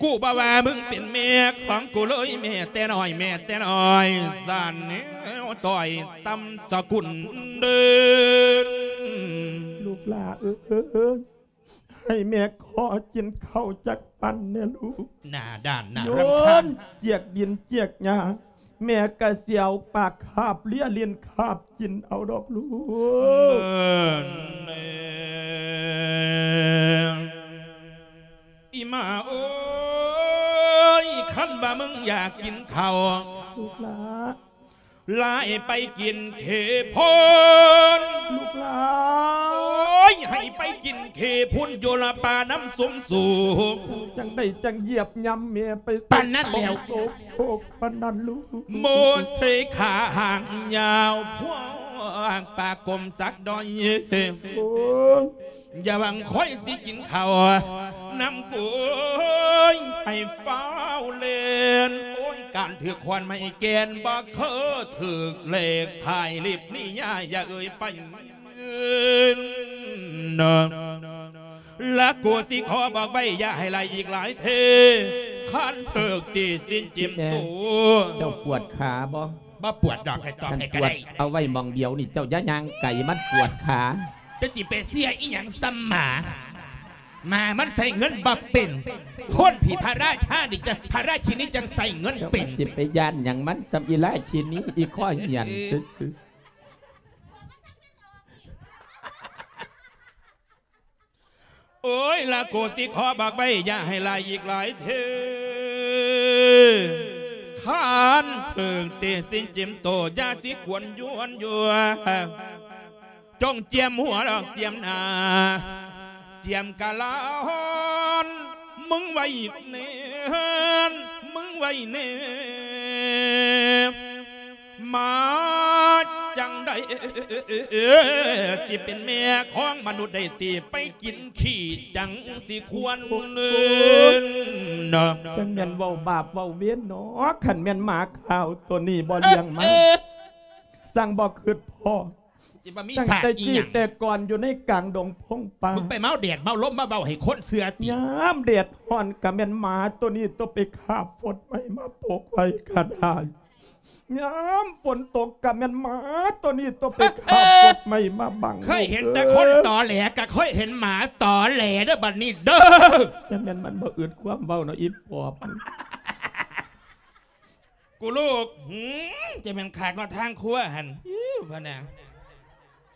ກູບໍ່ວ່າມຶງເປັນແມ່ຂອງກູເລີຍ ແມ່ແຕ່ນ້ອຍ ແມ່ແຕ່ນ້ອຍ ສານແນວຕ້ອຍຕ່ຳສະກຸນເດີ ລູກຫຼ້າເອີຍ ໃຫ້ແມ່ຂໍກິນເຂົ້າຈັກປັ້ນແດ່ລູກ ໜ້າດ້ານໜ້າຣຳຄານ ໂຍນຈຽກດິນຈຽກຫຍ້າ ແມ່ກະຊິເອົາປາກຄາບເລຍ ຫຼິ້ນຄາບກິນເອົາດອກລູກ ອີ່ໝາເອີຍ ຄັນວ່າມຶງຢາກກິນເຂົ້າ ລູກຫຼ້າ ຫຼ້າໃຫ້ໄປກິນເຂພຸ້ນ ລູກຫຼ້າ ໂອ້ຍ ໃຫ້ໄປກິນເຂພຸ້ນ ຢູ່ລະປ່ານ້ຳຊຸມສູງ ຈັ່ງໃດຈັ່ງຢຽບຫຍ້ຳແມ່ໄປ ປານນັ້ນແລ້ວ ໂສໂຄກປານນັ້ນລູກ ໂມເສຂາຫາງຍາວ ພວກປາກົມສັກດອຍ ໂອ້ຍ ຢ່າຫວັງຂ້ອຍຊິກິນເຂົ້ານຳກູ ໂອ້ຍ ໃຫ້ຟ້າວເລ່ນ ໂອ້ຍ ການຖືກຂວານໄມ້ແກ່ນ ບໍ່ເຄີຍຖືກເລກຖ່າຍລິບນິຍາຍ ຢ່າເອີ່ຍໄປ ລະກູຊິຂໍບອກໄວ້ ຢ່າໃຫ້ຫຼາຍອີກຫຼາຍເທື່ອ ຄັນຖືກຕີຊິນຈິ້ມໂຕ ເຈົ້າປວດຂາບໍ່? ບໍ່ປວດດອກ ໃຫ້ຕອບໃຫ້ກະໄດ້ ເອົາໄວ້ໝ່ອງດຽວນີ້ ເຈົ້າຢ່າຍ່າງໄກ ມັນປວດຂາ ຈະຊິໄປເຊື່ອອີ່ຫຍັງສ່ຳໝາ ໝາມັນໃຊ້ເງິນບໍ່ເປັນ ຄົນທີ່ພະລາຊານີ້ຈະ ພະລາຊິນີຈັ່ງໃຊ້ເງິນເປັນ ເຈົ້າຊິໄປຢ້ານຫຍັງມັນ ສ່ຳອີລາຊິນີ ອີຂ້ອຍຫຽນຊື່ໆ ໂອ້ຍ ລະກູຊິຂໍບອກໄວ້ ຢ່າໃຫ້ຫຼາຍອີກຫຼາຍເທື່ອ ຄັນຖືກຕີຊິນຈິ້ມໂຕ ຢ່າຊິກວນຢວນຢູ່ ຈົ່ງຈຽມຫົວດອກ ຈຽມໜ້າ ຈຽມກະລານ ມຶງໄວ້ແນ່ ມຶງໄວ້ແນ່ ໝາຈັ່ງໃດ ຊິເປັນແມ່ຂອງມະນຸດໄດ້ຕິ ໄປກິນຂີ້ຈັ່ງຊິຄວນ ເນາະ ຈັ່ງແມ່ນເວົ້າບາບເວົ້າເວນເນາະ ຄັນແມ່ນໝາຂາວໂຕນີ້ບໍ່ລ້ຽງມາ ເອີ ຈັ່ງບໍ່ຄິດພໍ້ ຊິບໍ່ມີ ຕັ້ງແຕ່ ສາດອີ່ຫຍັງ ແຕ່ກ່ອນຢູ່ໃນກາງດົງພົງປ່າ ມຶງໄປເມົາແດດເມົາລົມມາເວົ້າໃຫ້ຄົນເຊື່ອຕິ ຍາມແດດຮ້ອນກະແມ່ນໝາໂຕນີ້ໂຕໄປຄາບຟົດໄມ້ມາປົກໄວ້ກະໄດ້ ຍາມຝົນຕົກກະແມ່ນໝາໂຕນີ້ໂຕໄປຄາບຟົດໄມ້ມາບັງ ເຄີຍເຫັນແຕ່ຄົນຕໍແຫຼ ກະເຄີຍເຫັນໝາຕໍແຫຼເດີ ບັດນີ້ເດີ ຈັ່ງແມ່ນມັນບໍ່ອຶດຄວາມເວົ້າເນາະ ອີປອບ ກູລູກ ຫື ຈະແມ່ນຄັກເນາະ ທາງຄົວຫັ້ນ ອິ້ວ ພະນາ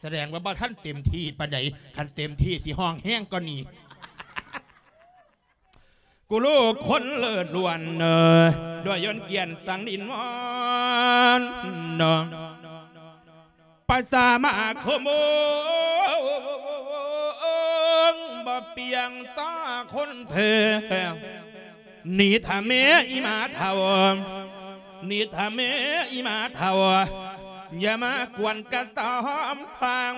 ສະແດງວ່າບໍ່ທັນເຕັມທີ່ປານໃດ ຄັນເຕັມທີ່ຊິຮ້ອງແຮງກວ່ານີ້ ກູລູກຄົນເລີດລ້ວນ ດ້ວຍຍົນກຽນສັງດິນວອນ ນເນາະ ປະຊາມາຄົມ ບໍ່ປຽງສາຄົນແທ້ ນີ້ຖ້າແມ່ອີ່ໝາເຖົ້າ ນີ້ຖ້າແມ່ອີ່ໝາເຖົ້າ ຢ່າມາກວນກະຕອມຟັງ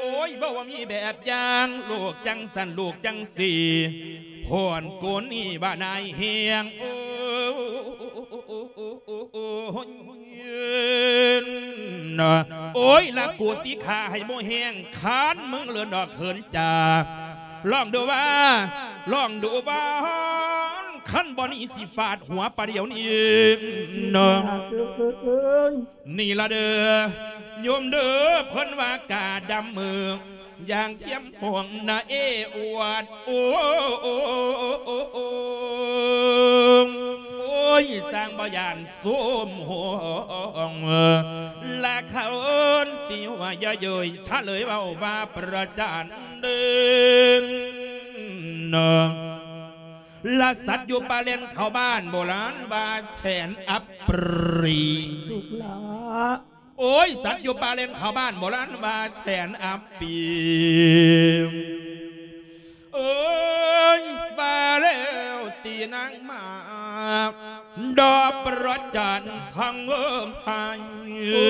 ໂອ້ຍ ບໍ່ມີແບບຢ່າງ ລູກຈັ່ງຊັ້ນ ລູກຈັ່ງຊີ້ ໂພນໂກນນີ້ວ່ານາຍແຮງ ໂອ້ ໂອ້ຍ ລະກູຊິຂ້າໃຫ້ບໍ່ແຮງ ຄັນມຶງເລີນດອກເຂີນຈາ ລອງດູວ່າ ລອງດູວ່າ ຄັນບໍ່ໜີຊິຟາດຫົວປາດດຽວນີ້ເນາະ ນີ້ລະເດີ ໂຍມເດີ ເພິ່ນວ່າກາດຳມື ຢ່າງທຽມຫ່ວງນະເອອວດ ໂອ້ ໂອ້ຍ ຊ່າງບໍ່ຢ້ານໂຊມໂຮງ ລະເຂົາເອີ້ນຊິວ່າຢ່າເຍີຍ ຊະເລີຍເວົ້າວ່າປະຈານເດີ ລະສັດຢູ່ປ່າແລ່ນເຂົ້າບ້ານ ໂບລານວ່າແສນອັບປີ ລູກຫຼ້າ ໂອ້ຍ ສັດຢູ່ປ່າແລ່ນເຂົ້າບ້ານ ໂບລານວ່າແສນອັບປີ ເອີຍ ວ່າແລ້ວຕີນາງມາ ດອກປະຈັນທັງເອີມໃຫ້ ໂອ້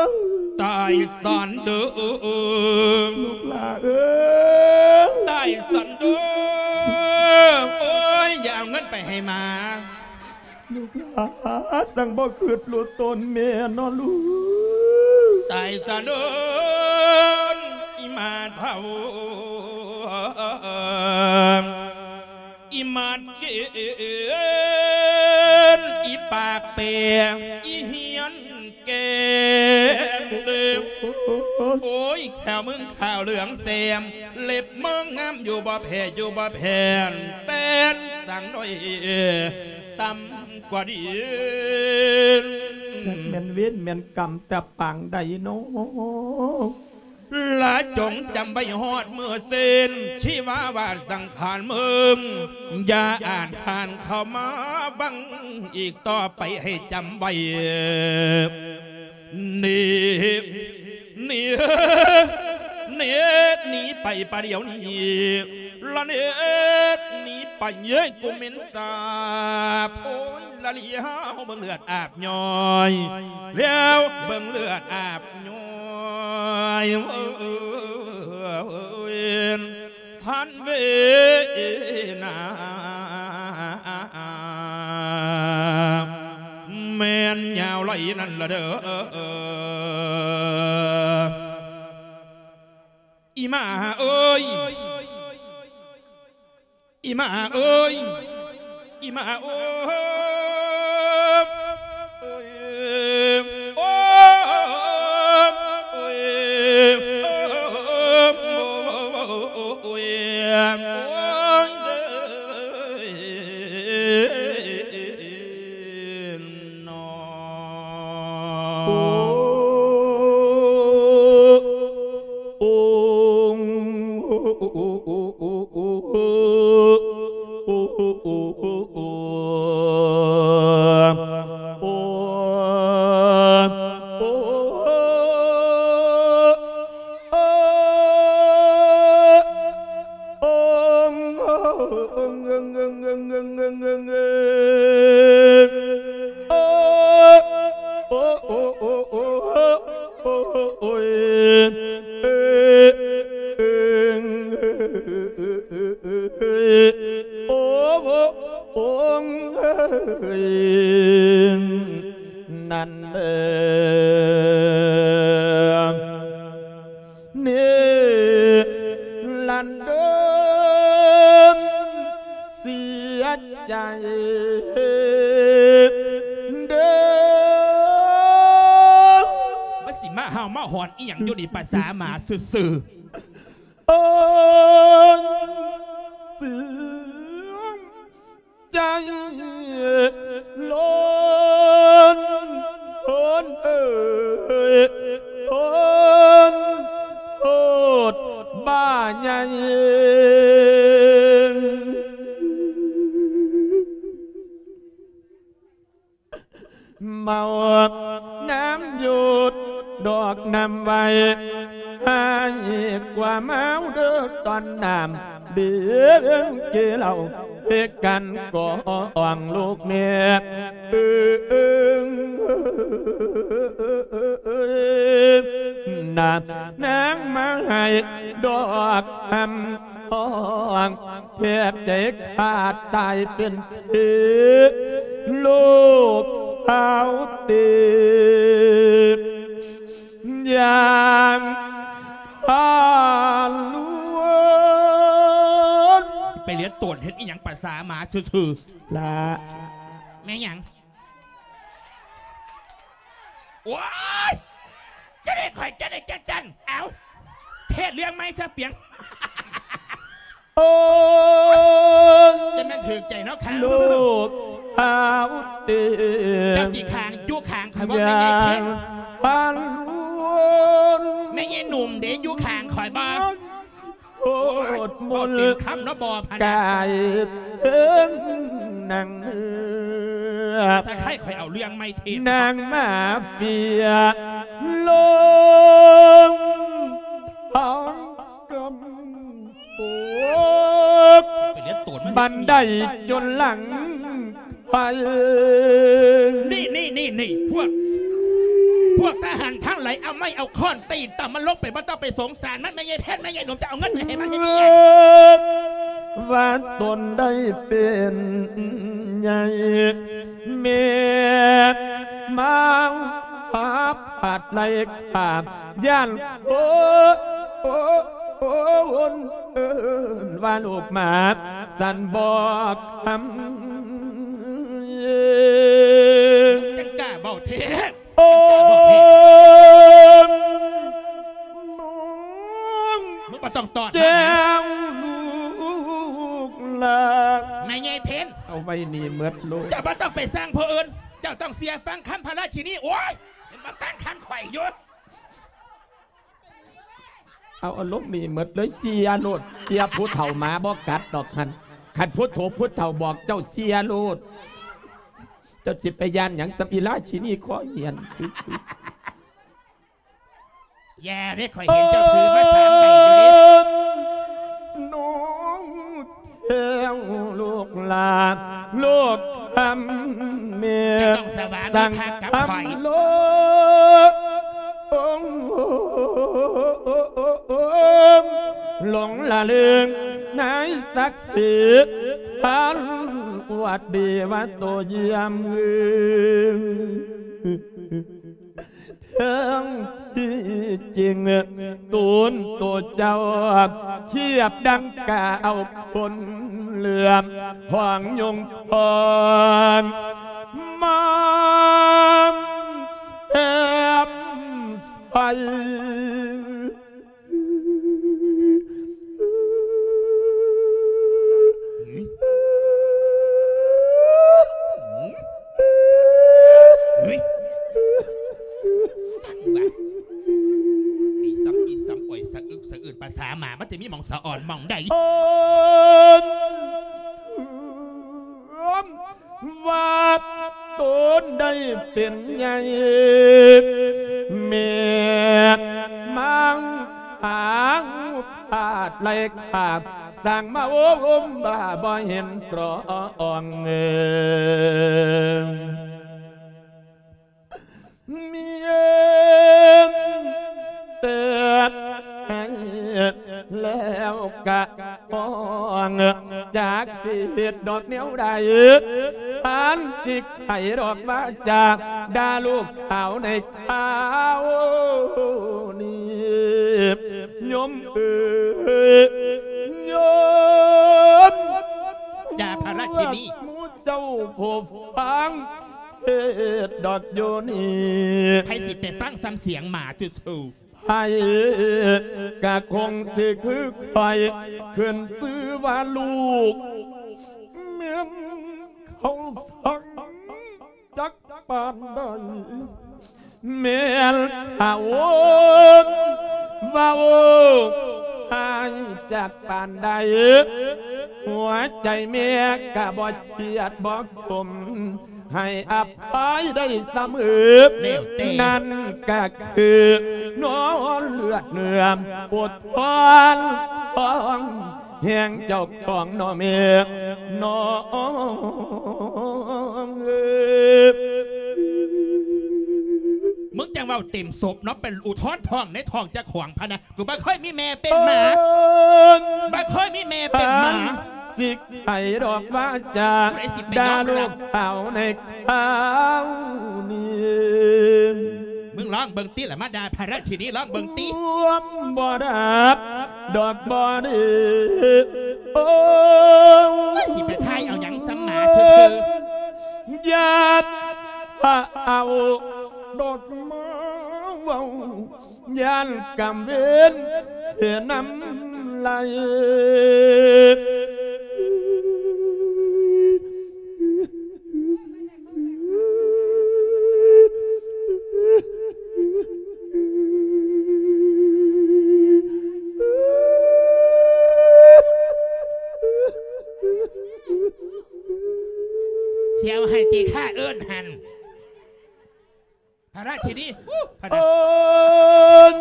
ຍ ຕາຍສັນເດີ ລູກຫຼ້າເອີຍ ຕາຍສັນເດີ ໂອ້ຍ ຢ່າເອົາເງິນໄປໃຫ້ໝາ ລູກຫຼ້າ ຈັ່ງບໍ່ຄິດຮູ້ຕົນແມ່ເນາະລູກ ຕາຍສະເດີ ອີ່ໝາເຖົ້າ ອີ່ໝາດເກນ ອີ່ປາກແປ ອີ່ຮຽນແກ່ນ ໂອ້ຍ ແຂ້ວມຶງຂາວເຫຼືອງແຊມ ເລັບມຶງງາມຢູ່ບໍ່ແພ້ ຢູ່ບໍ່ແພ້ນ ແຕ່ນສັງດ້ອຍ ຕ່ຳກວ່າດີນ ຈັກແມ່ນເວນແມ່ນກຳແຕ່ປາງໃດເນາະ ລະຈົ່ງຈຳໄວ້ຮອດມື້ສິ້ນ ຊີວາວາດສັງຂານມຶງ ຢ່າອາດຫານເຂົ້າມາບັງອີກຕໍ່ໄປ ໃຫ້ຈຳໄວ້ ນີ້ ນີ້ ນີ້ ໜີໄປປະດຽວນີ້ ລະເນີດໜີໄປ ເອີຍ ກູເໝັນສາບ ໂອ້ຍ ລະລຽວເບິ່ງເລືອດອາບຍ້ອຍ ແລ້ວເບິ່ງເລືອດອາບຍ້ອຍ ໂອ້ຍ ທ່ານເວນາ ແມ່ນຍາວໄຫຼນັ້ນລະເດີ ອີ່ໝາເອີຍ ອີ່ໝາເອີຍ ອີ່ໝາເອີຍ ໂອ້ຍ ໂອ້ຍ ໂອ້ຍ ໂອ້ຍ ໂອ້ຍ ໂອ້ຍ ເນາະ ໂອ້ ໂອ້ ນັ້ນເອີ ນີ້ລັນເດີມເສຍໃຈເດີ ມັນຊິມາເຫົ່າມາຫອນອີ່ຫຍັງຢູ່ນີ້ ປະສາໝາຊື່ໆ ໂອ້ຍ ເສຍ ໃຈລົ້ນ ໂພນເອີຍ ໂພນໂພດບ້າໃຫຍ່. ເມົານ້ຳຢູ່ດອກນ້ຳໄວ້ ໃຫ້ກວ່າເມົາເດີຕອນນ້ຳ ເບງເກເຫຼົ້າເຮັດກັນກອງລູກແມ່ ເອີງນາ ນາງມາໃຫ້ດອກຄຳຮ້ອງ ແທບໃຈຂາດຕາຍເປັນເພ ລູກສາວເຕ ຢ່າງທາລວນ ຊິໄປເລຍນໂຕນເຮັດອີ່ຫຍັງປະສາໝາຊື່ໆ ລະ ແມ່ນຫຍັງ? ໂອ້ຍ! ຈະໄດ້ຂ້ອຍ ຈະໄດ້ຈັກຈັ່ນ ເອົ້າ ເທດເລື່ອງໃໝ່ຊະປຽງ ໂອ້ຍ ຈະແມ່ນຖືກໃຈເນາະ ຂ້າງລູກສາວເຕີ ເຈົ້າຊິຂ້າງຢູ່ຂ້າງຂ້ອຍບໍ່ ແມ່ໃຫຍ່ເພັນ ແມ່ໃຫຍ່ໜຸ່ມເດ້ ຢູ່ຂ້າງຂ້ອຍບໍ່? ໂພດມົນ ເວົ້າເຕັມຄຳເນາະ ບໍ່ພະນະ ກາຍເຖິງໜັງເນື້ອ ສະໄຄຂ້ອຍເອົາເລື່ອງໃໝ່ເທດ ນາງມາເຟຍລົງທາງກຳ ໂອ້ ໄປເລຍນໂຕນມັນ ບັນໄດຈົນຫຼັງໄພ ນີ້ ນີ້ ນີ້ ນີ້ ພວກ ພວກທະຫານທັງຫຼາຍ ເອົາໄມ້ເອົາຄ້ອນຕີຕຳມັນລົງໄປ ບໍ່ຕ້ອງໄປສົງສານມັນ ແມ່ໃຫຍ່ເພັນ ແມ່ໃຫຍ່ໜຸ່ມ ຈະເອົາເງິນໄປໃຫ້ມັນເຮັດອີ່ຫຍັງ? ວ່າຕົນໄດ້ເປັນໃຫຍ່ ແມ່ມາຫາພາດໄລ່ຂ້າ ຢ້ານ ໂອ້ ໂອ້ ໂອ້ ໂອ້ ເອີ້ນວ່າລູກໝາ ສັນບອກຄຳ ມຶງຈັ່ງກ້າເວົ້າແທ້ ໂອ້ ຈັ່ງກ້າເວົ້າແທ້ ມຶງບໍ່ຕ້ອງຕອດມານະ ແຈ້ວລູກຫຼານ ແມ່ໃຫຍ່ເພັນ ເອົາໄວ້ນີ້ໝົດໂລດ ເຈົ້າບໍ່ຕ້ອງໄປສັ່ງຜູ້ອື່ນ ເຈົ້າຕ້ອງເຊື່ອຟັງຄຳພະລາຊິນີ ໂອ້ຍ ມາຟັງຄຳຂ້ອຍຢູ່ ເອົາ ເອົາລົງນີ້ໝົດເລີຍ ເຊື່ອໂລດ ເຊື່ອຜູ້ເຖົ້າ ໝາບໍ່ກັດດອກຫັ້ນ ຄັນພຸດໂທ ຜູ້ເຖົ້າບອກເຈົ້າເຊື່ອໂລດ ເຈົ້າຊິໄປຢ້ານຫຍັງສ່ຳອີລາຊິນີຄໍຮຽນ ຢ່າເດ້ ຂ້ອຍເຫັນເຈົ້າຖືມາສາມໃບຢູ່ເດ້ ໜູ ແລ້ວລູກຫຼານ ລູກຄຳແມ່ ເຈົ້າຕ້ອງສະຫວາມີພັກກັບຂ້ອຍ ໂລ ຫຼົງລະເລີງໃນສັກສີ ທ່ານອວດດີວ່າໂຕຢ້ຽມ ເຖິງທີ່ຈິງ ຕູນໂຕເຈົ້າທຽບດັ່ງກາເອົາຄົນເຫຼືອມ ຫອງຍົງທອງມາມແຊມໃສ ເຮີ້ຍ ສັ່ງວ່າ ອີ່ສ່ຳ ອີ່ສ່ຳ ໂອ້ຍ ສະອຶກສະອືນ ປາສາໝາ ມັນຈະມີໝ່ອງສະອອນໝ່ອງໃດ? ວ່າຕົນໄດ້ເປັນໃຫຍ່ ແມ່ນມັງຫາງພາດໄລ່ຂ້າ ສ້າງມາໂອ້ລົມວ່າບໍ່ເຫັນຕຣອງ ເອີ ມີເອັນແຕ່ໃຫ້ແລ້ວກະ ຫ້ອງ ຈັກຊິເຮັດດອກແນວໃດ ທ່ານຊິໄຂດອກວາຈາ ດ່າລູກສາວໃນຄາວນີ້ ໂຍມເອີຍ ໂຍມ ຢ່າພະລາຊິນີ ໝູ່ເຈົ້າຜູ້ຟັງເທດດອກຢູ່ນີ້ ໃຜຊິໄປຟັງສ່ຳສຽງໝາຊື່ໆ ໃຜກະຄົງຊິຄືຂ້ອຍ ຂຶ້ນຊື່ວ່າລູກແມ່ນເຂົາສັງຈັກປານໃດ ແມ່ນເຂົາເວົ້າຮ້າຍຈັກປານໃດ ຫົວໃຈແມ່ກະບໍ່ຄຽດບໍ່ຄົມ ໃຫ້ອະໄພໄດ້ສະເໝີ ແລ້ວແຕ່ ນັ້ນກະຄືນອນເລືອດເນື້ອ ອົດທົນທອງແຫ່ງເຈົ້າຂອງເນາະແມ່ເນາະ. ມຶງຈັ່ງເວົ້າເຕັມສົບເນາະ ເປັນອຸທົນທອງໃນທ້ອງເຈົ້າຂອງພະນະ. ກູບໍ່ເຄີຍມີແມ່ເປັນໝາ ບໍ່ເຄີຍມີແມ່ເປັນໝາ. ສິກໃຜດອກວາຈາ ຜູ້ໃດຊິໄປຍອມຮັບ ດ່າລູກສາວໃນຄາວນີ້. ມຶງລອງເບິ່ງຕິລະ ມາດ່າພະລາຊິນີ ລອງເບິ່ງຕິ. ຄວາມບໍ່ດັບດອກບໍ່ດີ ໂອ້ຍ ຊິໄປຖ່າຍເອົາຫຍັງສ່ຳໝາຊື່ໆ. ຢ່າສະເອົາດອກມາເວົ້າ ຢ້ານກຳເວນເສຍນ້ຳໄຫຼ. ຊິເອົາໃຫ້ຕິ ຂ້າເອີ້ນຫັ້ນ. ພະລາຊິນີ ພະນະ ໂອ້ຍ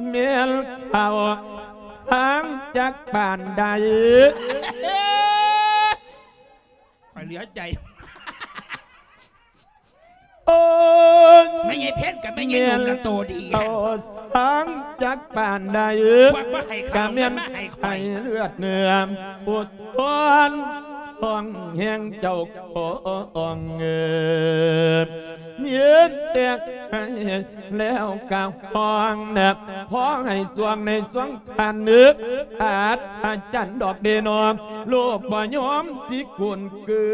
ແມ່ນເຂົາຊ່າງຈັກປານໃດ ຂ້ອຍເຫຼືອໃຈ. ໂອ້ຍ ແມ່ໃຫຍ່ເພັນກັບແມ່ໃຫຍ່ນົມລະໂຕດີ ແມ່ນເຂົາຊ່າງຈັກປານໃດ ກະແມ່ນໃຫ້ເລືອດເນື້ອ ອົດທົນທອງແຫ່ງເຈົ້າຂອງ ເອີ ມີແຕ່ໃຫ້ແລ້ວກະຮ້ອງນະ ຂໍໃຫ້ຊ່ວງໃນຊ່ວງຄັນ ອັດສະຈັນດອກເດນໍ ລູກບໍ່ຍອມຊິກຸນເກື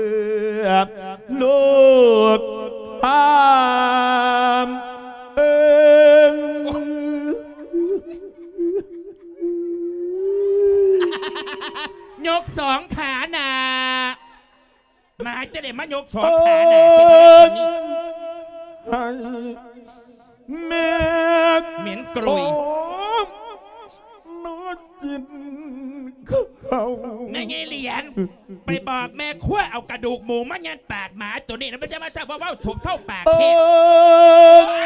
ອ ລູກພາມເອີງ. ຍົກສອງຂາໜ້າ ໝາຈະໄດ້ມາຍົກສອງຂາໜ້າ ເອີ ເປັນພະລາຊິນີ ໃຫ້ແມ່ ເໝັນກຣຸຍ ມາກິນເຂົ້າ ແມ່ໃຫຍ່ຫຼຽນ ໄປບອກແມ່ຄົວເອົາກະດູກໝູມາຍັດປາກໝາໂຕນີ້ນະ ມັນຈະມາເວົ້າສົບເຊົາປາກເທດ ເອີ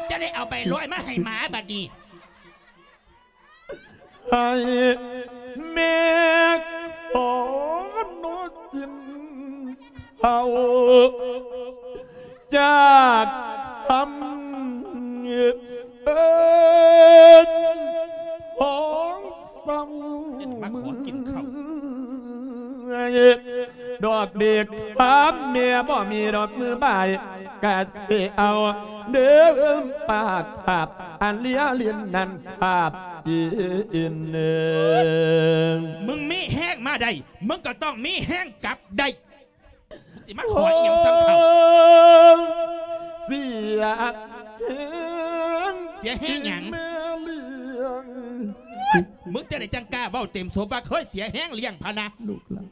ຈະໄດ້ເອົາໃບລອຍມາໃຫ້ໝາບັດນີ້. ໃຫ້ແມ່ຂໍໜໍກິນເຂົ້າ ຈາກຄຳເອີ້ນຂອງເຊົາ ຈະໄດ້ມາຂໍກິນເຂົ້າ ມື້ດອກເດັກຄຳແມ່ບໍ່ມີດອກ ມື້ບ່າຍກະຊິເອົາເດີ ປາກຄາບອັນເລຍຫຼິ້ນນັ້ນຄາບ ຈີນເອີງ ມຶງມີແຮງມາໄດ້ ມຶງກໍຕ້ອງມີແຮງກັບໄດ້ ຊິມາຂໍອີ່ຫຍັງສ່ຳເຂົາ ເສຍແຮງ ເສຍແຮງຫຍັງ ແມ່ລ້ຽງ ມຶງຈັ່ງໃດຈັ່ງກ້າເວົ້າເຕັມສົບວ່າເຄີຍເສຍແຮງລ້ຽງພະນະ ລູກຫຼານ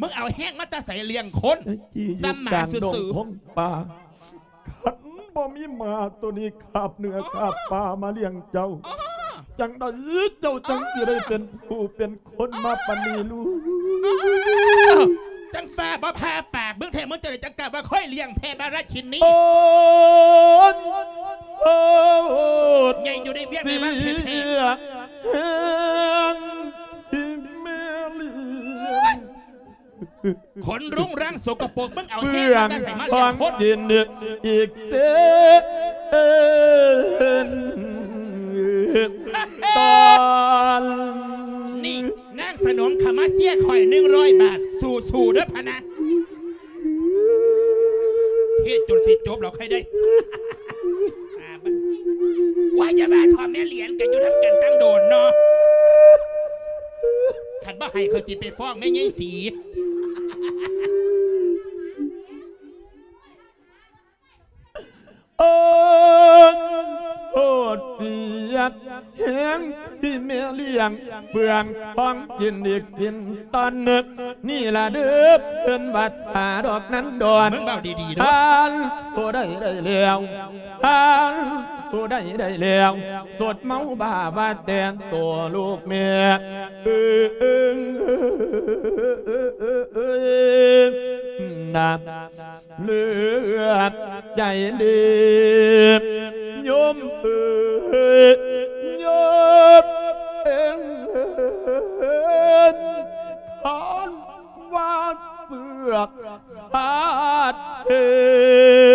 ມຶງເອົາແຮງມາແຕ່ໃສລ້ຽງຄົນ ແມ່ຈີ ສ່ຳໝາຊື່ໆ ຢູ່ກາງດົງພົງປ່າ ຄັນບໍ່ມີໝາໂຕນີ້ຄາບເນື້ອຄາບປາມາລ້ຽງເຈົ້າ ອໍ ຈັ່ງໃດເຈົ້າຈັ່ງຊິໄດ້ເປັນຜູ້ເປັນຄົນມາປານນີ້ລູກ ຈັ່ງຟ້າບໍ່ຜ່າປາກ ມຶງແທ້ ມຶງຈັ່ງໃດຈັ່ງກ້າວ່າຂ້ອຍລ້ຽງແພະມາລາຊິນີ ໂອ້ຍ ໂອ້ຍ ໃຫຍ່ຢູ່ໃນວຽກໃນວັງແທ້ໆ ເສຍແຮງທີ່ແມ່ລ້ຽງ ຄົນລຸງລັງສົກກະປົກ ມຶງເອົາແຮງມາແຕ່ໃສມາລ້ຽງຄົນ ເປື້ອນຂອງກິນອີກເຊັ່ນຕອນນີ້ ນາງສະໜົມເຂົ້າມາເຊຍຂ້ອຍໜຶ່ງຮ້ອຍບາດ ສູ້ໆເດີພະນະ ເທດຈົນຊິຈົບແລ້ວຄ່ອຍໄດ້ ວ່າຢ່າວ່າເທາະ ແມ່ຫຼຽນ ກໍຢູ່ນຳກັນຕັ້ງໂດນເນາະ ຄັນບໍ່ໃຫ້ຂ້ອຍຊິໄປຟ້ອງແມ່ໃຫຍ່ສີ ໂອ້ຍ ໂພດເສຍແຮງທີ່ແມ່ລ້ຽງ ເປື້ອນຂອງກິນອີກສິ້ນຕອນ ນີ້ລະເດີເພິ່ນວ່າຖ້າດອກນັ້ນດອນ ມຶງເວົ້າດີໆເດີ ທ່ານຜູ້ໃດໄດ້ແລ້ວ ທ່ານຜູ້ໃດໄດ້ແລ້ວ ສົດເມົາບ້າວ່າແຕ່ນໂຕລູກແມ່ ເອີ ນະ ເລືອກໃຈດີ ໂຍມເອີຍ ໂຍມເອີຍ ຄັນວ່າເຊືອກຊາດເຫັ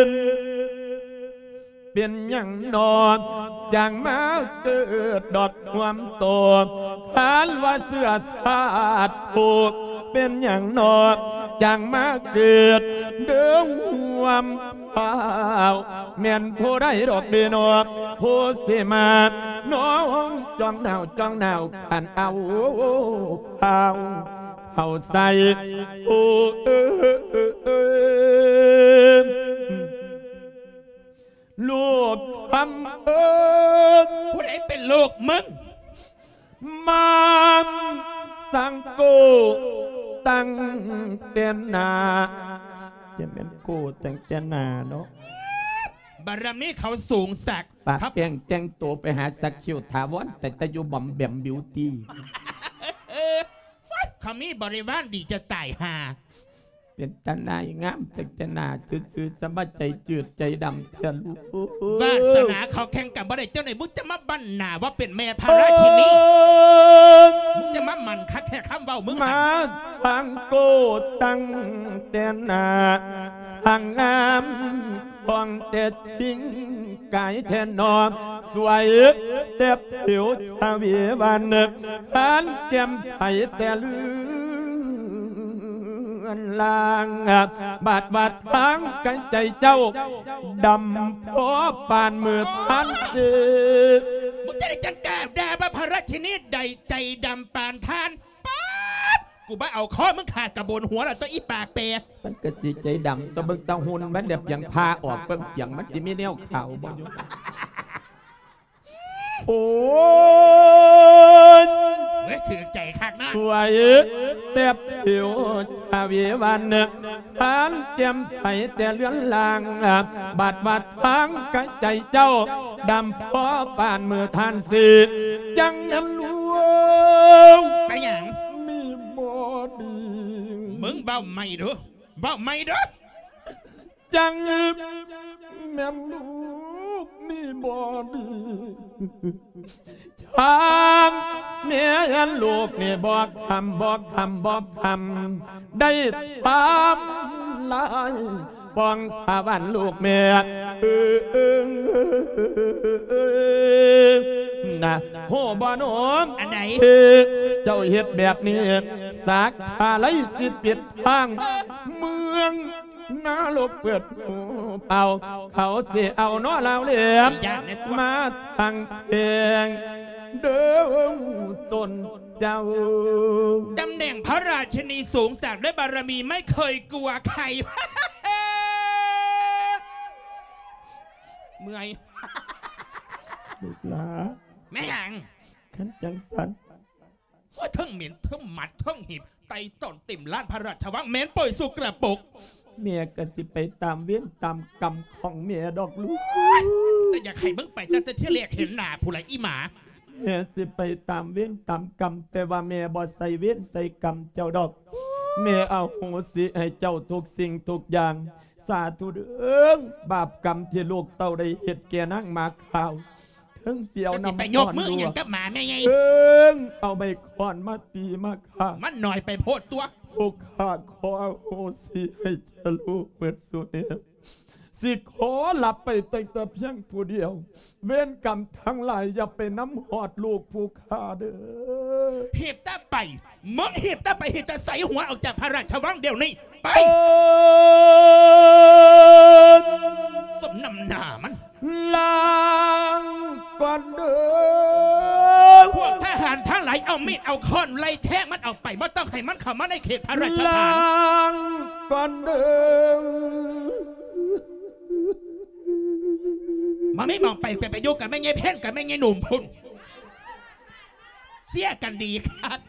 ນ ເປັນຫຍັງໜໍ ຈັ່ງມາເກີດດອກຮວມໂຕ ຄັນວ່າເຊື້ອຊາດຜູ້ ເປັນຫຍັງໜໍ ຈັ່ງມາເກີດເດີຮວມພາວ ແມ່ນຜູ້ໃດດອກເດໜໍ ຜູ້ຊິມານອງຈ້ອງໜາວ ຈ້ອງໜາວ ຄັນເອົາພາວເຂົ້າໃສ່ ໂອ້ ເອີຍ ລູກຄຳເອີຍ ຜູ້ໃດເປັນລູກມຶງ? ມາມສັງໂກຕັ້ງແຕ່ໜ້າ ຈະແມ່ນໂກຕັ້ງແຕ່ໜ້າເນາະ ບາລະມີເຂົາສູງສັກ ປະແປ້ງແຕ່ງໂຕໄປຫາສັກຄິ້ວຖາວອນ ແຕ່ແຕ່ຢູ່ບອມແບມບິວຕີ ເຂົາມີບໍລິວານດີຈະຕາຍຫ່າ. ເປັນຕານາຍງາມ ແຕ່ງແຕ່ໜ້າຊື່ໆ ສະມາໃຈຈືດໃຈດຳແທ້ລູກ ວາສະໜາເຂົາແຂ່ງກັນບໍ່ໄດ້ ເຈົ້ານີ້ມຶງຈະມາບັ້ນໜ້າວ່າເປັນແມ່ພະລາຊິນີ ເອີຍ ມຶງຈະມາໝັ່ນຄັກແທ້ຄຳເວົ້າມຶງ ມາສັງໂກຕັ້ງແຕ່ໜ້າ ສັງງາມ ຂອງແຕ່ຈິງກາຍແທ້ໜໍ ສວຍແຕ່ຜິວຊະເວວັນ ຄັນແຈ່ມໃສແຕ່ເລືອນລາງ ບາດວ່າທາງກາຍໃຈເຈົ້າ ດຳພໍປານມື້ທັນເສ ມຶງຈະໄດ້ຈັ່ງກ້າດ່າວ່າພະລາຊິນີໃດໃຈດຳປານທ່ານ ປາດ ກູບໍ່ເອົາຄໍມຶງຂາດກະໂບນຫົວລະຕົວະ ອີປາກແປ ມັນກະຊິໃຈດຳຕົວະ ເບິ່ງແຕ່ຫຸ່ນມັນແດ່ ປຽງຜ່າອອກເບິ່ງປຽງ ມັນຊິມີແນວຂາວບໍ່ຢູ່ ໂອ້ຍ ເອີຍ ຖືກໃຈຄັກນະ ສວຍແຕ່ຜິວຊະເວວັນ ພັນແຈ່ມໃສແຕ່ເລືອນລາງ ບາດວ່າທາງກາຍໃຈເຈົ້າ ດຳພໍປານມື້ທ່ານເສ ຈັ່ງນັ້ນລວງ ເປັນຫຍັງ? ມີບໍ່ດີ ມຶງເວົ້າໃໝ່ດູ ເວົ້າໃໝ່ເດີ ຈັ່ງແມ່ນລູກນີ້ບໍ່ດີ ທາງແມ່ນລູກນີ້ບໍ່ຄຳ ບໍ່ຄຳ ບໍ່ຄຳ ໄດ້ທຳລາຍ ປອງສະຫວັນລູກແມ່ ເອີ ເອີ ເອີ ນະ ຮູ້ບໍ່ໜູ? ອັນໃດ? ເອີ ເຈົ້າເຮັດແບບນີ້ ສັກຄາໄລສິປິດທາງ ເມືອງນະລົກເປີດຫູເປົ່າ ເຂົາຊິເອົາໜໍລາວແຫຼມ ຢ່າແນຕົວະ ມາທັງແພງ ເດີຕົ້ນ ເຈົ້າ ຕຳແໜ່ງພະລາຊິນີສູງສັກ ແລະ ບາລະມີໄມ່ເຄີຍກົວໃຄ ເມື່ອຍ ລູກຫຼານ ແມ່ນຫຍັງ? ຄັນຈັ່ງຊັ້ນ ໂອ້ຍ ເທິງເໝັນ ເທິງໝັດ ເທິງຫີບ ໄຕຕອນເຕັມລານພະລາຊະວັງ ເໝັນປ່ອຍສົກກະປົກ ແມ່ກະຊິໄປຕາມເວນຕາມກຳຂອງແມ່ດອກລູກ ແຕ່ຢາກໃຫ້ມຶງໄປຕັ້ງແຕ່ທີແລກເຫັນໜ້າພຸ້ນລະອີ່ໝາ ແມ່ຊິໄປຕາມເວນຕາມກຳ ແຕ່ວ່າແມ່ບໍ່ໃສ່ເວນໃສ່ກຳເຈົ້າດອກ ແມ່ອະໂຫສິໃຫ້ເຈົ້າທຸກສິ່ງທຸກຢ່າງ ສາທຸເດີ ບາບກຳທີ່ລູກເຕົ້າໄດ້ເຮັດແກ່ນາງໝາຂາວ ເຖິງຊິເອົານ້ຳ ເຈົ້າຊິໄປຍົກມືອີ່ຫຍັງກັບໝາແມ່ໃຫຍ່ ເຖິງເອົາໄມ້ຄ້ອນມາຕີມາຂ້າ ມັນໜ້ອຍໄປໂພດຕົວະ ຜູ້ຂ້າຂໍອະໂຫສິໃຫ້ແກ່ລູກເໝິດສຸແນວ ຊິຂໍລັບໄປຕັ້ງແຕ່ພຽງຜູ້ດຽວ ເວນກຳທັງຫຼາຍຢ່າໄປນຳຮອດລູກຜູ້ຂ້າເດີ ຮີບແຕ່ໄປ ມຶງຮີບແຕ່ໄປ ຮີບແຕ່ໃສ່ຫົວອອກຈາກພະລາຊະວັງດຽວນີ້ ໄປ ເອີ້ນ ສົມນ້ຳໜ້າມັນ ລາກ່ອນເດີ ພວກທະຫານທັງຫຼາຍເອົາມີດເອົາຄ້ອນໄລ່ແທງມັນອອກໄປ ບໍ່ຕ້ອງໃຫ້ມັນເຂົ້າມາໃນເຂດພະລາຊະຖານ ລາກ່ອນເດີ ບໍ່ມີໝ່ອງໄປ ໄປ ໄປຢູ່ກັບແມ່ໃຫຍ່ເພັນກັບແມ່ໃຫຍ່ໜຸ່ມພຸ້ນ ເສຍກັນດີຄັກ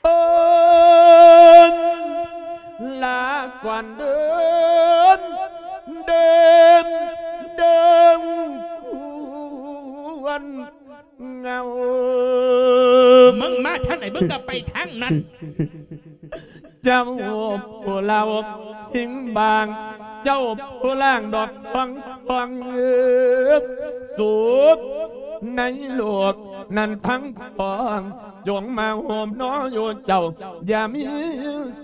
ເອີ້ນ ລາກ່ອນເດີ ເດີ ເດີ ຄວນເຫງົາ ມຶງມາທາງໃດ ມຶງກໍໄປທາງນັ້ນ ເຈົ້າຜູ້ເລົ່າ ຫິງບາງ ເຈົ້າຜູ້ລ້າງດອກທອງທອງ ເອີ ສຸກໃນໂລກນັ້ນທັງປວງ ຈົ່ງມາໂຮມໜໍຢູ່ເຈົ້າ ຢ່າມີ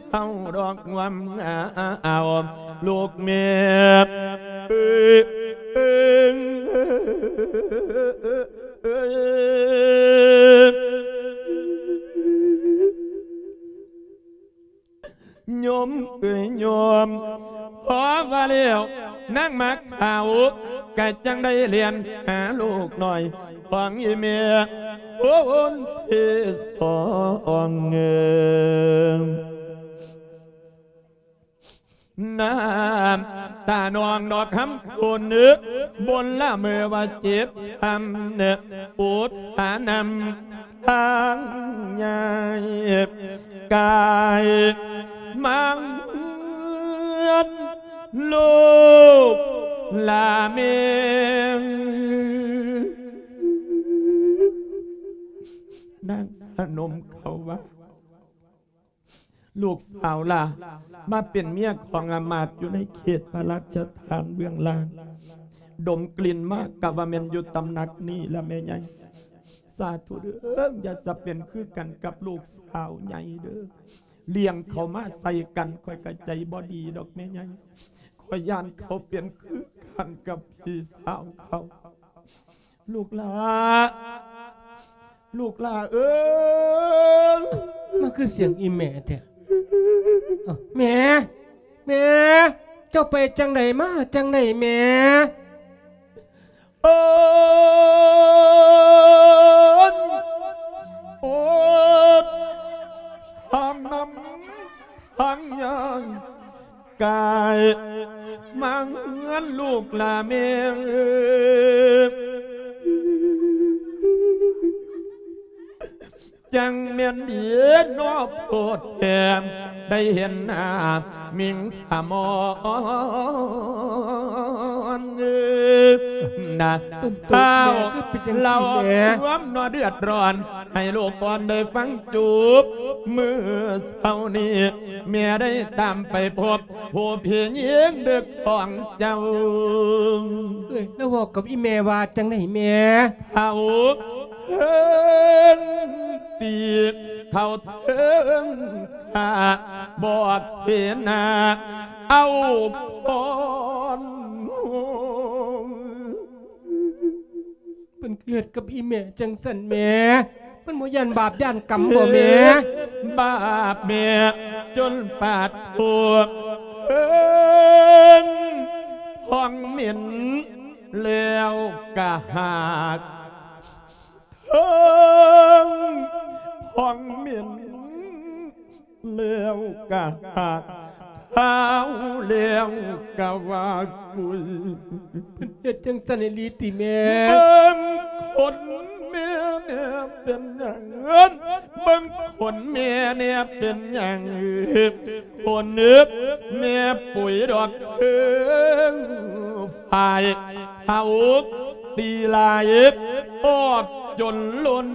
ເສົ້າດອກງວມງາວ ລູກແມ່ເອີຍ ໂຍມເອີຍໂຍມ ພໍວ່າແລ້ວນາງໝາກຂາວ ກະຈັ່ງໄດ້ແລ່ນຫາລູກນ້ອຍຂອງອີ່ແມ່ຄົນທີສອງ. ນ້ຳຕານອງດອກຄຳຄຸນ ບົນລະເມີວ່າເຈັບຊ້ຳ ອຸດສານຳທາງຍາຍ ກາຍມາເຮືອນລູກລາແມ່ ນາງສະໜົມເຂົາວ່າ ລູກສາວຫຼ້າມາເປັນເມຍຂອງອາມາດຢູ່ໃນເຂດພະລາຊະທານເບື້ອງລ່າງ ດົມກິ່ນມາກະວ່າແມ່ນຢູ່ຕຳໜັກນີ້ລະແມ່ໃຫຍ່. ສາທຸເດີ້ ຢ່າສະເປັນຄືກັນກັບລູກສາວໃຫຍ່ເດີ້ ລ້ຽງເຂົາມາໃສ່ກັນ ຂ້ອຍກະໃຈບໍ່ດີດອກແມ່ໃຫຍ່ ຂ້ອຍຢ້ານເຂົາເປັນຄືກັນກັບພີ່ສາວເຂົາ. ລູກຫຼ້າ ລູກຫຼ້າເອີຍ ມັນຄືສຽງອີ່ແມ່ແທ້. ເອົ້າ ແມ່ ແມ່ ເຈົ້າໄປຈັ່ງໃດມາຈັ່ງໃດແມ່? ໂອດ ໂອດ ສານຳທາງຍາຍ ກາຍມາເຮືອນລູກລາແມ່ ຈັ່ງແມ່ນດີເນາະໂພດແທ້ ໄດ້ເຫັນໜ້າມິງສະໝອນ ນະ ເຖົ້າ ລາວຄວາມເນາະເດືອດຮ້ອນ ໃຫ້ລູກອ່ອນໄດ້ຟັງຈູບ ມື້ເຊົ້ານີ້ ແມ່ໄດ້ຕາມໄປພົບຜູ້ພີ່ຍິງເດັກຂອງເຈົ້າ. ເອີຍ ລາວເວົ້າກັບອີ່ແມ່ວ່າຈັ່ງໃດແມ່? ເຂົາເຖິງຕີ ເຂົາເຖິງຂ້າ ບອກເສນາ ເອົາພອນ ເພິ່ນຄືເຮັດກັບອີ່ແມ່ຈັ່ງຊັ້ນແມ່? ເພິ່ນບໍ່ຢ້ານບາບຢ້ານກຳບໍ່ແມ່? ບາບແມ່ຈົນປາດໂທດ ເຖິງພອງເໝັນແລ້ວກະຫາກ ເຖິງພອງເໝັນ ແລ້ວກະຫາກ ທ້າວແລ້ວກະວ່າກຸຍ. ເພິ່ນເຮັດຈັ່ງຊັ້ນອີ່ຫຼີຕິແມ່? ເບິ່ງຂົນແມ່ແນ່ເປັນຫຍັງ? ເບິ່ງຂົນແມ່ແນ່ເປັນຫຍັງ? ຂົນແມ່ປຸຍດອກເທິງຝ້າຍ ເອົາຕີຫຼາຍອອກຈົນລົ້ນ.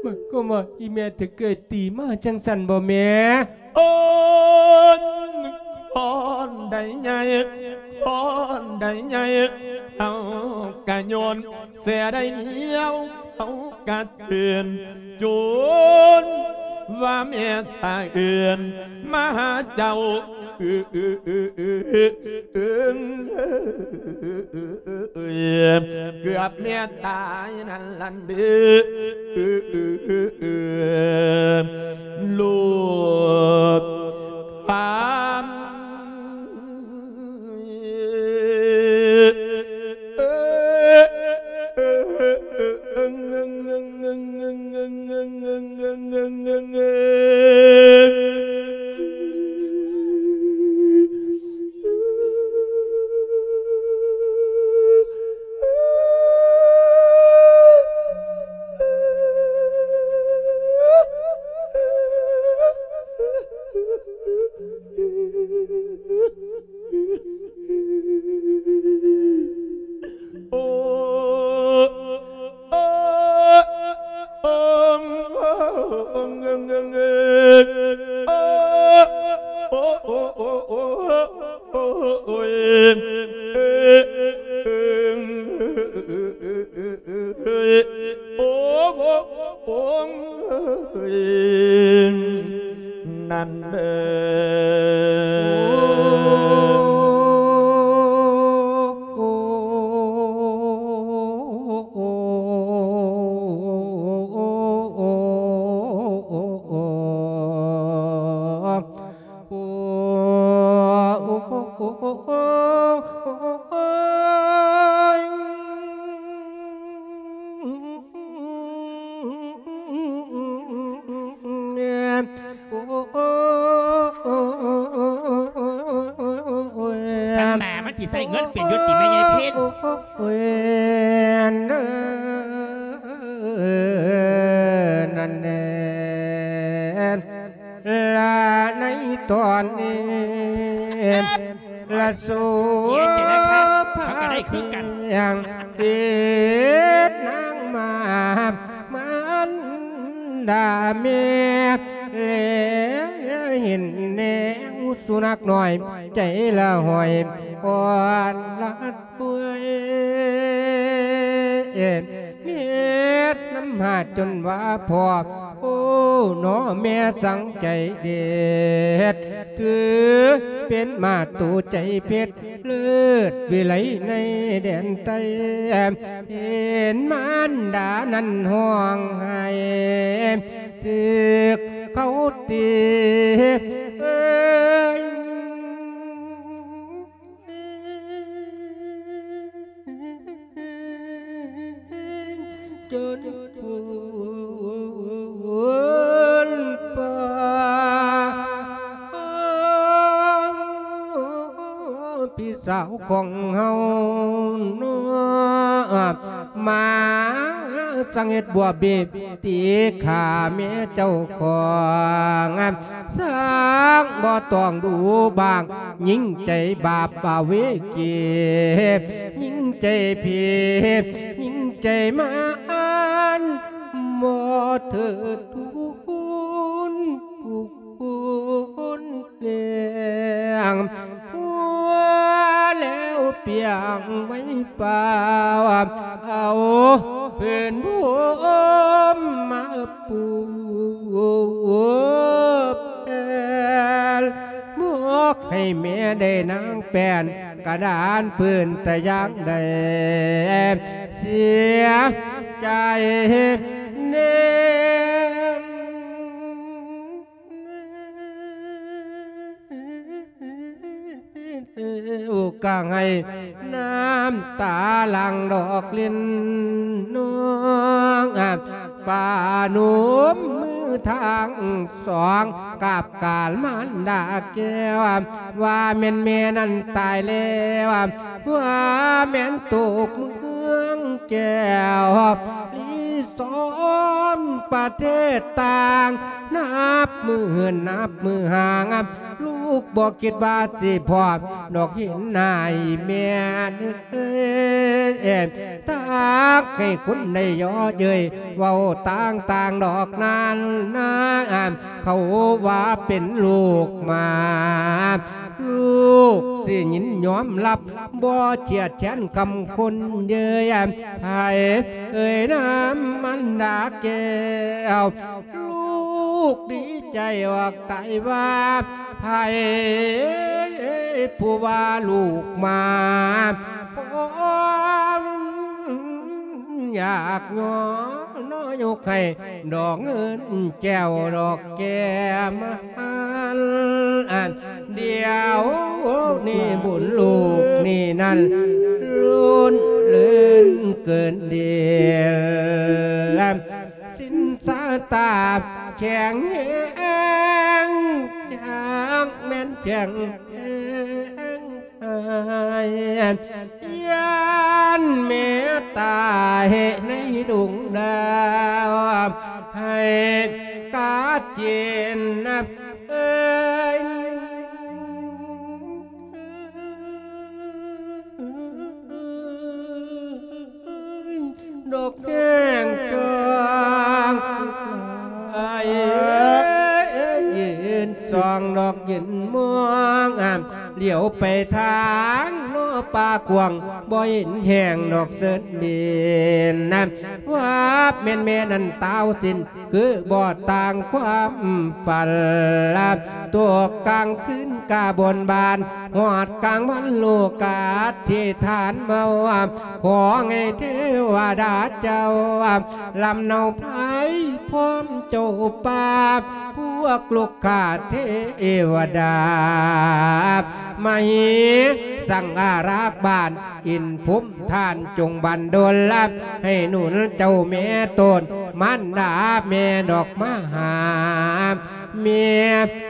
ໝາຍຄວາມວ່າອີ່ແມ່ຖືກເອື້ອຍຕີມາຈັ່ງຊັ້ນບໍ່ແມ່? ໂອນ ຄອນໃດໃຫຍ່ ຄອນໃດໃຫຍ່ ເຮົາກະໂຍນເສຍໄດ້ດຽວ ເຮົາກະຕື່ນ ຈູນວ່າແມ່ສະເອື່ນມາຫາເຈົ້າ. ເກືອບແມ່ຕາຍນັ້ນລະເດີ ລູກຄຳ. ໂອ້ ນັ້ນເດີ. ທຳມາມັນຊິໃຊ້ເງິນເປັນຢູ່ຕິແມ່ໃຫຍ່ເພັນ? ນັ້ນແນ່ ລະໃນຕອນນີ້ ລະໂສພາເປັນຫຍັງເຮັດນາງມາ ມານດາແມ່ ແລເຫັນແນວສຸນັກນ້ອຍ ໃຈລະຫ້ອຍອ່ອນລະ ເມື່ອຍເຮັດນຳຫາຈົນວ່າພໍ້ ໂອ້ ໜໍແມ່ສັງໃຈເດັດ ຖືເປັນມາໂຕໃຈເພັດ ເລີດວິໄລໃນແດນໃຕ້ ເຫັນມານດານັ້ນຮ້ອງໄຫ້ ຖືກເຂົາຕີ ເອີຍ ຈົນພຸ້ນປ່າ ພີ່ສາວຂອງເຮົາເນາະ ມາສັງເຮັດບົວເບ ຕີຂ້າແມ່ເຈົ້າຂອງ ຊ່າງບໍ່ຕ້ອງດູບາງ ຍິ່ງໃຈບາບອະເວກີ ຍິ່ງໃຈຜີ ຍິ່ງໃຈມານ ບໍ່ເທີດທູນຜູ້ຄົນແກງ ຫົວແລ້ວປຽງໄວ້ຟ້າວ ເອົາພື້ນພົມມາ ປູແປນ ບອກໃຫ້ແມ່ໄດ້ນາງແປນ ກະດານພື້ນແຕ່ຢ່າງໃດ ເສຍໃຈແນ່ ກະໃຫ້ນ້ຳຕາຫຼັ່ງດອກລິນ ນ້ອງປະນົມມືທັງສອງ ກາບການມານດາແກ້ວ ວ່າແມ່ນແມ່ນັ້ນຕາຍແລ້ວ ວ່າແມ່ນຕົກເມືອງແກ້ວ ລີສອນປະເທດຕ່າງ ນັບມື້ເຫີນນັບມື້ຫ່າງ ລູກບໍ່ຄິດວ່າຊິພໍ້ ດອກເຫັນໜ້າອີ່ແມ່ເອີຍ ທັກໃຫ້ຄົນໄດ້ເຍາະເຍີ້ຍ ເວົ້າຕ່າງໆດອກນັ້ນນາ ເຂົາວ່າເປັນລູກໝາ ລູກຊິຍິນຍອມຮັບ ບໍ່ເຈຍດແຄ້ນຄຳຄົນເຍີ້ຍ ໃຜເອີຍນາມມັນດາແກ້ວ ລູກດີໃຈອອກຕາຍວ່າ ໃຜຜູ້ວ່າລູກໝາ ພ້ອມຢາກຍ້ອນ ຍົກໃຫ້ດອກເງິນແກ້ວດອກແກ້ມ ດຽວນີ້ບຸນລູກນີ້ນັ້ນ ລົ້ນເລີນເກີນເດນ ສິນຊາຕາແຂງແຮງ ຈັກແມ່ນແຂງແຮງ ຢ້ານແມ່ຕາຍໃນດົງດາວ ໃຫ້ກາເຈນນະເອີຍ ດອກແຫ້ງກາງໄອ ຢືນມອງ ຫຼຽວໄປທາງນອກປ່າກວ້າງ ບໍ່ເຫັນແຮງດອກເສີດເບນນະ ວາບແມ່ນແມ່ນັ້ນຕາວສິ້ນ ຄືບໍ່ຕ່າງຄວາມຝັນລະ ຕົກກາງຄືນກະບົນບານ ຮອດກາງວັນລູກກະອະທິຖານມາວ່າ ຂໍໃຫ້ເທວະດາເຈົ້າ ລຳເນົາໄພພ້ອມເຈົ້າປ່າ ພວກລູກຂ້າເທວະດາ ມະເຫສັງອາລັກບ້ານ ອິນພູມທ່ານຈົ່ງບັນດົນລະ ໃຫ້ໜູນເຈົ້າແມ່ໂຕນ ມານດາແມ່ນອກມາຫາ ແມ່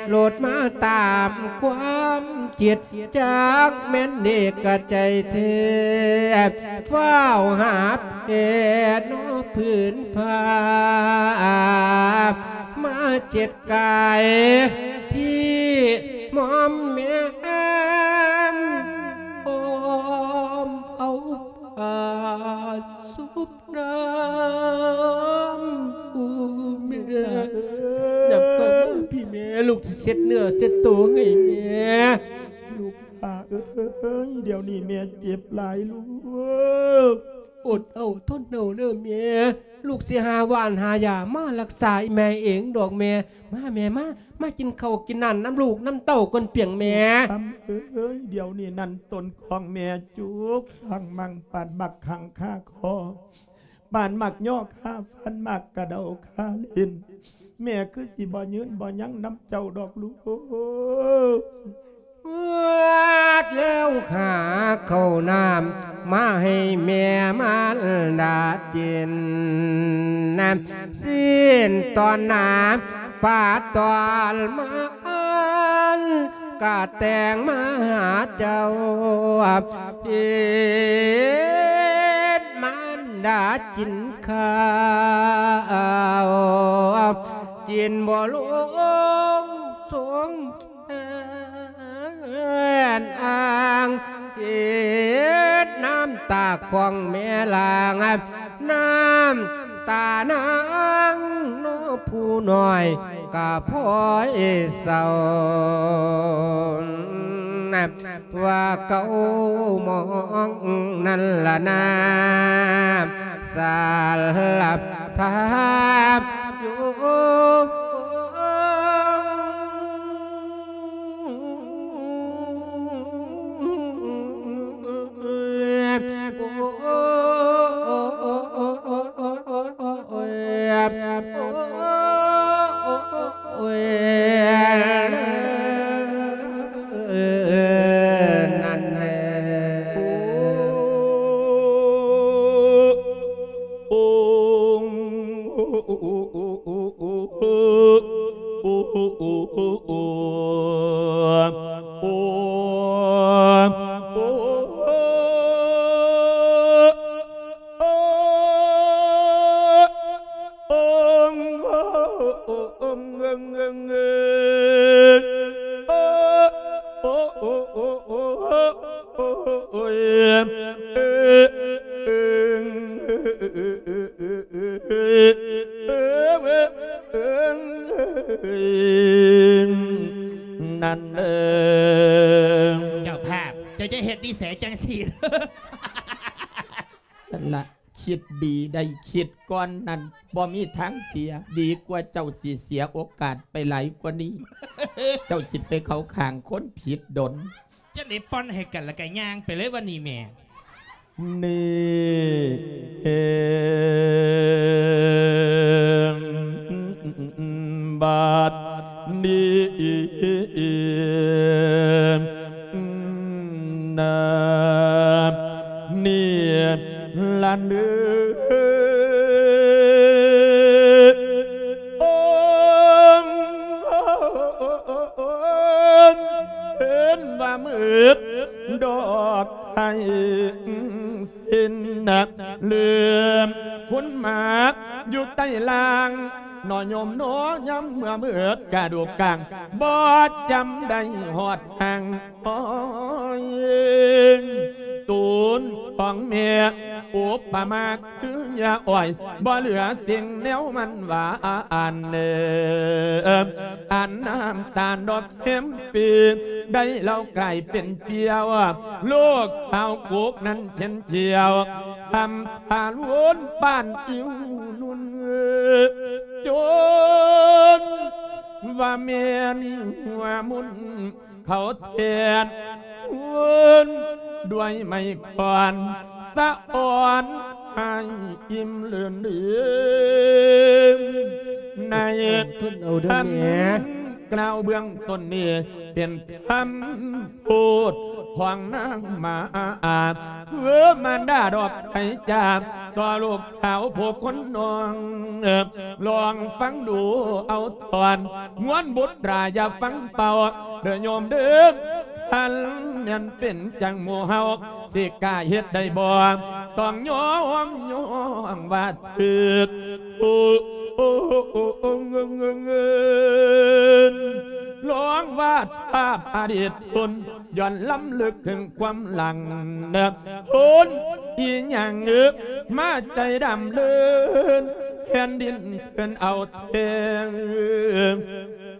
ໂລດມາຕາມຄວາມຄິດ ຈັກແມ່ນເດກະໃຈເທ ຟ້າວຫາແຜ່ນອກພື້ນຜ້າ ມາເຈັດ ກາຍທີ່ໝອມແໝມ ອ້ອມເອົາຜ້າຊຸບນ້ຳ ໂອ້ແມ່ ນຳເຂົ້າມາພີ່ແມ່ ລູກຊິເຊັດເນື້ອເຊັດໂຕໃຫ້ແມ່ ລູກຫຼ້າເອີຍ ດຽວນີ້ແມ່ເຈັບຫຼາຍລູກ ອົດເອົາທົນເອົາເດີແມ່ ລູກຊິຫາຫວ່ານຫາຢາມາລັກສາອີ່ແມ່ເອງດອກແມ່ ມາແມ່ມາ ມາກິນເຂົ້າກິນນ້ຳນຳລູກນຳເຕົ້າກ່ອນປຽງແມ່ ຄຳເອີຍ ດຽວນີ້ນັ້ນຕົ້ນຂອງແມ່ຈຸກສັງມັງປານບັກຂັງຄາຄໍ ປານໝາກຍໍຄາຟັນໝາກກະເດົາຄາເຫຼັ້ນ ແມ່ຄືຊິບໍ່ຍືນບໍ່ຍັງນຳເຈົ້າດອກລູກ ເອີດແລ້ວຫາເຂົ້ານ້ຳມາໃຫ້ແມ່ມານດາກິນ ຊີ້ນຕອນໜາ ປາຕອນມາ ກະແຕ່ງມາຫາເຈົ້າ ເຮັດມານດາກິນເຂົ້າ ກິນບໍ່ລົງສົງແຂນອ້າງ ເຮັດນ້ຳຕາຂອງແມ່ຫຼາງ ນ້ຳຕານາງເນາະຜູ້ນ້ອຍກະພອຍເສົ້າ ວ່າເກົ້າໝອງນັ້ນລະນາ ສາລະພາບຢູ່ ນັ້ນເອີ ເຈົ້າພາບ ເຈົ້າຈະເຮັດນິໄສຈັ່ງຊີ້ ນັ້ນລະ ຄິດດີໄດ້ຄິດກ່ອນນັ້ນ ບໍ່ມີທາງເສຍ ດີກວ່າເຈົ້າຊິເສຍໂອກາດໄປຫຼາຍກວ່ານີ້ ເຈົ້າຊິໄປເຂົ້າຂ້າງຄົນຜິດດົນ ຈັ່ງໃດປ່ອນໃຫ້ກັນ ແລ້ວກະຍ່າງໄປເລີຍວັນນີ້ແມ່ ນີ້ ບາດນີ້ນະ ນີ້ລະເນີ ໂອ ເຫັນວ່າມືດດອກໄມ້ສິ້ນ ເຫຼື້ອມຄຸນໝາກຢູ່ໃຕ້ລ່າງ ໜໍ່ໂຍມໜໍ່ ຍາມເມື່ອມືດກະດູກກາງ ບໍ່ຈຳໄດ້ຮອດຮ່າງ ໂອ້ຍ ຕູນຂອງແມ່ ອຸປະມາຄືຫຍ້າອ້ອຍ ບໍ່ເຫຼືອສິ່ງແນວມັນຫວານເດີ ອັນນ້ຳຕານດອກແຮມປີ ໄດ້ເຫຼົ້າກາຍເປັນປ່ຽວ ລູກສາວກຸກນັ້ນເຊັ່ນກ່ຽວ ທຳທາລຸນປານອິ້ວນຸນ ຈົນວ່າແມ່ນີ້ຫົວມຸ່ນ ເຂົ້າແທນຄົນດ້ວຍໄມ້ຂອນ ສະອອນໃຫ້ອີ່ມເລີນເລີນ ໃນ ທົນເອົາເດີແມ່ ຄຳກ່າວເບື້ອງຕົ້ນນີ້ ເປັນຄຳໂພດຂອງນາງມາ ເອີ ມານດາດອກໄພຈາ ຕໍ່ລູກສາວຜູ້ຄົນນ້ອງ ລອງຟັງດູເອົາທ່ອນ ງວນບຸດລາຢ່າຟັງເປົ່າ ເດີໂຍມເດີ ຄັນແມ່ນເປັນຈັ່ງໝູ່ເຮົາ ຊິກ້າເຮັດໄດ້ບໍ່? ຕ້ອງຍອມ ຍອມວ່າຖືກ ໂອ້ ໂອ້ ໂອ້ ໂອ້ ເງິນ ລອງວາດພາບອະດີດຄົນ ຍ້ອນລຳລຶກເຖິງຄວາມຫຼັງ ຄົນອີ່ຫຍັງເອີ ມາໃຈດຳເລີນ ແຜ່ນດິນເພິ່ນເອົາແທນ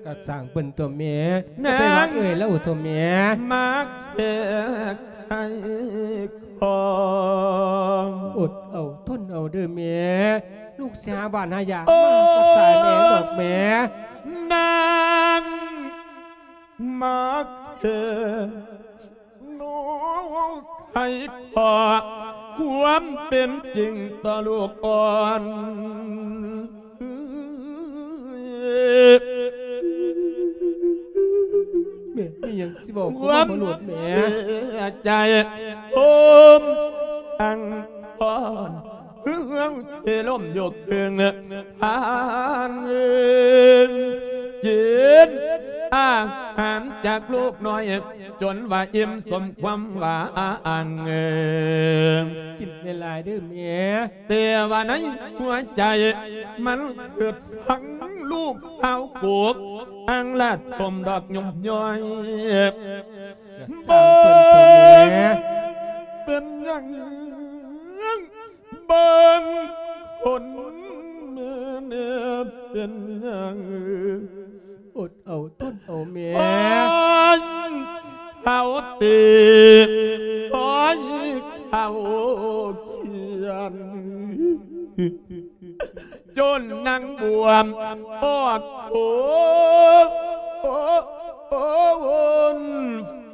ກະຊ່າງເພິ່ນຕົວະແມ່ ນາງ ໄປວ່າເອີຍລະໂອຕົວະແມ່ ມາແກ້ໄຂຂອງ ອົດເອົາ ທົນເອົາເດີແມ່ ລູກຊິຫາຫວ່ານຫາຢາ ໂອ້ ມາຮັກສາແມ່ດອກແມ່ ນາງ ມາແກ້ນ້ອງໄຂຂໍ້ ຄວາມເປັນຈິງຕໍ່ລູກອ່ອນ ແມ່ມີຫຍັງຊິເວົ້າ ຄວາມ ມາໂລດແມ່ ເສຍໃຈໂຮມອັງກອນ ເຮືອງເສລົມຢູ່ເຄິ່ງທານ ກິນອາຫານຈາກລູກນ້ອຍ ຈົນວ່າອີ່ມສົມຄວາມຫວັງ ກິນຫຼາຍໆເດີແມ່ ແຕ່ວ່າໃນຫົວໃຈ ມັນຄຶດສັງລູກສາວກົກ ອັງລະຖົມດອກຍົມຍ້ອຍ ເບິ່ງເປັນຫຍັງ ເບິ່ງຄົນແມ່ແນ່ເປັນຫຍັງ ອົດເອົາທົນເອົາແມ່ ໂອ້ຍ ເຂົາຕີ ໂອ້ຍ ເຂົາຂຽນ ຈົນນາງບວມປອກໂຜ ໂອ້ ໂອ້ ໂອ້ ວົນ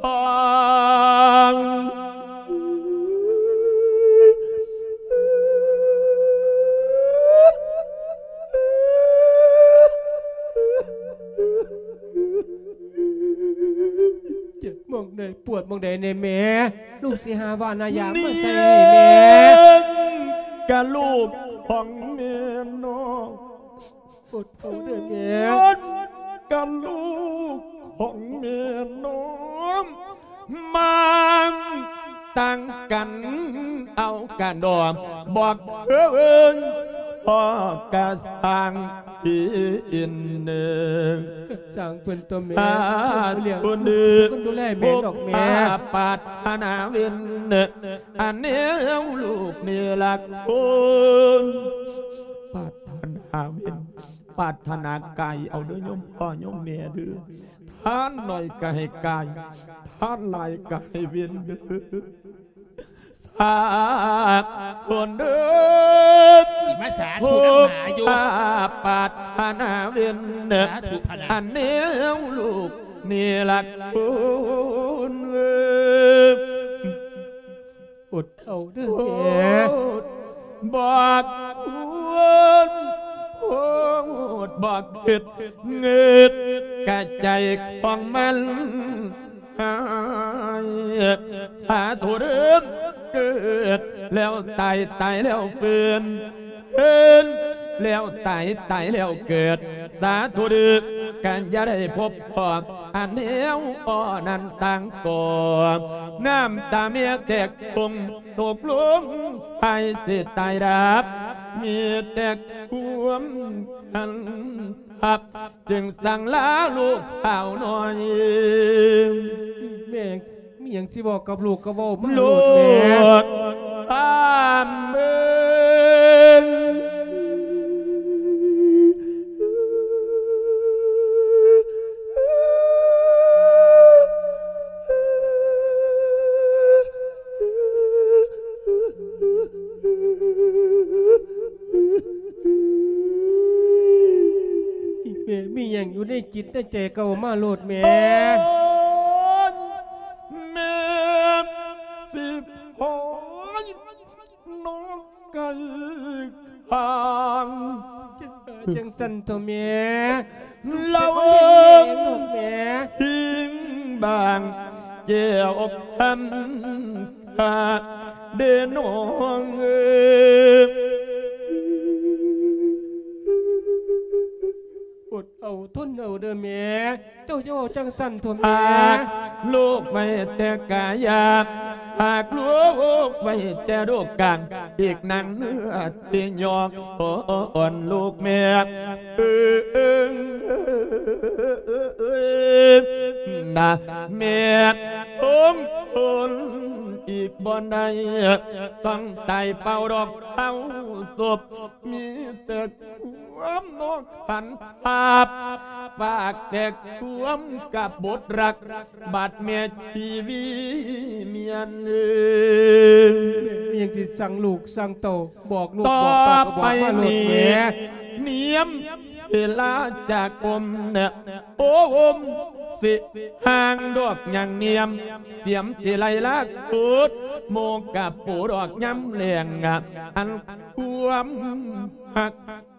ຟາງ ເຈັບໝ່ອງໃດ ປວດໝ່ອງໃດແດ່ແມ່? ລູກຊິຫາຫວ່ານຫາຢາມາໃສ່ໃຫ້ແມ່. ນີ້ກະລູກຂອງແມ່ນ້ອງ ອົດເອົາເດີແມ່ ກະລູກຂອງແມ່ນ້ອງ ມາຕັ້ງກັນເອົາກະດອກ ບອກເອີ້ນພໍ່ກະສ້າງ ທີ່ອິນເນີ ກະສ້າງເພິ່ນຕົວະແມ່ ສາທຸເດີ ເພິ່ນເພິ່ນດູແລແມ່ດອກແມ່ ຜູ້ປາດຖະໜາເວັນ ອັນແນວລູກນີ້ລະຄົນ ປາດຖະໜາເວັນ ປາດຖະໜາກາຍເອົາເດີໂຍມພໍ່ໂຍມແມ່ເດີ ທານໜ້ອຍກະໃຫ້ກາຍ ທານຫຼາຍກະໃຫ້ເວັນເດີ. ສາທຸເດີ ຊິມາສາທຸນຳຫາຢູ່ ຜູ້ປາດຖະໜາເວັນ ສາທຸພະນະ ອັນແນວລູກນີ້ລະຄົນເອີຍ ອົດເອົາເດີແມ່ ໂພດ ບັກຄວນ ໂພດ ບັກເຮັດ ເງິດກະໃຈຂອງມັນ ຫາຍ ສາທຸເດີ ເກີດແລ້ວຕາຍ ຕາຍແລ້ວຟື້ນ ຟື້ນແລ້ວຕາຍ ຕາຍແລ້ວເກີດ ສາທຸເດີ ກະຢ່າໄດ້ພົບພໍ້ ອັນແນວອໍ້ນັ້ນຕ່າງກໍ ນ້ຳຕາແມ່ແຕກຟົງຕົກລົງ ໄຟຊິຕາຍດັບ ມີແຕ່ຄວາມຄັນ ຮັບ ຈຶ່ງສັ່ງລາລູກສາວນ້ອຍ ແມ່ ຫຍັງຊິເວົ້າກັບລູກກໍເວົ້າມາໂລດແມ່ ໂລດ ຖາມເບິ່ງ ແມ່ ມີຫຍັງຢູ່ໃນຈິດໃນໃຈກໍເວົ້າມາໂລດແມ່. ໂອ້ຍ ແມ່ ສິບຫອຍ ນ້ອງໄກ່ຂ້າງ ຈັ່ງຊັ້ນເຖາະແມ່ ລາວເອີຍ ແມ່ ຫິງບາງແກ້ວຄຳ ເດ້ນ້ອງເອີຍ ອົດເອົາທົນເອົາເດີແມ່ ເຈົ້າຢ່າເວົ້າຈັ່ງຊັ້ນໂທ້ແມ່ ຫາກລູກໄວ້ແຕ່ກາຍາ ຫາກລູກໄວ້ແຕ່ໂລກາ ອີກນາງເນື້ອທີ່ຍອກອ່ອນລູກແມ່ ເອີ ນະ ແມ່ຄົງທົນອີກບໍ່ໄດ້ ຕ້ອງຕາຍເປົ່າດອກເສົ້າສົບ ມີແຕ່ຄວາມນອກຫັນພາບ ຝາກແຕ່ຄວາມກັບບົດລັກ ບາດແມ່ທີ່ວີມຽນເອີຍ ແມ່ມີຫຍັງຊິສັ່ງລູກສັ່ງເຕົ້າ ບອກລູກບອກເຕົ້າກໍບອກມາໂລດແມ່ ນຽມເສລາຈາກົມ ໂອມສິຫ່າງດອກຍາງນຽມ ສຽມສິໄລລາໂຄດ ໂມກະໂປດອກຍາມແລງ ອັນຄວາມຮັກ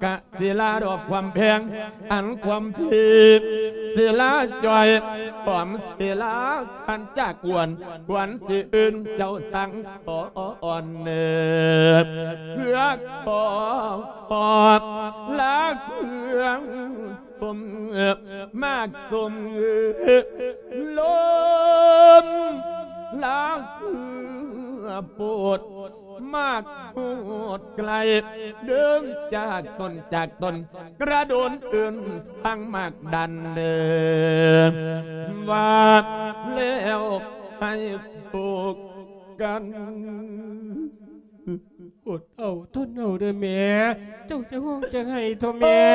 ກະສິລາດອກຄວາມແພງ ອັນຄວາມພີດສິລາຈ່ອຍ ຄວາມສິລາຄັນຈາກກວນ ຄວນສິອື່ນເຈົ້າສັ່ງຂອອ່ອນເນີ ເພື່ອຂໍຂອບລາເຄື່ອງ ສົມມາກສົມລົມ ລາເຄືອໂປດ ມາກໂຫດໄກລ ເດີນຈາກຕົນຈາກຕົນ ກະໂດນເອີ້ນສ້າງມາກດັນເດີ ວ່າແລ້ວໃຫ້ໂສກກັນ ອົດເອົາທົນເອົາເດີແມ່ ເຈົ້າຈະຮ້ອງຈະໄຫ້ໂທ້ແມ່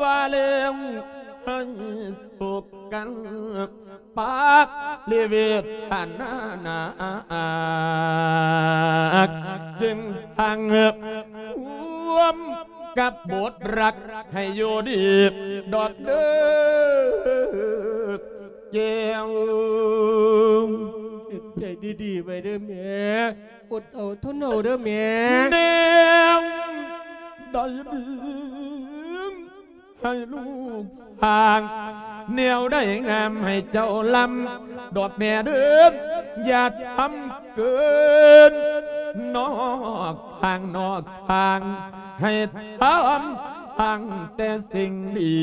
ວ່າແລ້ວໃຫ້ໂສກກັນ ປາລິເວທນານາກ ຈຶ່ງສ້າງຄວາມກັບບົດລັກໃຫ້ຢູ່ດີດອກເດີ ແກ້ວ ເຮັດໃຈດີໆໄວ້ເດີແມ່ ອົດເອົາທົນເອົາເດີແມ່ ແນວໃດດີ ໃຫ້ລູກສ້າງ ແນວໃດງາມໃຫ້ເຈົ້າລຳ ດອກແມ່ເດີ ຢ່າທຳເກີນ ນອກທາງນອກທາງ ໃຫ້ທຳສ້າງແຕ່ສິ່ງດີ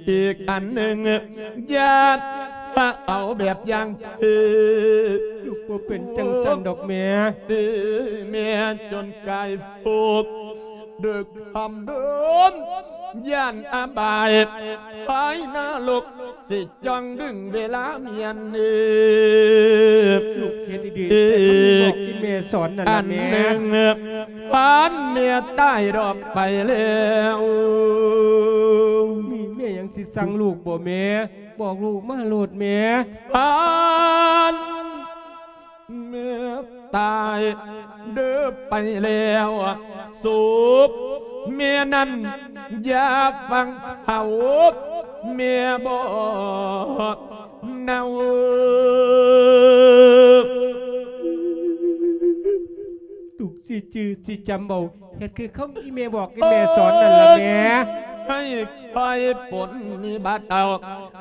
ອີກອັນໜຶ່ງ ຢ່າສະເອົາແບບຢ່າງເພ ລູກບໍ່ເປັນຈັ່ງຊັ້ນດອກແມ່ ຕີແມ່ຈົນກາຍໂສກ ເດີກຄຳເດີນ ຢ້ານອະບາຍ ພາຍນະລົກ ຊິຈ້ອງດຶງເວລາມຽນເນີ ລູກເຮັດດີໆ ແຕ່ຕ້ອງມີບອກທີ່ແມ່ສອນນັ້ນລະແມ່ ອັນໜຶ່ງ ພັນແມ່ຕາຍດອກໄປແລ້ວ ມີແມ່ຫຍັງຊິສັ່ງລູກບໍ່ແມ່ ບອກລູກມາໂລດແມ່ ພັນ ແມ່ຕາຍເດີໄປແລ້ວ ສົບແມ່ນັ້ນຢ່າຟັງເຂົາ ແມ່ບໍ່ເນົ່າ ລູກຊິຈື່ຊິຈຳເອົາ ເຮັດຄືຄຳອີ່ແມ່ບອກ ອີ່ແມ່ສອນນັ້ນລະແມ່ ໃຫ້ຄອຍປົນນິບັດເອົາ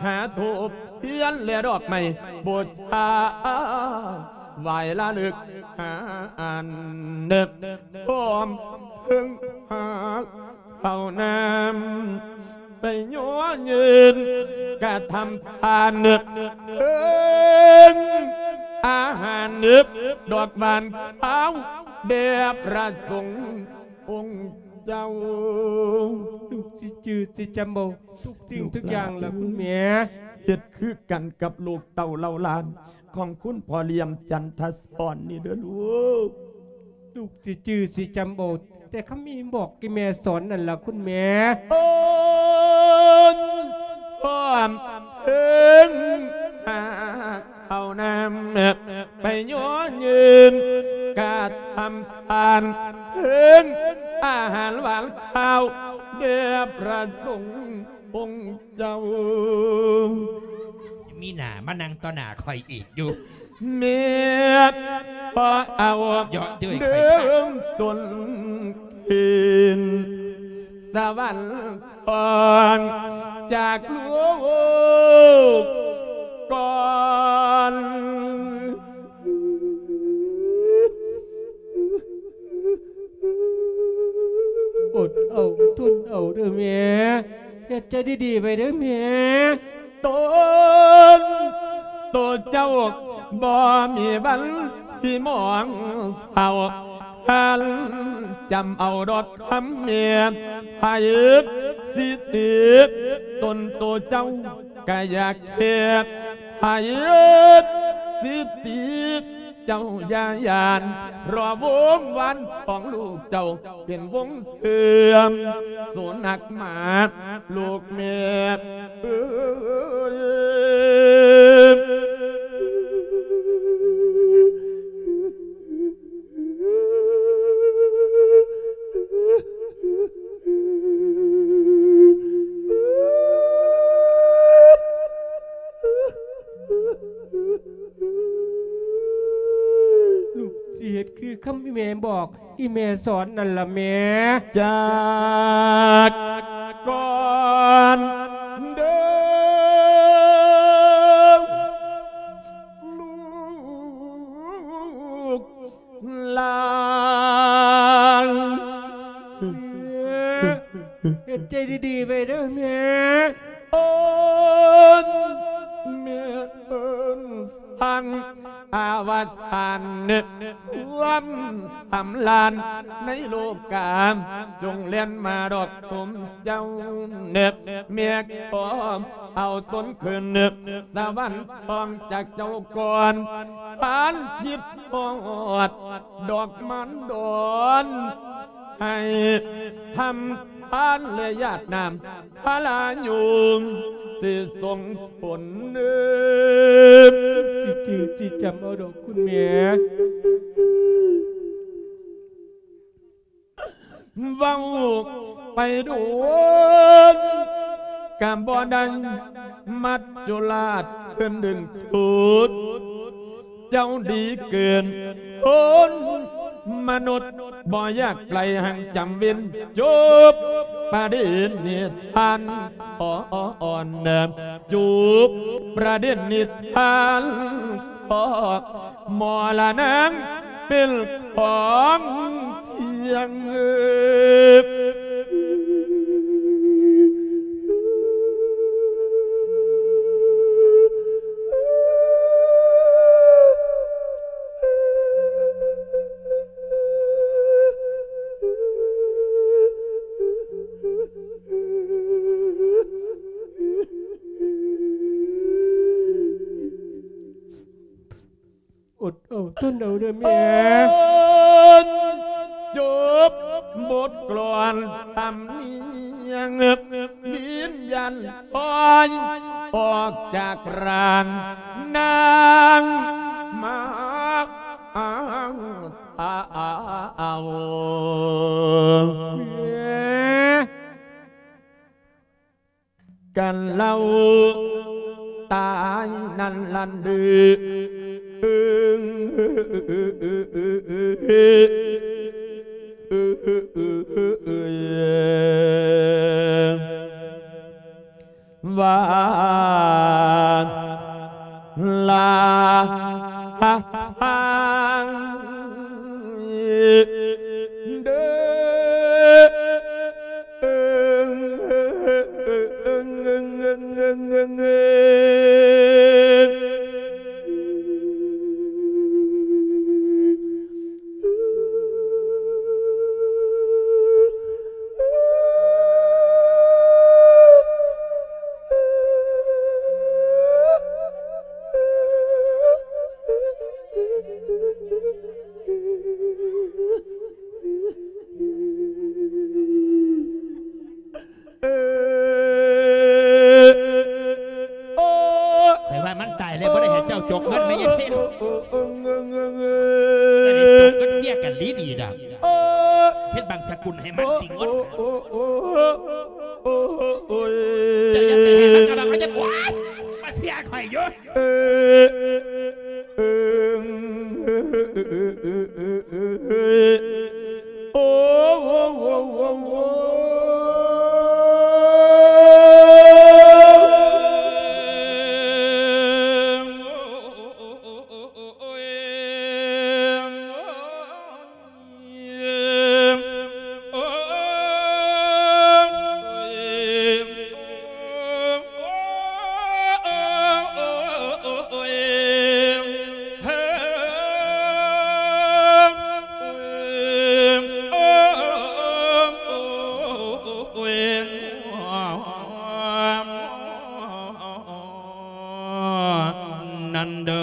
ຫາທູບທຽນແລະດອກໄມ້ບູຊາ ໄຫວ້ລະລຶກຫາອັນເດີ ພ້ອມເພິ່ງພາເຂົ້ານ້ຳ ໄປຍໍເງິນກະທຳທານເດີ ເພິ່ງອາຫານເດີ ດອກຫວານຂາວແດ່ພະສົງອົງເຈົ້າ ລູກຊິຈື່ຊິຈຳເອົາ ທຸກສິ່ງທຸກຢ່າງລະຄຸນແມ່ ເຮັດຄືກັນກັບລູກເຕົ້າເຫຼົ່າຫຼານຂອງຄຸນພໍ່ຫຼຽມຈັນທະສອນນີ້ເດີລູກ. ລູກຊິຈື່ຊິຈຳເອົາ ແຕ່ຄຳອີ່ບອກອີ່ແມ່ສອນນັ້ນລະຄຸນແມ່. ໂອ້ຍ ພ້ອມເຖິງຫາກເຂົ້ານ້ຳ ໄປຍໍຍື່ນການທຳທານ ເຖິງອາຫານຫວານຄາວແດ່ພະສົງອົງເຈົ້າ. ມີໜ້າມານັ່ງຕໍ່ໜ້າຂ້ອຍອີກຢູ່. ແມ່ ຂໍເອົາເຍາະເຍີ້ຍຂ້ອຍເດີ ຕົ້ນຄືນສະຫວັນທອງຈາກລູກກ່ອນ. ອົດເອົາ ທົນເອົາເດີແມ່ ເຮັດໃຈດີໆໄວ້ເດີແມ່. ຕົນ ໂຕເຈົ້າບໍ່ມີວັນຊິໝອງເສົ້າ ຄັນຈຳເອົາດອກຄຳແມ່ ໃຜຊິຕິຕົນໂຕເຈົ້າກະຢ່າແຄ ໃຜຊິຕິເຈົ້າຢ່າຢ້ານ ເພາະວົງວານຂອງລູກເຈົ້າ ເປັນວົງເຊື່ອມ ສູນນັກມາລູກແມ່ເອີຍ. ລູກຊິເຮັດຄືຄຳອີ່ແມ່ບອກ ອີ່ແມ່ສອນນັ້ນລະແມ່. ຈາກກ່ອນເດີລູກຫຼານ ເຮັດໃຈດີໆໄວ້ເດີແມ່. ເອີ້ນ ແມ່ເອີ້ນສັນ ອາວະສານ ຄວາມສຳລານໃນໂລກາ ຈົ່ງແລ່ນມາດອກຕົນເຈົ້າ ແມ່ຂໍເອົາຕົນຂຶ້ນສະຫວັນທອງຈາກເຈົ້າກ່ອນ ຜ່ານຄິດຮອດດອກມານດອນ ໃຫ້ທຳທານ ແລະ ຢາດນ້ຳພະລາຍູມ ຊິສົ່ງຜົນເນີບ ຊິຈື່ຊິຈຳເອົາດອກຄຸນແມ່. ເວົ້າໄປໂດນກະບໍ່ໄດ້ ມັດຈຸລາດເພິ່ນດຶງດູດ ເຈົ້າດີເກີນຄົນມະນຸດ ບໍ່ຢາກໄກ ຮັ່ງຈຳເວັນຈົບປະເດັນນິທານ ຂໍອ່ອນ ຈົບປະເດັນນິທານ ຂໍໝໍລະນາງເປັນຂອງທ່ຽງ. ອົດເອົາ ທົນເອົາເດີແມ່. ຈົບບົດກລອນສຳນຽງ ວິນຍານປ່ອຍອອກຈາກຮ່າງນາງມາເອົາ ແມ່ ກັນເລົ່າຕາຍນັ້ນຫັ້ນເດີ. ວ່າລາເດີ ເ ຕົກເງິນແມ່ຍາຍເພັນ ຈະໄດ້ຕົກເງິນເສຍກັນດີໆດອກ ເຮັດບັງສະກຸນໃຫ້ມັນຕິງົດ ເຈົ້າຢ່າໄປໃຫ້ມັນກະດອກ ເຂົາຈະ ໂອ້ຍ ມາເສຍຂ້ອຍຢູ່. ນັ້ນເດີ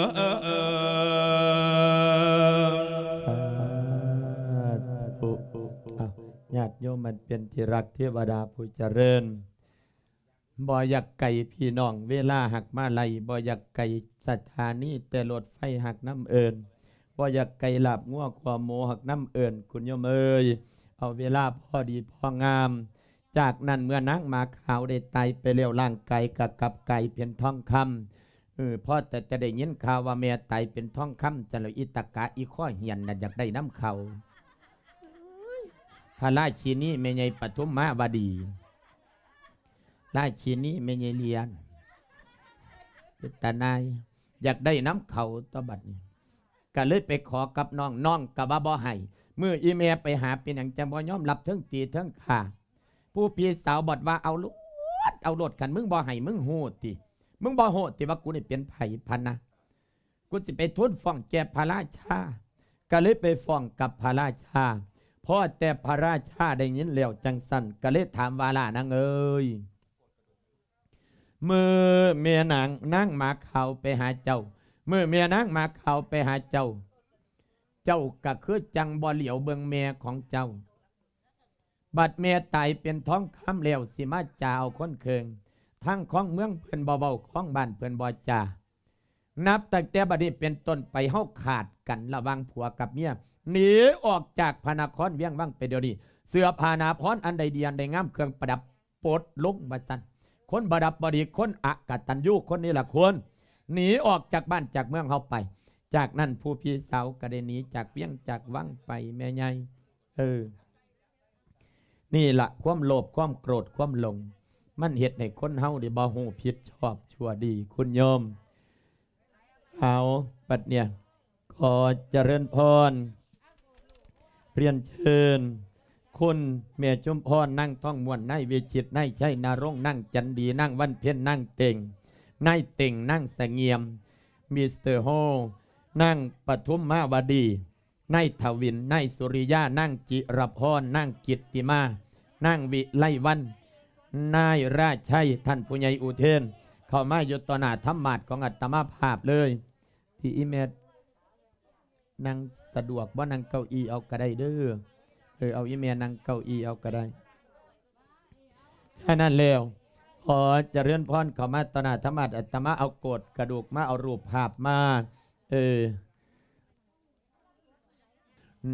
ສາທຸ ອ້າວ ຍາດໂຍມອັນເປັນທີ່ຮັກເທວະດາຜູ້ຈະເລີນ ບໍ່ຢາກໄກພີ່ນ້ອງ ເວລາຫາກມາໄລ ບໍ່ຢາກໄກສະຖານີແຕ່ລົດໄຟຫາກນຳເອີ້ນ ບໍ່ຢາກໄກລາບງົວຂົ້ວໝູຫາກນຳເອີ້ນ ຄຸນໂຍມເອີຍ ເອົາເວລາພໍດີພໍງາມ. ຈາກນັ້ນເມື່ອນາງໝາຂາວໄດ້ຕາຍໄປແລ້ວ ຮ່າງກາຍກໍກັບກາຍເປັນທອງຄຳ ເອີ ພໍແຕ່ຈະໄດ້ຍິນຂ່າວວ່າແມ່ຕາຍເປັນທອງຄຳ ຊັ້ນແລ້ວ ອີຕາກະອີຄໍ້ເຫຍນນັ້ນຢາກໄດ້ນຳເຂົາ ພະລາຊິນີແມ່ໃຫຍ່ປະທຸມມາວະດີ ລາຊິນີແມ່ໃຫຍ່ຫຼຽນ ເປັນຕາໜ່າຍ ຢາກໄດ້ນຳເຂົາຕົວະບັດນີ້ ກໍເລີຍໄປຂໍກັບນ້ອງ ນ້ອງກໍວ່າບໍ່ໃຫ້ ມື້ອີແມ່ໄປຫາ ເປັນຫຍັງຈັ່ງບໍ່ຍອມຮັບ ເທິງຕີເທິງຂ້າ ຜູ້ພີ່ສາວບັດວ່າ ເອົາໂລດ ເອົາໂລດ ຄັນມຶງບໍ່ໃຫ້ ມຶງຮູ້ຕິ ມຶງບໍ່ຮູ້ຕິວ່າກູນີ້ເປັນໃຜ ພະນະ ກູຊິໄປທູນຟ້ອງແກ່ພະລາຊາ ກໍເລີຍໄປຟ້ອງກັບພະລາຊາ ພໍແຕ່ພະລາຊາໄດ້ຍິນແລ້ວຈັ່ງຊັ້ນ ກໍເລີຍຖາມວ່າ ຫຼ້ານາງເອີຍ ມື້ແມ່ນາງ ນາງໝາຂາວໄປຫາເຈົ້າ ມື້ແມ່ນາງໝາຂາວໄປຫາເຈົ້າ ເຈົ້າກໍຄືຈັ່ງບໍ່ຫຼຽວເບິ່ງແມ່ຂອງເຈົ້າ ບັດແມ່ຕາຍເປັນທອງຄຳແລ້ວ ຊິມາຈາເອົາຄົນເຄິ່ງ ທາງຄອງເມືອງເພິ່ນບໍ່ເວົ້າ ຄອງບ້ານເພິ່ນບໍ່ຈາ ນັບຕັ້ງແຕ່ບັດນີ້ເປັນຕົ້ນໄປ ເຮົາຂາດກັນລະຫວ່າງຜົວກັບເມຍ ໜີອອກຈາກພະນະຄອນວຽງວັງໄປດຽວນີ້ ເສື້ອຜ້າໜາພອນອັນໃດດີອັນໃດງາມ ເຄື່ອງປະດັບປົດລົງວ່າຊັ້ນ ຄົນບໍ່ດັບບໍ່ດີ ຄົນອະກະຕັນຍູ ຄົນເນລະຄຸນ ໜີອອກຈາກບ້ານຈາກເມືອງເຮົາໄປ ຈາກນັ້ນຜູ້ພີ່ສາວກໍໄດ້ໜີຈາກວຽງຈາກວັງໄປ ແມ່ໃຫຍ່ ເອີ ນີ້ລະ ຄວາມໂລບ ຄວາມໂກດ ຄວາມຫຼົງ ມັນເຮັດໃຫ້ຄົນເຮົານີ້ບໍ່ຮູ້ຜິດຊອບຊົ່ວດີ ຄຸນໂຍມ. ເອົາ ບັດເນີ້ຍ ຂໍຈະເລີນພອນ ຮຽນເຊີນ ຄຸນແມ່ຊຸມພອນ ນາງທອງມ່ວນ ນາຍວິຈິດ ນາຍໄຊນະລົງ ນາງຈັນດີ ນາງວັນເພັນ ນາງເຕັງ ນາຍເຕັງ ນາງສະຫງຽມ ມິສເຕີໂຮ ນາງປະທຸມມາວະດີ ນາຍທະວິນ ນາຍສຸລິຍາ ນາງຈິລະພອນ ນາງກິດຕິມາ ນາງວິໄລວັນ ນາຍລາໄຊ ທ່ານຜູ້ໃຫຍ່ອຸເທນ ເຂົ້າມາຢູ່ຕໍ່ໜ້າທຳມາດຂອງອາດຕະມາພາບເລີຍ ທີ່ອີແມ່ນັ່ງສະດວກບໍ່ ນັ່ງເກົ້າอี้ເອົາກໍໄດ້ເດີ ເອີ ເອົາອີແມ່ນັ່ງເກົ້າອີ້ເອົາກໍໄດ້. ສະນັ້ນແລ້ວ ຂໍຈະເລີນພອນເຂົ້າມາຕໍ່ໜ້າທຳມາດ ອາດຕະມາເອົາໂກດກະດູກມາ ເອົາຮູບພາບມາ ເອີ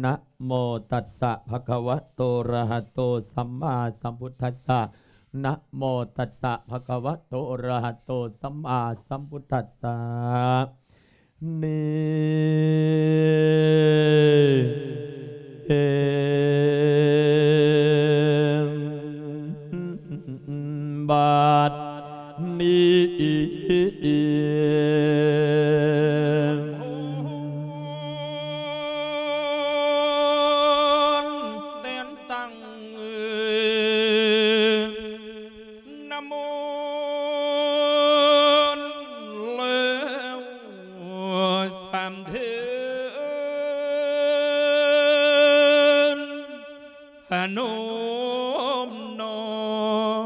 ນະໂມຕັດສະ ພະຄະວະໂຕ ອະລະຫະໂຕ ສຳມາສຳພຸດທັດສະ ນະໂມຕັດສະ ພະຄະວະໂຕ ອະລະຫະໂຕ ສຳມາສຳພຸດທັດສະ ນີ້ ເອ ບາດນີ້ ແຕ່ນຕັ້ງ ນະໂມ ແລ້ວສາມເທີນ ພະນົມນ້ອ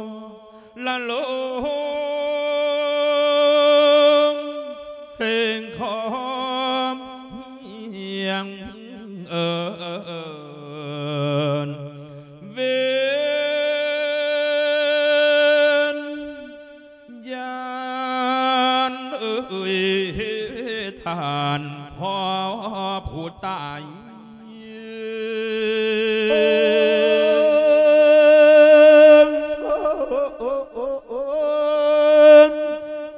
ມ ລະລົງ ເພງຂອມຮຽງ ເອີ ເວນ ຍານເອີຍ ອັນພໍ່ຜູ້ຕາຍ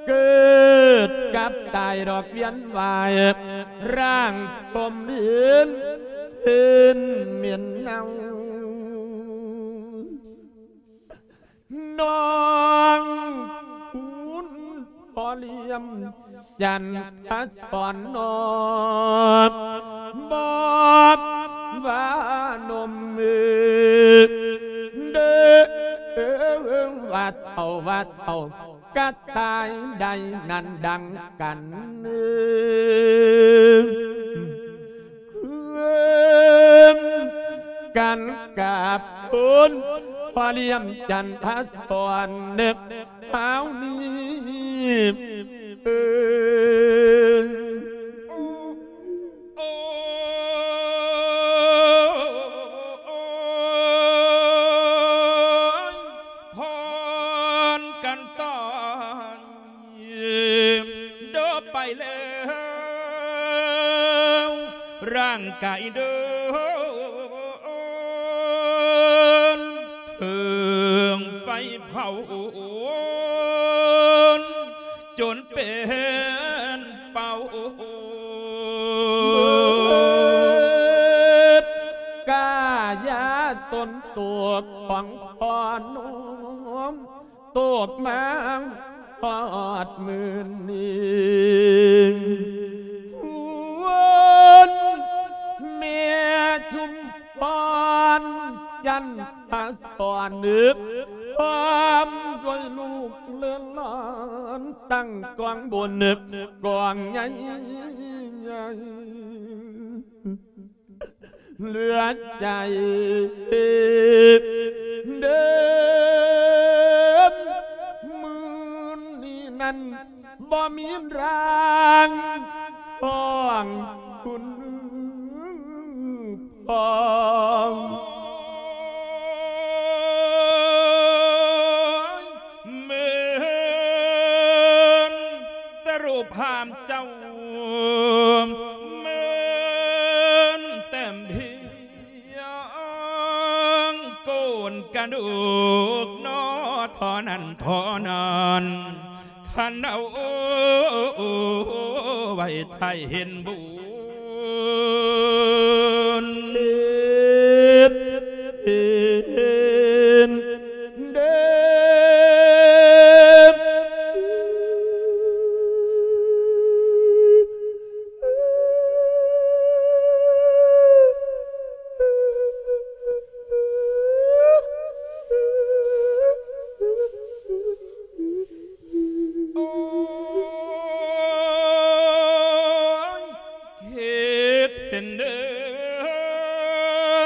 ເກີດກັບຕາຍດອກວຽນວ່າຍ ຮ່າງຕົມດິນເສັ້ນເໝັນເນົ່າ. ນ້ອງຄຸນພໍ່ຫຼຽມຈັນທະສອນນ້ອງ ບອກວ່າໜຸ່ມເອີ ເດີ ວ່າເຖົ້າ ວ່າເຖົ້າ ກະຕາຍໄດ້ນັ້ນດັ່ງກັນ ເອີ ເອີ ກັນກັບຄຸນພໍ່ຫຼຽມຈັນທະສອນເນັບເຮົານີ້ ເອີ ໂອ້ຍ ພອນກັນຕາຍ ເດີໄປແລ້ວ ຮ່າງກາຍເດີເຖິງໄຟເຜົາ ຈົນເປັນເປົາ ກາຍາຕົນໂຕຂອງພໍ່ໜຸ່ມ ຕົກມາຮອດມື້ນີ້ ຄຸນແມ່ຊຸມພອນ ຈັນທະສອນ ພ້ອມດ້ວຍລູກເຫຼືອຫຼານ ຕັ້ງກອງບຸນກອງໃຫຍ່ ເຫຼືອໃຈເດີມ ມື້ນີ້ນັ້ນບໍ່ມີຮ່າງຂອງຄຸນພໍ່ ແມ່ນແຕ່ຮູບພາບເຈົ້າ ແມ່ນແຕ່ພຽງໂກນກະດູກໜໍ່ ທໍ່ນັ້ນທໍ່ນັ້ນ ຄັນເອົາໄວ້ຖ້າເຫັນບຸນ ເຮັດເຫັນເດີ ໂອ້ຍ ເຮັດເປັນເດີ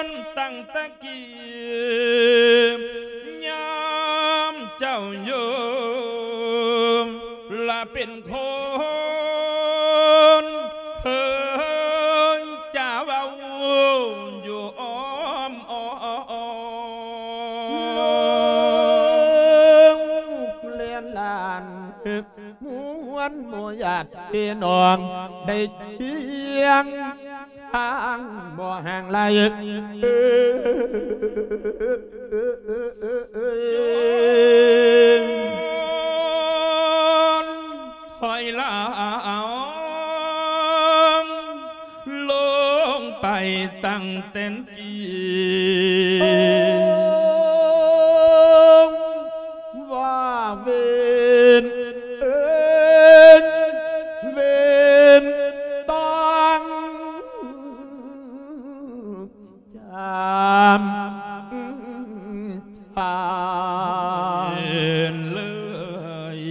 ນຕັ້ງແຕ່ກີ້ ຍາມເຈົ້າຢູ່ລະເປັນຄົນ ເຄີຍຈາເວົ້າຢູ່ອ້ອມອ້ອມ ແລະຫຼານ ມວນໝູ່ຍາດພີ່ນ້ອງ ໄດ້ທຽງທາງບໍ່ຫ່າງໄກ ເອີ ຖອຍຫຼັງລົງໄປຕັ້ງແຕ່ ກີ້ ວ່າເວນເອີນ ເວນຕ້ອງຈຳ ເອີນເລີຍ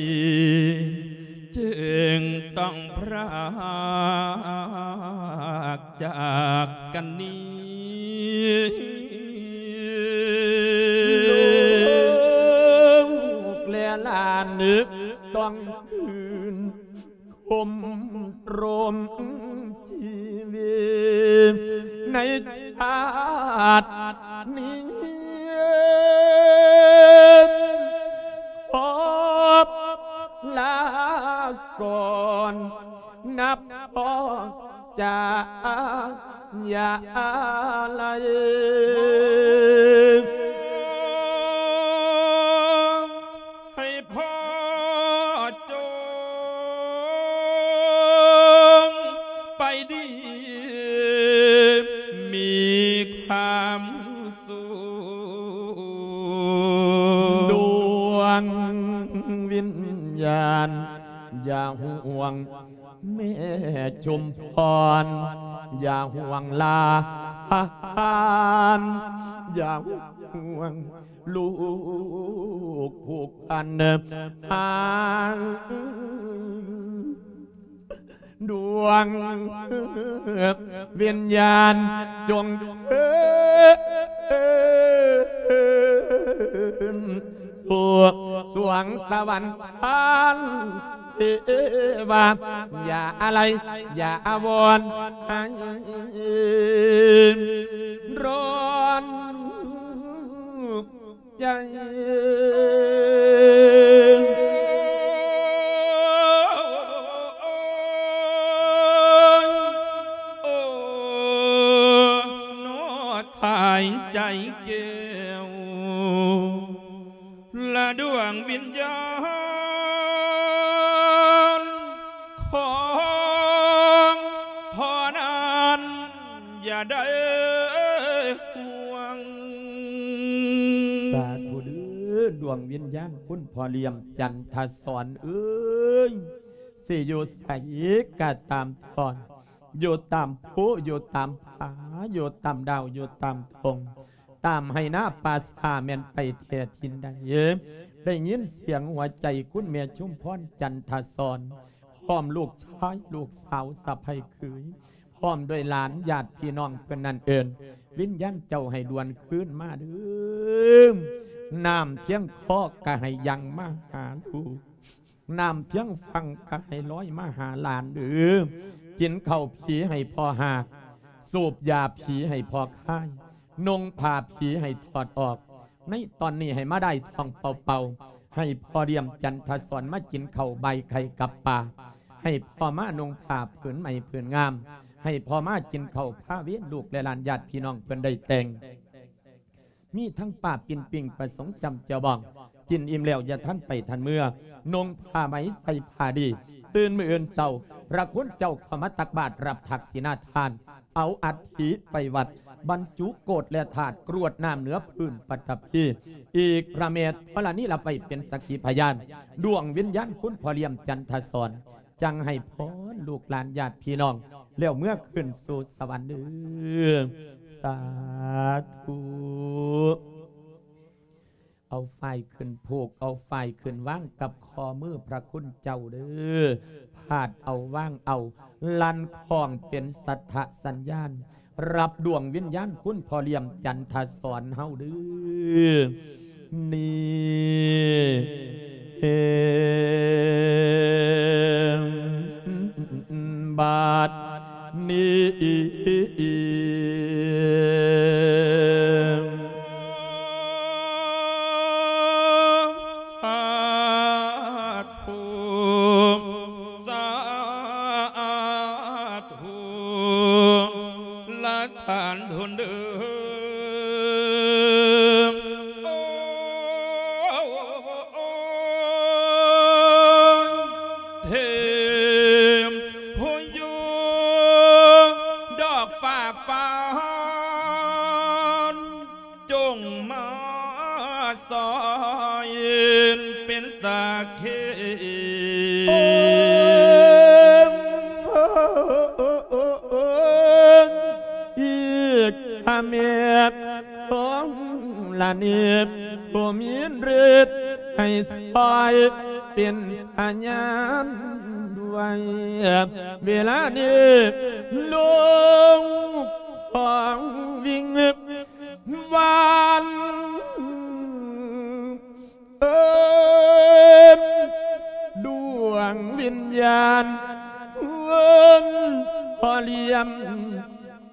ຈຶ່ງຕ້ອງພຣາກຈາກກັນນີ້ ລູກແລະຫຼານຕ້ອງຄືນຄົມລົມຊີວິດໃນຊາດນີ້ ຂໍລາກ່ອນ ນັບພໍຈະຢ່າໄລ ໃຫ້ພໍ່ຈົ່ງໄປດີ ມີຄວາມສຸກ ດວງວິນຍານ ຢ່າຫ່ວງ ແມ່ຊຸມພອນ ຢ່າຫ່ວງຫຼານ ຢ່າຫ່ວງລູກຜູ້ພັນ ດວງວິນຍານຈົ່ງເທີນສູ່ສວງສະຫວັນ ທ່ານເທວາ ຢ່າອາໄລ ຢ່າອາວອນໃຫ້ຮ້ອນໃຈ ໂອ້ ສາຍໃຈແກ້ວ ລະດວງວິນຍານຂອງພໍ່ນັ້ນ ຢ່າໄດ້ຫ່ວງ ສາທຸເດີ້ ດວງວິນຍານຄຸນພໍ່ຫຼຽມຈັນທະສອນເອີຍ ຊິຢູ່ໃສກະຕາມທ່ອນ ຢູ່ຕາມພູ ຢູ່ຕາມຜາ ຢູ່ຕາມດາວ ຢູ່ຕາມທົ່ງ ຕາມໄຮ່ນາປ່າຊ້າ ແມ່ນໄປແທ້ຖິ່ນໃດ ໄດ້ຍິນສຽງຫົວໃຈຄຸນແມ່ຊຸມພອນຈັນທະສອນ ພ້ອມລູກຊາຍ ລູກສາວ ສະໃພ້ເຂີຍ ພ້ອມດ້ວຍຫຼານຍາດພີ່ນ້ອງເພິ່ນນັ້ນເອີ້ນ ວິນຍານເຈົ້າໃຫ້ດ່ວນຄືນມາເດີ້ ນ້ຳພຽງຄໍກະໃຫ້ຍັ່ງມາຫາລູກ ນ້ຳພຽງຝັ່ງກະໃຫ້ລອຍມາຫາຫຼານເດີ້ ກິນເຂົ້າຜີໃຫ້ພໍ່ຮາກ ສູບຢາຜີໃຫ້ພໍ່ຄາຍ ນຸ່ງຜ້າຜີໃຫ້ຖອດອອກ ໃນຕອນນີ້ໃຫ້ມາໄດ້ທ້ອງເປົ່າໆ ໃຫ້ພໍ່ຫຼຽມຈັນທະສອນມາກິນເຂົ້າບາຍໄຂ່ກັບປາ ໃຫ້ພໍ່ມານຸ່ງຜ້າຜືນໃໝ່ຜືນງາມ ໃຫ້ພໍ່ມາກິນເຂົ້າພາເວນລູກແລະຫຼານຍາດພີ່ນ້ອງເພິ່ນໄດ້ແຕ່ງ ມີທັງປາປີ້ນປີ້ງປາສົງຈ້ຳແຈ່ວບອງ ກິນອີ່ມແລ້ວຢ່າທັນໄປທັນເມືອ ນຸ່ງຜ້າໃໝ່ໃສ່ຜ້າດີ ຕື່ນມື້ອື່ນເຊົ້າ ພະຄຸນເຈົ້າເຂົ້າມາຕັກບາດຮັບທັກສິນາທານ ເອົາອັດຖິໄປວັດ ບັນຈຸໂກດແລະທາດ ກຣວດນ້ຳເໜືອພື້ນປັດຖະພີ ອີກພະແມ່ທໍລະນີລະໄວ້ເປັນສັກຂີພະຍານ ດວງວິນຍານຄຸນພໍ່ຫຼຽມຈັນທະສອນ ຈັ່ງໃຫ້ພອນລູກຫຼານຍາດພີ່ນ້ອງ ແລ້ວເມືອຄືນສູ່ສະຫວັນເດີ້ ສາທຸ. ເອົາຝ້າຍຂຶ້ນຜູກ ເອົາຝ້າຍຂຶ້ນວາງກັບຂໍ້ມືພະຄຸນເຈົ້າເດີ້ ພາດເອົາວາງເອົາ ລັ່ນຄ້ອງເປັນສັດທະສັນຍານ ຮັບດວງວິນຍານຄຸນພໍ່ຫຼຽມຈັນທະສອນເຮົາເດີ້ ນີ້ ບາດນີ້ ສາທຸ ສາທຸ ລະສາທຸເດີ ໂອ້ຍ ເທພະຍາດອກຟ້າຟ້າ ຈົ່ງມາຊ່ອຍເປັນສັກຂີ ອີກພະແມ່ທໍລະນີ ຜູ້ມີລິດໃຫ້ຊ່ອຍເປັນພະຍານດ້ວຍ ເວລານີ້ລູກຂອງວິງວານ ເອີ້ນດວງວິນຍານເອີ້ນພໍ່ຫຼຽມ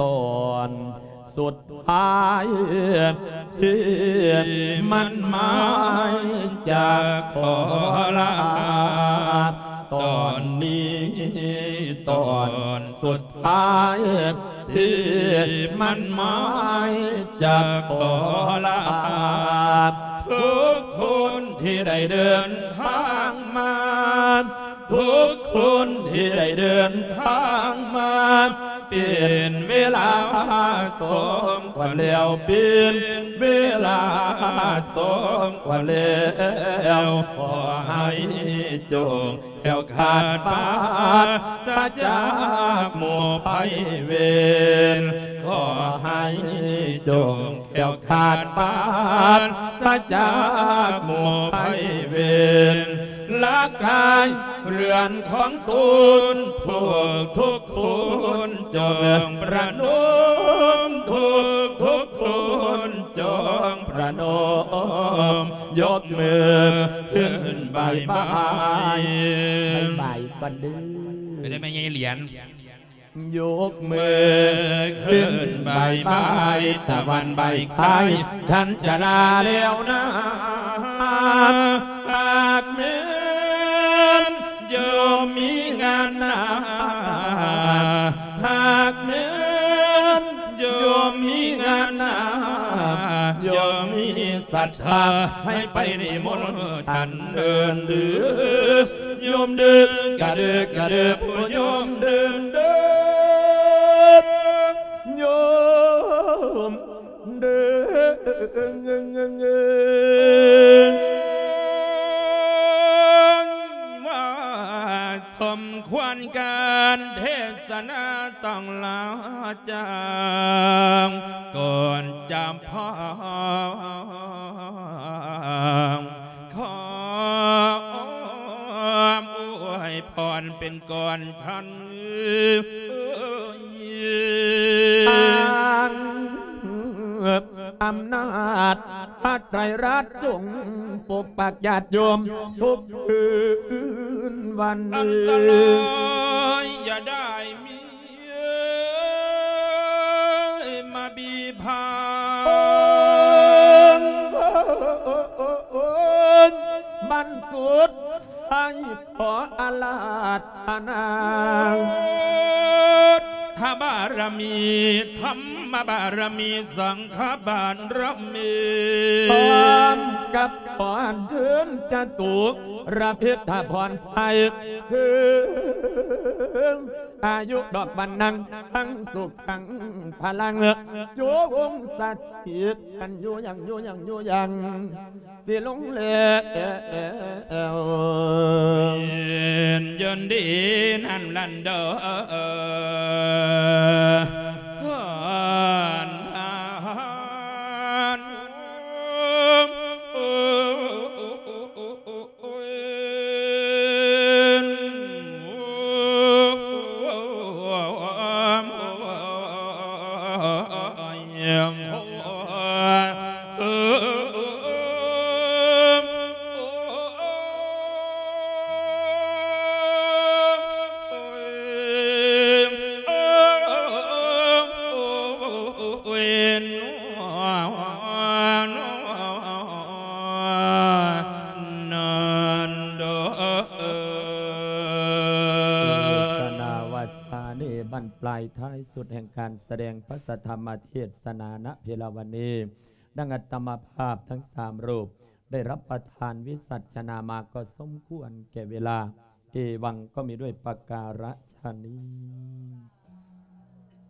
ຕອນສຸດທ້າຍທີ່ມັນມາຈາກຂໍລາ ຕອນນີ້ຕອນສຸດທ້າຍທີ່ມັນມາຈາກຂໍລາ ທຸກຄົນທີ່ໄດ້ເດີນທາງມາ ທຸກຄົນທີ່ໄດ້ເດີນທາງມາ ເປັນເວລາສອງກວ່າແລ້ວ ເປັນເວລາສອງກວ່າແລ້ວ ຂໍໃຫ້ຈົ່ງແຄ້ວຄາດປາສຈາກໝູ່ໄພເວນ ຂໍໃຫ້ຈົ່ງ ແຄ້ວຄາດປາສຈາກໝູ່ໄພເວນ ລະກາຍເຮືອນຂອງຕົນ ທຸກທຸກຄົນຈົ່ງປະນົມ ທຸກທຸກຄົນຈົ່ງປະນົມ ຍົກມືຂຶ້ນບາຍບາຍ ບາຍບາຍກ່ອນເດີ ໄປໄດ້ແມ່ໃຫຍ່ຫຼຽນ. ຍົກມືຂຶ້ນບາຍບາຍ ຕາວັນບາຍຄາຍ ສັນຈະລາແລ້ວນາ ຫາກແມ່ນໂຍມມີງານໜ້າ ຫາກແມ່ນໂຍມມີງານໜ້າ ໂຍມມີສັດທາ ໃຫ້ໄປນິມົນທ່ານເດີນເດີ ໂຍມເດີກະເດີກະເດີ ໂຍມເດີນເດີ ໂຍມເດີ ວ່າສົມຄວນການເທສະນາ ຕ້ອງລາຈາກກ່ອນຈຳພາ ຂໍອວຍພອນເປັນກ່ອນຊັ້ນ ອຳນາດພະໄຕຣະຈົງປົກປັກຍາດໂຍມທຸກຄືນວັນ ອັນຕະລາຍຢ່າໄດ້ມີ ເອີຍ ມາບີພາ ບັນສຸດທ້າຍຂໍອາລາທະນາ ທະບາລະມີ ທຳມະບາລະມີ ສັງຄະບາລະມີ ພ້ອມກັບຂໍອັນເຊີນຈະຕຸລະພິດທະພອນໄທ ເຖິງ ອາຍຸດອກວັນນັງ ທັງສຸກທັງພະລັງ ຈົ່ງສະຖິດກັນຢູ່ຍັງ ຢູ່ຍັງ ຢູ່ຍັງ ຊິລົງແລ້ວ ຍືນດີນຳລັນເດີ ສອນທານ. ເທສະນາວາສານີ້ ບັ້ນປາຍທ້າຍສຸດແຫ່ງການສະແດງພະສະທຳມະເທສະນານະເພລາວັນນີ້ ດັ່ງອາດຕະມາພາບທັງສາມຮູບ ໄດ້ຮັບປະທານວິສັດຊະນາມາ ກໍສົມຄວນແກ່ເວລາ ເອວັງ ກໍມີດ້ວຍປະກາລະຊະນີ້.